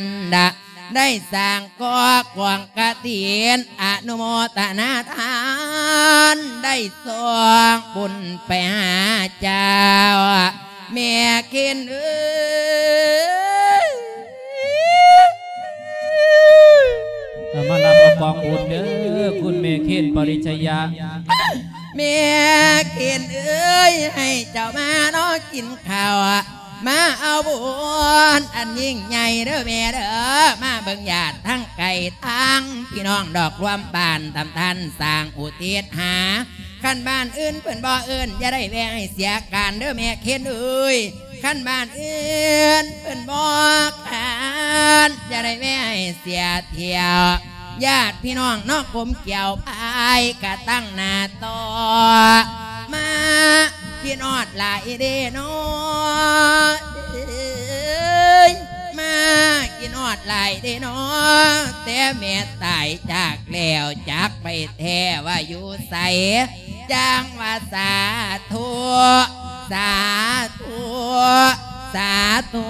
ໄດ້ສ້າງກໍກອງກະຖິນ ອະນຸໂມທະນາທານ ໄດ້ສົ່ງບຸນໄປຫາເຈົ້າ ແມ່ເຄນເອີຍ. ເອົາມາຮັບເອົາກອງບຸນເດີ ຄຸນແມ່ເຄນ ປະລິຊະຍະ. ແມ່ເຄນເອີຍ ໃຫ້ເຈົ້າມາເນາະກິນເຂົ້າ ມາເອົາບຸນອັນຍິ່ງໃຫຍ່ເດີແມ່ເດີ ມາເບິ່ງຍາດທັງໄກທັງພີ່ນ້ອງດອກລວມບ້ານ ຕຳທ່ານສ້າງອຸທິດຫາ ຄັນບ້ານອື່ນເພິ່ນບໍ່ເອີ້ນ ຢ່າໄດ້ແວ່ໃຫ້ເສຍການເດີແມ່ເຄນເອີຍ. ຄັນບ້ານອື່ນເພິ່ນບໍ່ຂານ ຢ່າໄດ້ແວ່ໃຫ້ເສຍທ່ຽວ ຍາດພີ່ນ້ອງເນາະ ກົມກ່ຽວພາຍກະຕັ້ງໜ້າຕໍ່ ມາຄິດຮອດຫຼາຍເດ້ເນາະ ເອີຍ ມາຄິດຮອດຫຼາຍເດ້ເນາະ ແຕ່ແມ່ຕາຍຈາກແລ້ວ ຈັກໄປແທ້ວ່າຢູ່ໃສ ຈັ່ງວ່າສາທຸ ສາທຸ ສາທຸ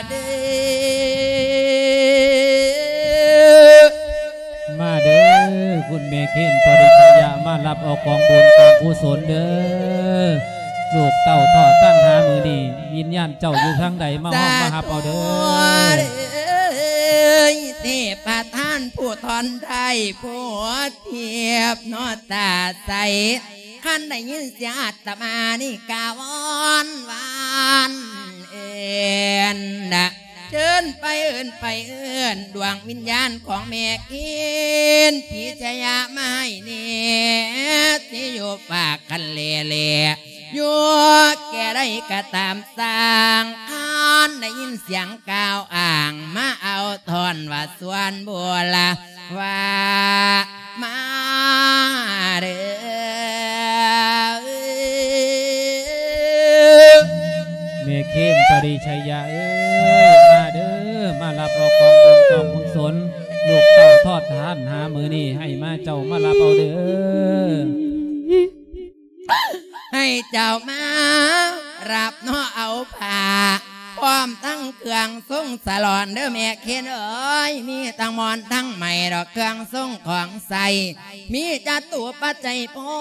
ເດີ. ມາເດີ ຄຸນແມ່ເຄນ ປະລິຊະຍະ ມາຮັບເອົາກອງບຸນກອງກຸສົນເດີ. ລູກເຕົ້າທອດຕັນຫາມື້ນີ້ ວິນຍານເຈົ້າຢູ່ທາງໃດ ມາຮອບມາຮັບເອົາເດີ. ສາທຸເດີ ເທບປະທານຜູ້ທ່ອນໄດ້ ຜູ້ທຽບເນາະຕາໃສ ຄັນໄດ້ຍິນສຽງອາດຕະມານີ້ກະວອນວານເອີ້ນນະ ເຊີນໄປເອີ້ນ ໄປເອີ້ນດວງວິນຍານຂອງແມ່ເຄນ ພິຊະຍະມາໃຫ້ແນ່ ຊິຢູ່ປາກຄັນແລແລ ຢູ່ແກ່ໃດກະຕາມຊ່າງ ຄັນໄດ້ຍິນສຽງກ່າວອ້າງ ມາເອົາທ່ອນວ່າສວນບູລາ ວ່າມາເດີ ແມ່ເຄນ ປະລິຊະຍະເອີຍ ມາເດີ ມາຮັບເອົາກອງບຸນກອງກຸສົນ ລູກເຕົ້າທອດທານຫາມື້ນີ້ ໃຫ້ມາເຈົ້າມາຮັບເອົາເດີ. ໃຫ້ເຈົ້າມາຮັບເນາະເອົາຜ້າ ພ້ອມທັງເຄື່ອງຊົງສະຫຼອນເດີແມ່ເຄນເອີຍ ມີທັງໝອນທັງໄໝດອກເຄື່ອງຊົງຂອງໃຊ້ ມີຈະຕຸປັດໄຈພ້ອ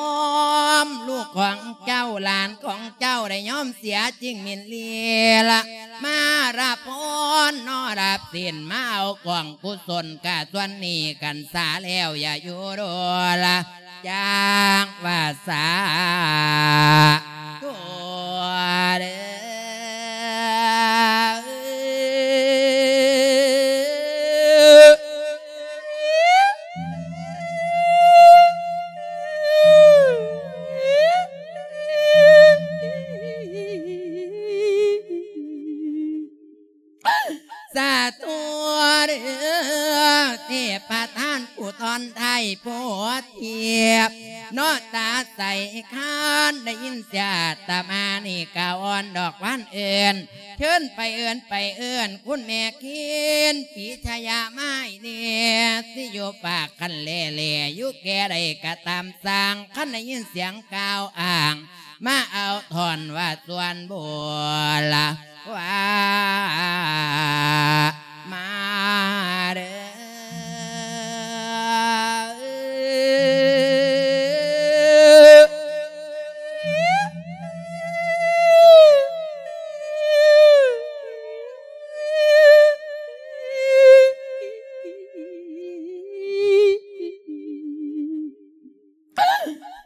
ມ ລູກຂອງເຈົ້າຫຼານຂອງເຈົ້າໄດ້ຍອມເສຍຈິງມິນລີລະ ມາຮັບພອນເນາະ ຮັບສິນ ມາເອົາກອງກຸສົນກະສ່ວນນີ້ກັນສາແລ້ວ ຢ່າຢູ່ໂດລະ ຈັ່ງວ່າສາທຸເດີ. ສາທຸເດີ ເທບປະທານຜູ້ທ່ອນໄທ ຜູ້ທຽບເນາະຕາໃສ ຄັນໄດ້ຍິນສຽງອາດຕະມານີ້ກະວອນດອກວານເອີ້ນ ເຊີນໄປເອີ້ນ ໄປເອີ້ນ ຄຸນແມ່ເຄນ ພິຊະຍະມາໃຫ້ແນ່ ຊິຢູ່ປາກຄັນແລແລ ຢູ່ແກ່ໃດກະຕາມຊ່າງ ຄັນໄດ້ຍິນສຽງກ່າວອ້າງ ມາເອົາທ່ອນວ່າສວນບູລາ ວ່າມາເດີ.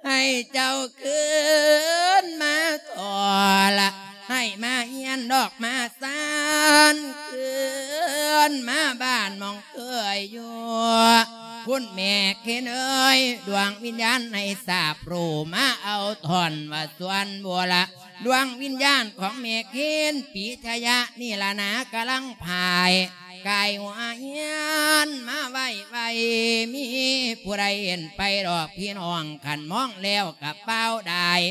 ໃຫ້ເຈົ້າຄືນມາຕໍ່ລະ ໃຫ້ມາຮຽນດອກມາຊານ ຄືນມາບ້ານໝ່ອງເຄີຍຢູ່ ຄຸນແມ່ເຄນເອີຍ ດວງວິນຍານໃຫ້ສາບຮູ້ ມາເອົາທ່ອນວ່າສວນບູລາ ດວງວິນຍານຂອງແມ່ເຄນ ປີຊະຍະ ນີ້ລະນາ ກຳລັງພາຍ ກາຍຫົວເຮືອນມາໄວໆ ມີຜູ້ໃດເຫັນໄປດອກພີ່ນ້ອງ ຄັນມອງແລ້ວກະປາວດາຍ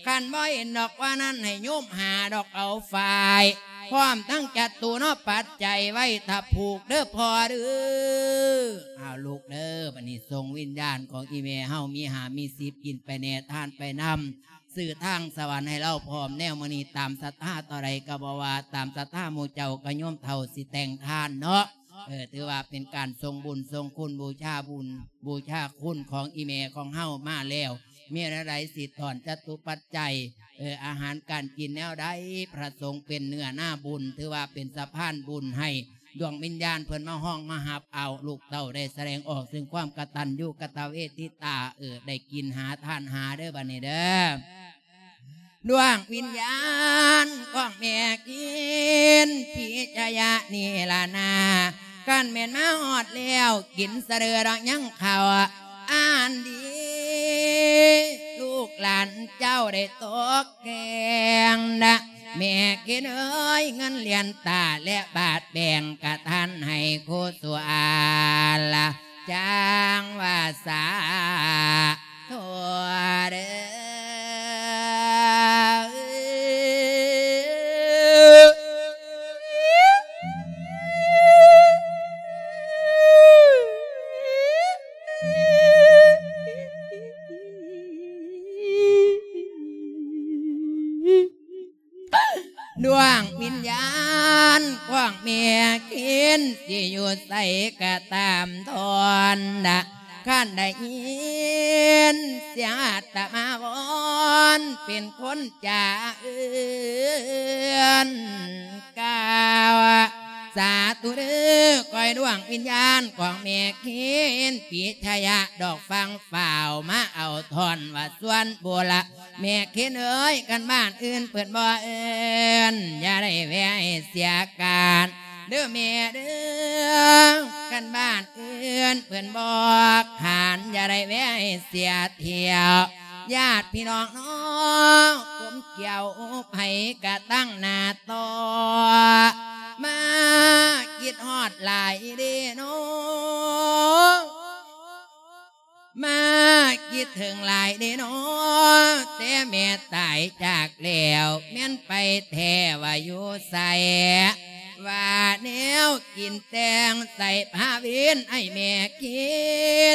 ຄັນບໍ່ເຫັນດອກວ່ານັ້ນ ໃຫ້ໂຍມຫາດອກເອົາຝ້າຍ ພ້ອມທັງຈັດຕູ້ເນາະ ປັດໄຈໄວ້ຖ້າຜູກເດີພໍ່ເດີ. ເອົາລູກເດີ ບັດນີ້ສົ່ງວິນຍານຂອງອີ່ແມ່ເຮົາ ມີຫ້າມີສິບ ກິນໄປແດ່ ທານໄປນຳ ຊື້ທາງສະຫວັນໃຫ້ລາວພ້ອມແນວມື້ນີ້ ຕາມສັດທາເທົ່າໃດກໍບໍ່ວ່າ ຕາມສັດທາໝູ່ເຈົ້າກໍໂຍມເຖົ້າຊິແຕ່ງທານເນາະ. ເອີ ຖືວ່າເປັນການສົ່ງບຸນສົ່ງຄຸນ ບູຊາບຸນບູຊາຄຸນຂອງອີ່ແມ່ຂອງເຮົາມາແລ້ວ ມີແນວໃດຊິຖອນຈະຕຸປັດໄຈ ເອີ ອາຫານການກິນແນວໃດ ພະສົງເປັນເນື້ອນາບຸນ ຖືວ່າເປັນສະພານບຸນໃຫ້ ດວງວິນຍານເພິ່ນມາຮ້ອງມາຮັບເອົາ ລູກເຕົ້າໄດ້ສະແດງອອກເຊິ່ງຄວາມກະຕັນຍູກະຕະເວທິຕາ ເອີ ໄດ້ກິນຫາທານຫາເດີ ບັດນີ້ເດີ ດວງວິນຍານຂອງແມ່ເຄນ ພິຊະຍະ ນີ້ລະນາ ຄັນແມ່ນມາຮອດແລ້ວ ກິນສະເດີດອກຍັງເຂົ້າອັນດີ ລູກຫຼານເຈົ້າໄດ້ຕົກແຕ່ງນະ ແມ່ເຄນເອີຍ ເງິນຫຼຽນຕາ ແລະ ບາດແບ່ງກະທານໃຫ້ຄູສຸອາລະ ຈັ່ງວ່າສາທຸເດີ. ດວງວິນຍານຂອງແມ່ເຄນ ຊິຢູ່ໃສກະຕາມທອນນະ ຄັນໄດ້ຍິນສຽງອາດຕະມາວອນ ເປັນຄົນຈາເອື້ອນກ່າວ ສາທຸເດີ ຂ້ອຍດວງວິນຍານຂອງແມ່ເຄນ ປິຊະຍະ ດອກຟັງຟ້າວມາເອົາທ່ອນວ່າ ສ່ວນບຸລະ ແມ່ເຄນເອີຍ ຄັນບ້ານອື່ນເພິ່ນບໍ່ເອີ້ນ ຢ່າໄດ້ແວ່ໃຫ້ເສຍການເດີແມ່ເດີ ຄັນບ້ານອື່ນເພິ່ນບໍ່ຂານ ຢ່າໄດ້ແວ່ໃຫ້ເສຍທ່ຽວ ຍາດພີ່ນ້ອງນ້ອງ ກົມກ່ຽວໃຜກະຕັ້ງໜ້າຕໍ່ ມາຄິດຮອດຫຼາຍເດ້ນ້ອງ ມາຄິດເຖິງຫຼາຍເດ້ນ້ອ ແຕ່ແມ່ຕາຍຈາກແລ້ວ ແມ່ນໄປແທ້ວ່າຢູ່ໃສ ວ່າແນວກິນແຕ່ງໃສ່ພາເວນ ໃຫ້ແມ່ກິ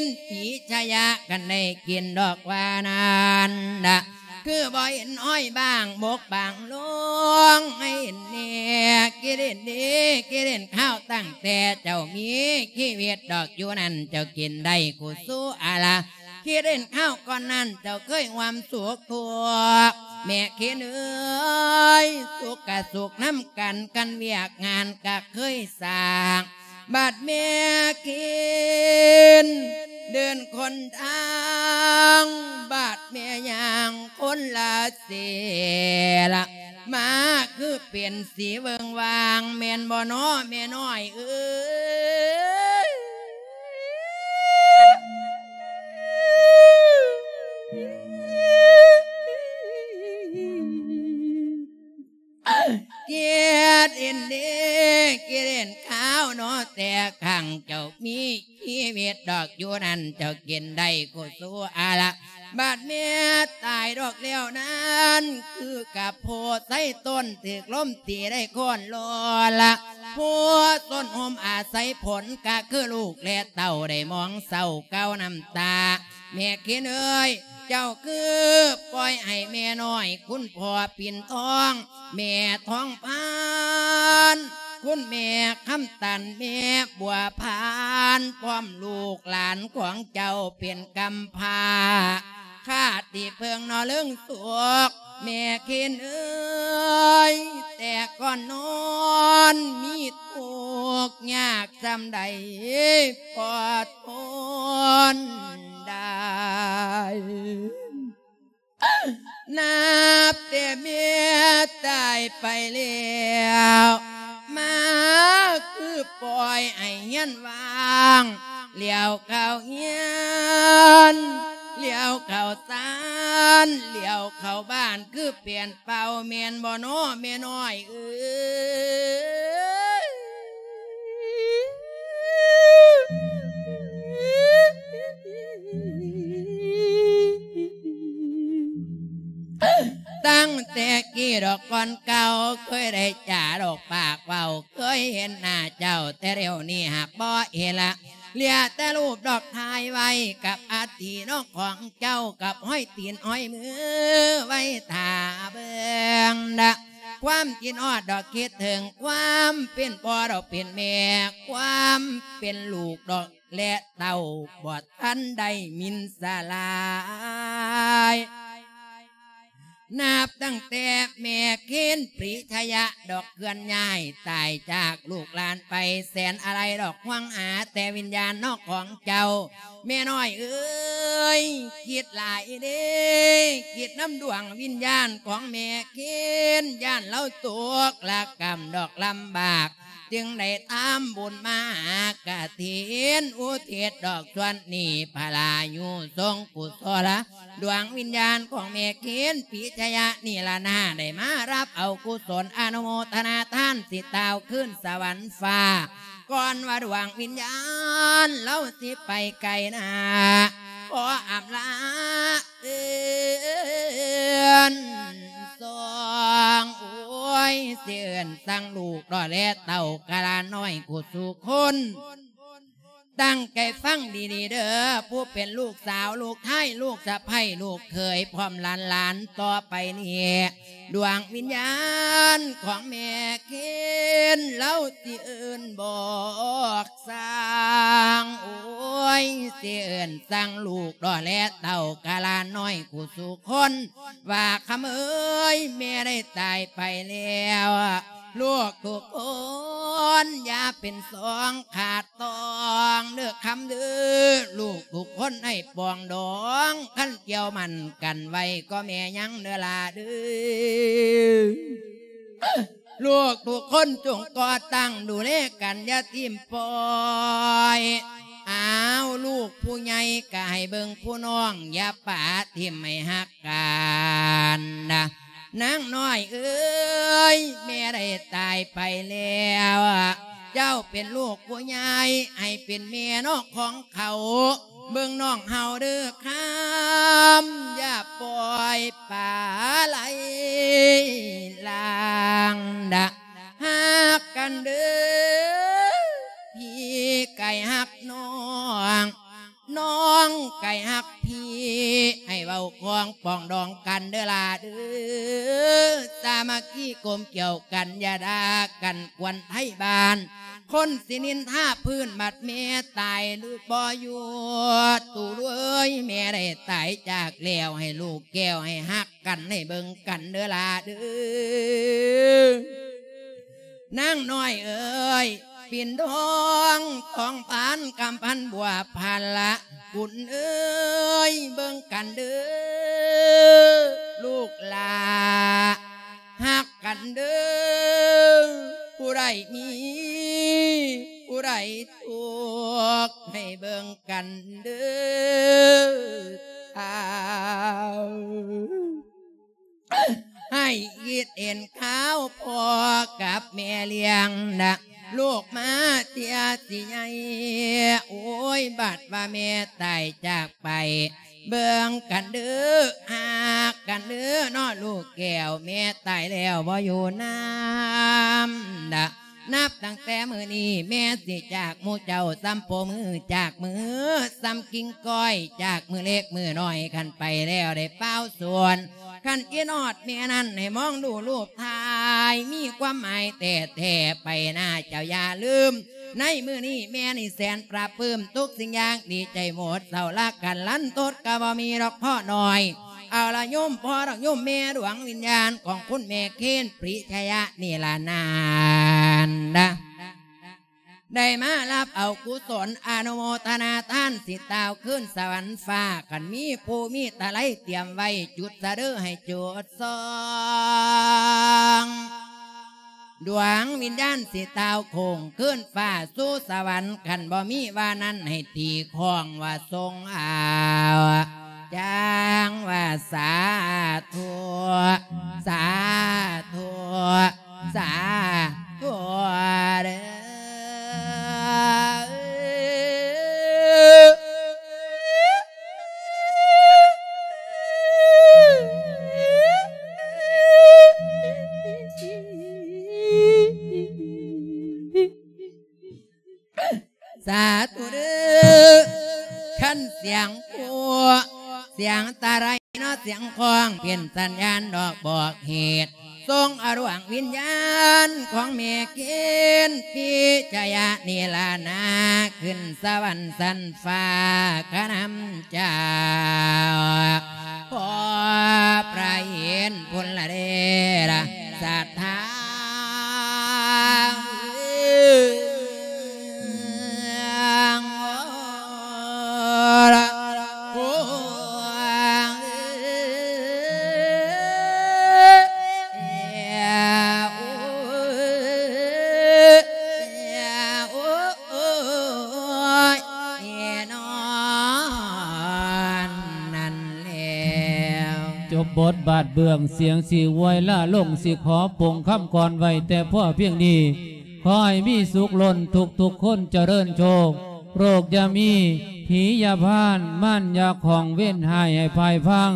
ນ ປີຊະຍະ ຄັນໄດ້ກິນດອກວ່ານັ້ນນະ ຄືບໍ່ເຫັນອ້ອຍບາງບົກບາງລົງ ໃຫ້ເຫັນແນ່ ກິເລນເດ ກິເລນຂ້າວ ຕັ້ງແຕ່ເຈົ້າມີຊີວິດດອກຢູ່ນັ້ນ ເຈົ້າກິນໄດ້ກຸສຸອາລາ ຄິດເຫັນຄາວກ່ອນນັ້ນ ເຈົ້າເຄີຍຮ່ວມສຸກທຸກ ແມ່ເຄນເອີຍ ສຸກກະສຸກນຳກັນ ກັນວຽກງານກະເຄີຍສ້າງ ບາດແມ່ເຄນ ເດີນຄົນທາງ ບາດແມ່ຍ່າງຄົນລະເສລະ ມາຄືເປັນສີເວິ່ງວ່າງ ແມ່ນບໍ່ນໍແມ່ນ້ອຍເອີຍ? ເກດເອັນເດ ເກດເອັນຂາວເນາະ ແຕ່ຄັ້ງເຈົ້າມີຊີວິດດອກຢູ່ນັ້ນ ເຈົ້າກິນໄດ້ກຸສຸອາລະ ບາດແມ່ຕາຍດອກແລ້ວນັ້ນ ຄືກັບໂພໄຊຕົ້ນຖືກລົມຕີໄດ້ໂຄ່ນໂລລະ ໂພຊົນຮົ່ມອາໄສຝົນ ກະຄືລູກແລະເຕົ້າໄດ້ມອງເສົ້າເກົານ້ຳຕາ ແມ່ເຄນເອີຍ ເຈົ້າຄືປ່ອຍໃຫ້ແມ່ນ້ອຍ ຄຸນພໍ່ປິ່ນທອງ ແມ່ທອງພານ ຄຸນແມ່ຄຳຕັນ ແມ່ບົວພານ ພ້ອມລູກຫຼານຂອງເຈົ້າເປັນກຳພ້າ ຂາດທີ່ເພິ່ງເນາະເລິງສຸກ ແມ່ເຄນເອີຍ ແຕ່ກ່ອນນອນມີທຸກຍາກສ່ຳໃດ ກໍ ທົນໄດ້ ນັບແຕ່ແມ່ຕາຍໄປແລ້ວ ມາຄືປ່ອຍໃຫ້ເຮືອນວ່າງ ຫຼຽວເຂົ້າເຮືອນ ຫຼຽວເຂົ້າຊານ ຫຼຽວເຂົ້າບ້ານ ຄືປ່ຽນ ເປົ່າແມ່ນບໍ່ນໍແມ່ນ້ອຍເອີຍ? ຕັ້ງແຕ່ກີ້ດອກກ່ອນເກົ່າ ເຄີຍໄດ້ຈາດອກປາກເວົ້າ ເຄີຍເຫັນໜ້າເຈົ້າ ແຕ່ດຽວນີ້ຫາກບໍ່ເຫັນລະ ເຫຼືອແຕ່ຮູບດອກຖ່າຍໄວ້ກັບອັດຖິເນາະຂອງເຈົ້າ ກັບຮອຍຕີນຮອຍມືໄວ້ຖ້າເບິ່ງນະ ຄວາມຄິດຮອດດອກຄິດເຖິງ ຄວາມເປັນພໍ່ດອກເປັນແມ່ ຄວາມເປັນລູກດອກ ແລະເຕົ້າ ບໍ່ທັນໄດ້ມິນສະຫຼາຍ. ນັບຕັ້ງແຕ່ແມ່ເຄນປຣີຊະຍະດອກເຄື່ອນຍ້າຍຕາຍຈາກລູກຫຼານໄປແສນອາໄລດອກ ຫວັງຫາແຕ່ວິນຍານເນາະຂອງເຈົ້າ ແມ່ນ້ອຍເອີຍ ຄິດຫຼາຍເດ້ ຄິດນຳດວງວິນຍານຂອງແມ່ເຄນ ຢ້ານລາວຕົກລະກຳດອກລຳບາກ ຈຶ່ງໄດ້ທຳບຸນມາຫາກະຖິນ ອຸທິດດອກສ່ວນນີ້ ພະລາຍຸສົງກຸສົລ ດວງວິນຍານຂອງແມ່ເຄນ ປິຊະຍະນິລະນາ ໄດ້ມາຮັບເອົາກຸສົນອະນຸໂມທະນາທານ ຊິຕ່າວຄືນສະຫວັນຟ້າ ກ່ອນວ່າດວງວິນຍານລາວຊິໄປໄກນາ ຂໍອຳລາເອີນສອງ ໂອ້ຍ ຊິເອີ້ນສັ່ງລູກດອແລເຕົ້າກະຫຼານນ້ອຍກູສູ່ຄົນ ຕັ້ງໃຈຟັງດີໆເດີ້ ຜູ້ເປັນລູກສາວ ລູກຊາຍ ລູກສະໃພ້ ລູກເຂີຍ ພ້ອມຫຼານໆ ຕໍ່ໄປນີ້ ດວງວິນຍານຂອງແມ່ເຄນ ລາວຊິເອີ້ນບອກ ສ້າງ ໂອ້ຍ ຊິເອີ້ນສັ່ງລູກດອແລເຕົ້າກະຫຼານນ້ອຍກູສູ່ຄົນ ວ່າ ຄຳເອີຍ ແມ່ໄດ້ຕາຍໄປແລ້ວ ລູກທຸກຄົນຢ່າເປັນສອງຂາດຕ້ອງເດີ້ ຄຳເດີ້ ລູກທຸກຄົນໃຫ້ປອງດອງ ຄັນກ່ຽວໝັ້ນກັນໄວ້ກໍແມ່ຍັງເດີ້ຫຼ້າເດີ້. ລູກທຸກຄົນຈົ່ງກໍ່ຕັ້ງດູແລກັນ ຢ່າຖິ້ມປ່ອຍ. ອ້າວ ລູກຜູ້ໃຫຍ່ກະໃຫ້ເບິ່ງຜູ້ນ້ອງ ຢ່າປະຖິ້ມໃຫ້ຮັກກັນນະ. ນາງນ້ອຍເອີຍ ແມ່ໄດ້ຕາຍໄປແລ້ວ ເຈົ້າເປັນລູກຜູ້ໃຫຍ່ ໃຫ້ເປັນແມ່ນອກຂອງເຂົາ ເບິ່ງນ້ອງເຮົາເດີ້ຄຳ ຢ່າປ່ອຍປາໄຫຼລາງດະ ຮັກກັນເດີ້ ພີ່ກະຮັກນ້ອງ ນ້ອງກະຮັກພີ່ ໃຫ້ເວົ້າຄອງປອງດອງກັນເດີ້ຫຼ້າເດີ້ ສາມັກຄີກົມກຽວກັນ ຢ່າດ່າກັນກວນໄທບ້ານ ຄົນຊິນິນທາພື້ນບັດແມ່ຕາຍຫຼືບໍ່ຢູ່ ຕູເອີຍ ແມ່ໄດ້ຕາຍຈາກແລ້ວ ໃຫ້ລູກແກ້ວໃຫ້ຮັກກັນ ໃຫ້ເບິ່ງກັນເດີ້ຫຼ້າເດີ້ ນາງນ້ອຍເອີຍ ປິ່ນທອງ ທອງພານ ຄຳພັນ ບົວພັນລະ ບຸນເອີຍ ເບິ່ງກັນເດີ້ລູກຫຼ້າ ຮັກກັນເດີ້ ຜູ້ໃດມີ ຜູ້ໃດທຸກ ໃຫ້ເບິ່ງກັນເດີ້ ອ້າວ ໃຫ້ຄິດເຫັນຄາວພໍ່ກັບແມ່ລ້ຽງນະ ລູກມາເທື່ອຊິໃຫຍ່ ໂອ້ຍ ບັດວ່າແມ່ຕາຍຈາກໄປ ເບິ່ງກັນເດີ້ ຮັກກັນເດີ້ເນາະ ລູກແກ້ວ ແມ່ຕາຍແລ້ວບໍ່ຢູ່ນຳນະ. ນັບຕັ້ງແຕ່ມື້ນີ້ແມ່ຊິຈາກໝູ່ເຈົ້າ ສ່ຳໂປມືຈາກມື ສ່ຳກິ່ງກ້ອຍຈາກມືເລັກມືນ້ອຍ ຄັນໄປແລ້ວໄດ້ປ່າວສວນ ຄັນຄິດຮອດແມ່ນັ້ນໃຫ້ມອງດູຮູບຖ່າຍ ມີຄວາມໝາຍແທ້ໆ ໄປໜ້າເຈົ້າຢ່າລືມ ໃນມື້ນີ້ແມ່ນີ້ແສນປະປຶ້ມ ທຸກສິ່ງຢ່າງດີໃຈໝົດ ເຊົາລະກັນລັນທົດກະບໍ່ມີດອກພໍ່ນ້ອຍ. ເອົາລະໂຍມພໍ່ດອກໂຍມແມ່ ດວງວິນຍານຂອງຄຸນແມ່ເຄນ ປຣິຊະຍະນິລະນານນະ ໄດ້ມາຮັບເອົາກຸສົນອະນຸໂມທະນາທານ ຊິຕ່າວຄືນສະຫວັນຟ້າ ຄັນມີພູມີຕະໄລຕຽມໄວ້ ຈຸດສະເດີໃຫ້ຈຸດສອງ ດວງວິນຍານຊິຕ່າວໂຄ້ງຄືນຟ້າສູ່ສະຫວັນ ຄັນບໍ່ມີວ່ານັ້ນໃຫ້ຕີຄ້ອງວ່າຊົງເອົາ ຈັ່ງວ່າສາທຸ ສາທຸ ສາທຸເດີ. ສາທຸເດີ ຄັນສຽງໂຄ ສຽງຕະໄລເນາະ ສຽງຄ້ອງເປັນສັນຍານດອກບອກເຫດ ສົ່ງເອົາດວງວິນຍານຂອງແມ່ເຄນ ພິຊະຍະນິລານາ ຂຶ້ນສະຫວັນຊັ້ນຟ້າຄະນຳເຈົ້າ ຂໍພະເຫັນພຸ້ນລະເດລະ ສັດທາ ບົດບາດເບື້ອງ ສຽງຊິອວຍລາລົງ ຊິຂໍປົງຄຳກ່ອນໄວ້ແຕ່ພໍພຽງນີ້. ຂໍໃຫ້ມີສຸກລົ້ນທຸກໆຄົນ ຈະເລີນໂຊກ ໂລກຢ່າມີ ຜີຢ່າຜ່ານ ມານຢ່າຂ້ອງ ເວນຮ້າຍໃຫ້ພ່າຍພັງ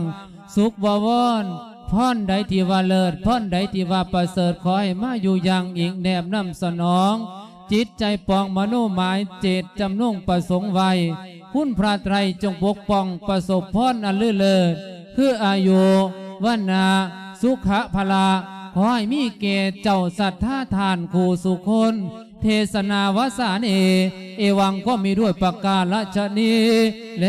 ສຸກບໍວອນ ພອນໃດທີ່ວ່າເລີດ ພອນໃດທີ່ວ່າປະເສີດ ຂໍໃຫ້ມາຢູ່ຢ່າງອີງແນບນຳສະໜອງ ຈິດໃຈປອງມະໂນໝາຍເຈດຈຳນົງປະສົງໄວ້ ຄຸນພະໄຕຣຈົ່ງປົກປ້ອງ ປະສົບພອນອັນລືເລີດ ຄືອາຍຸ ວັນນະ ສຸຂະ ພະລະ ຂໍໃຫ້ມີແກ່ເຈົ້າສັດທາທ່ານຄູ່ສູ່ຄົນ ເທສະນາວາສາເນ ເອວັງ ກໍມີດ້ວຍປະກາລະຊະນີແລ.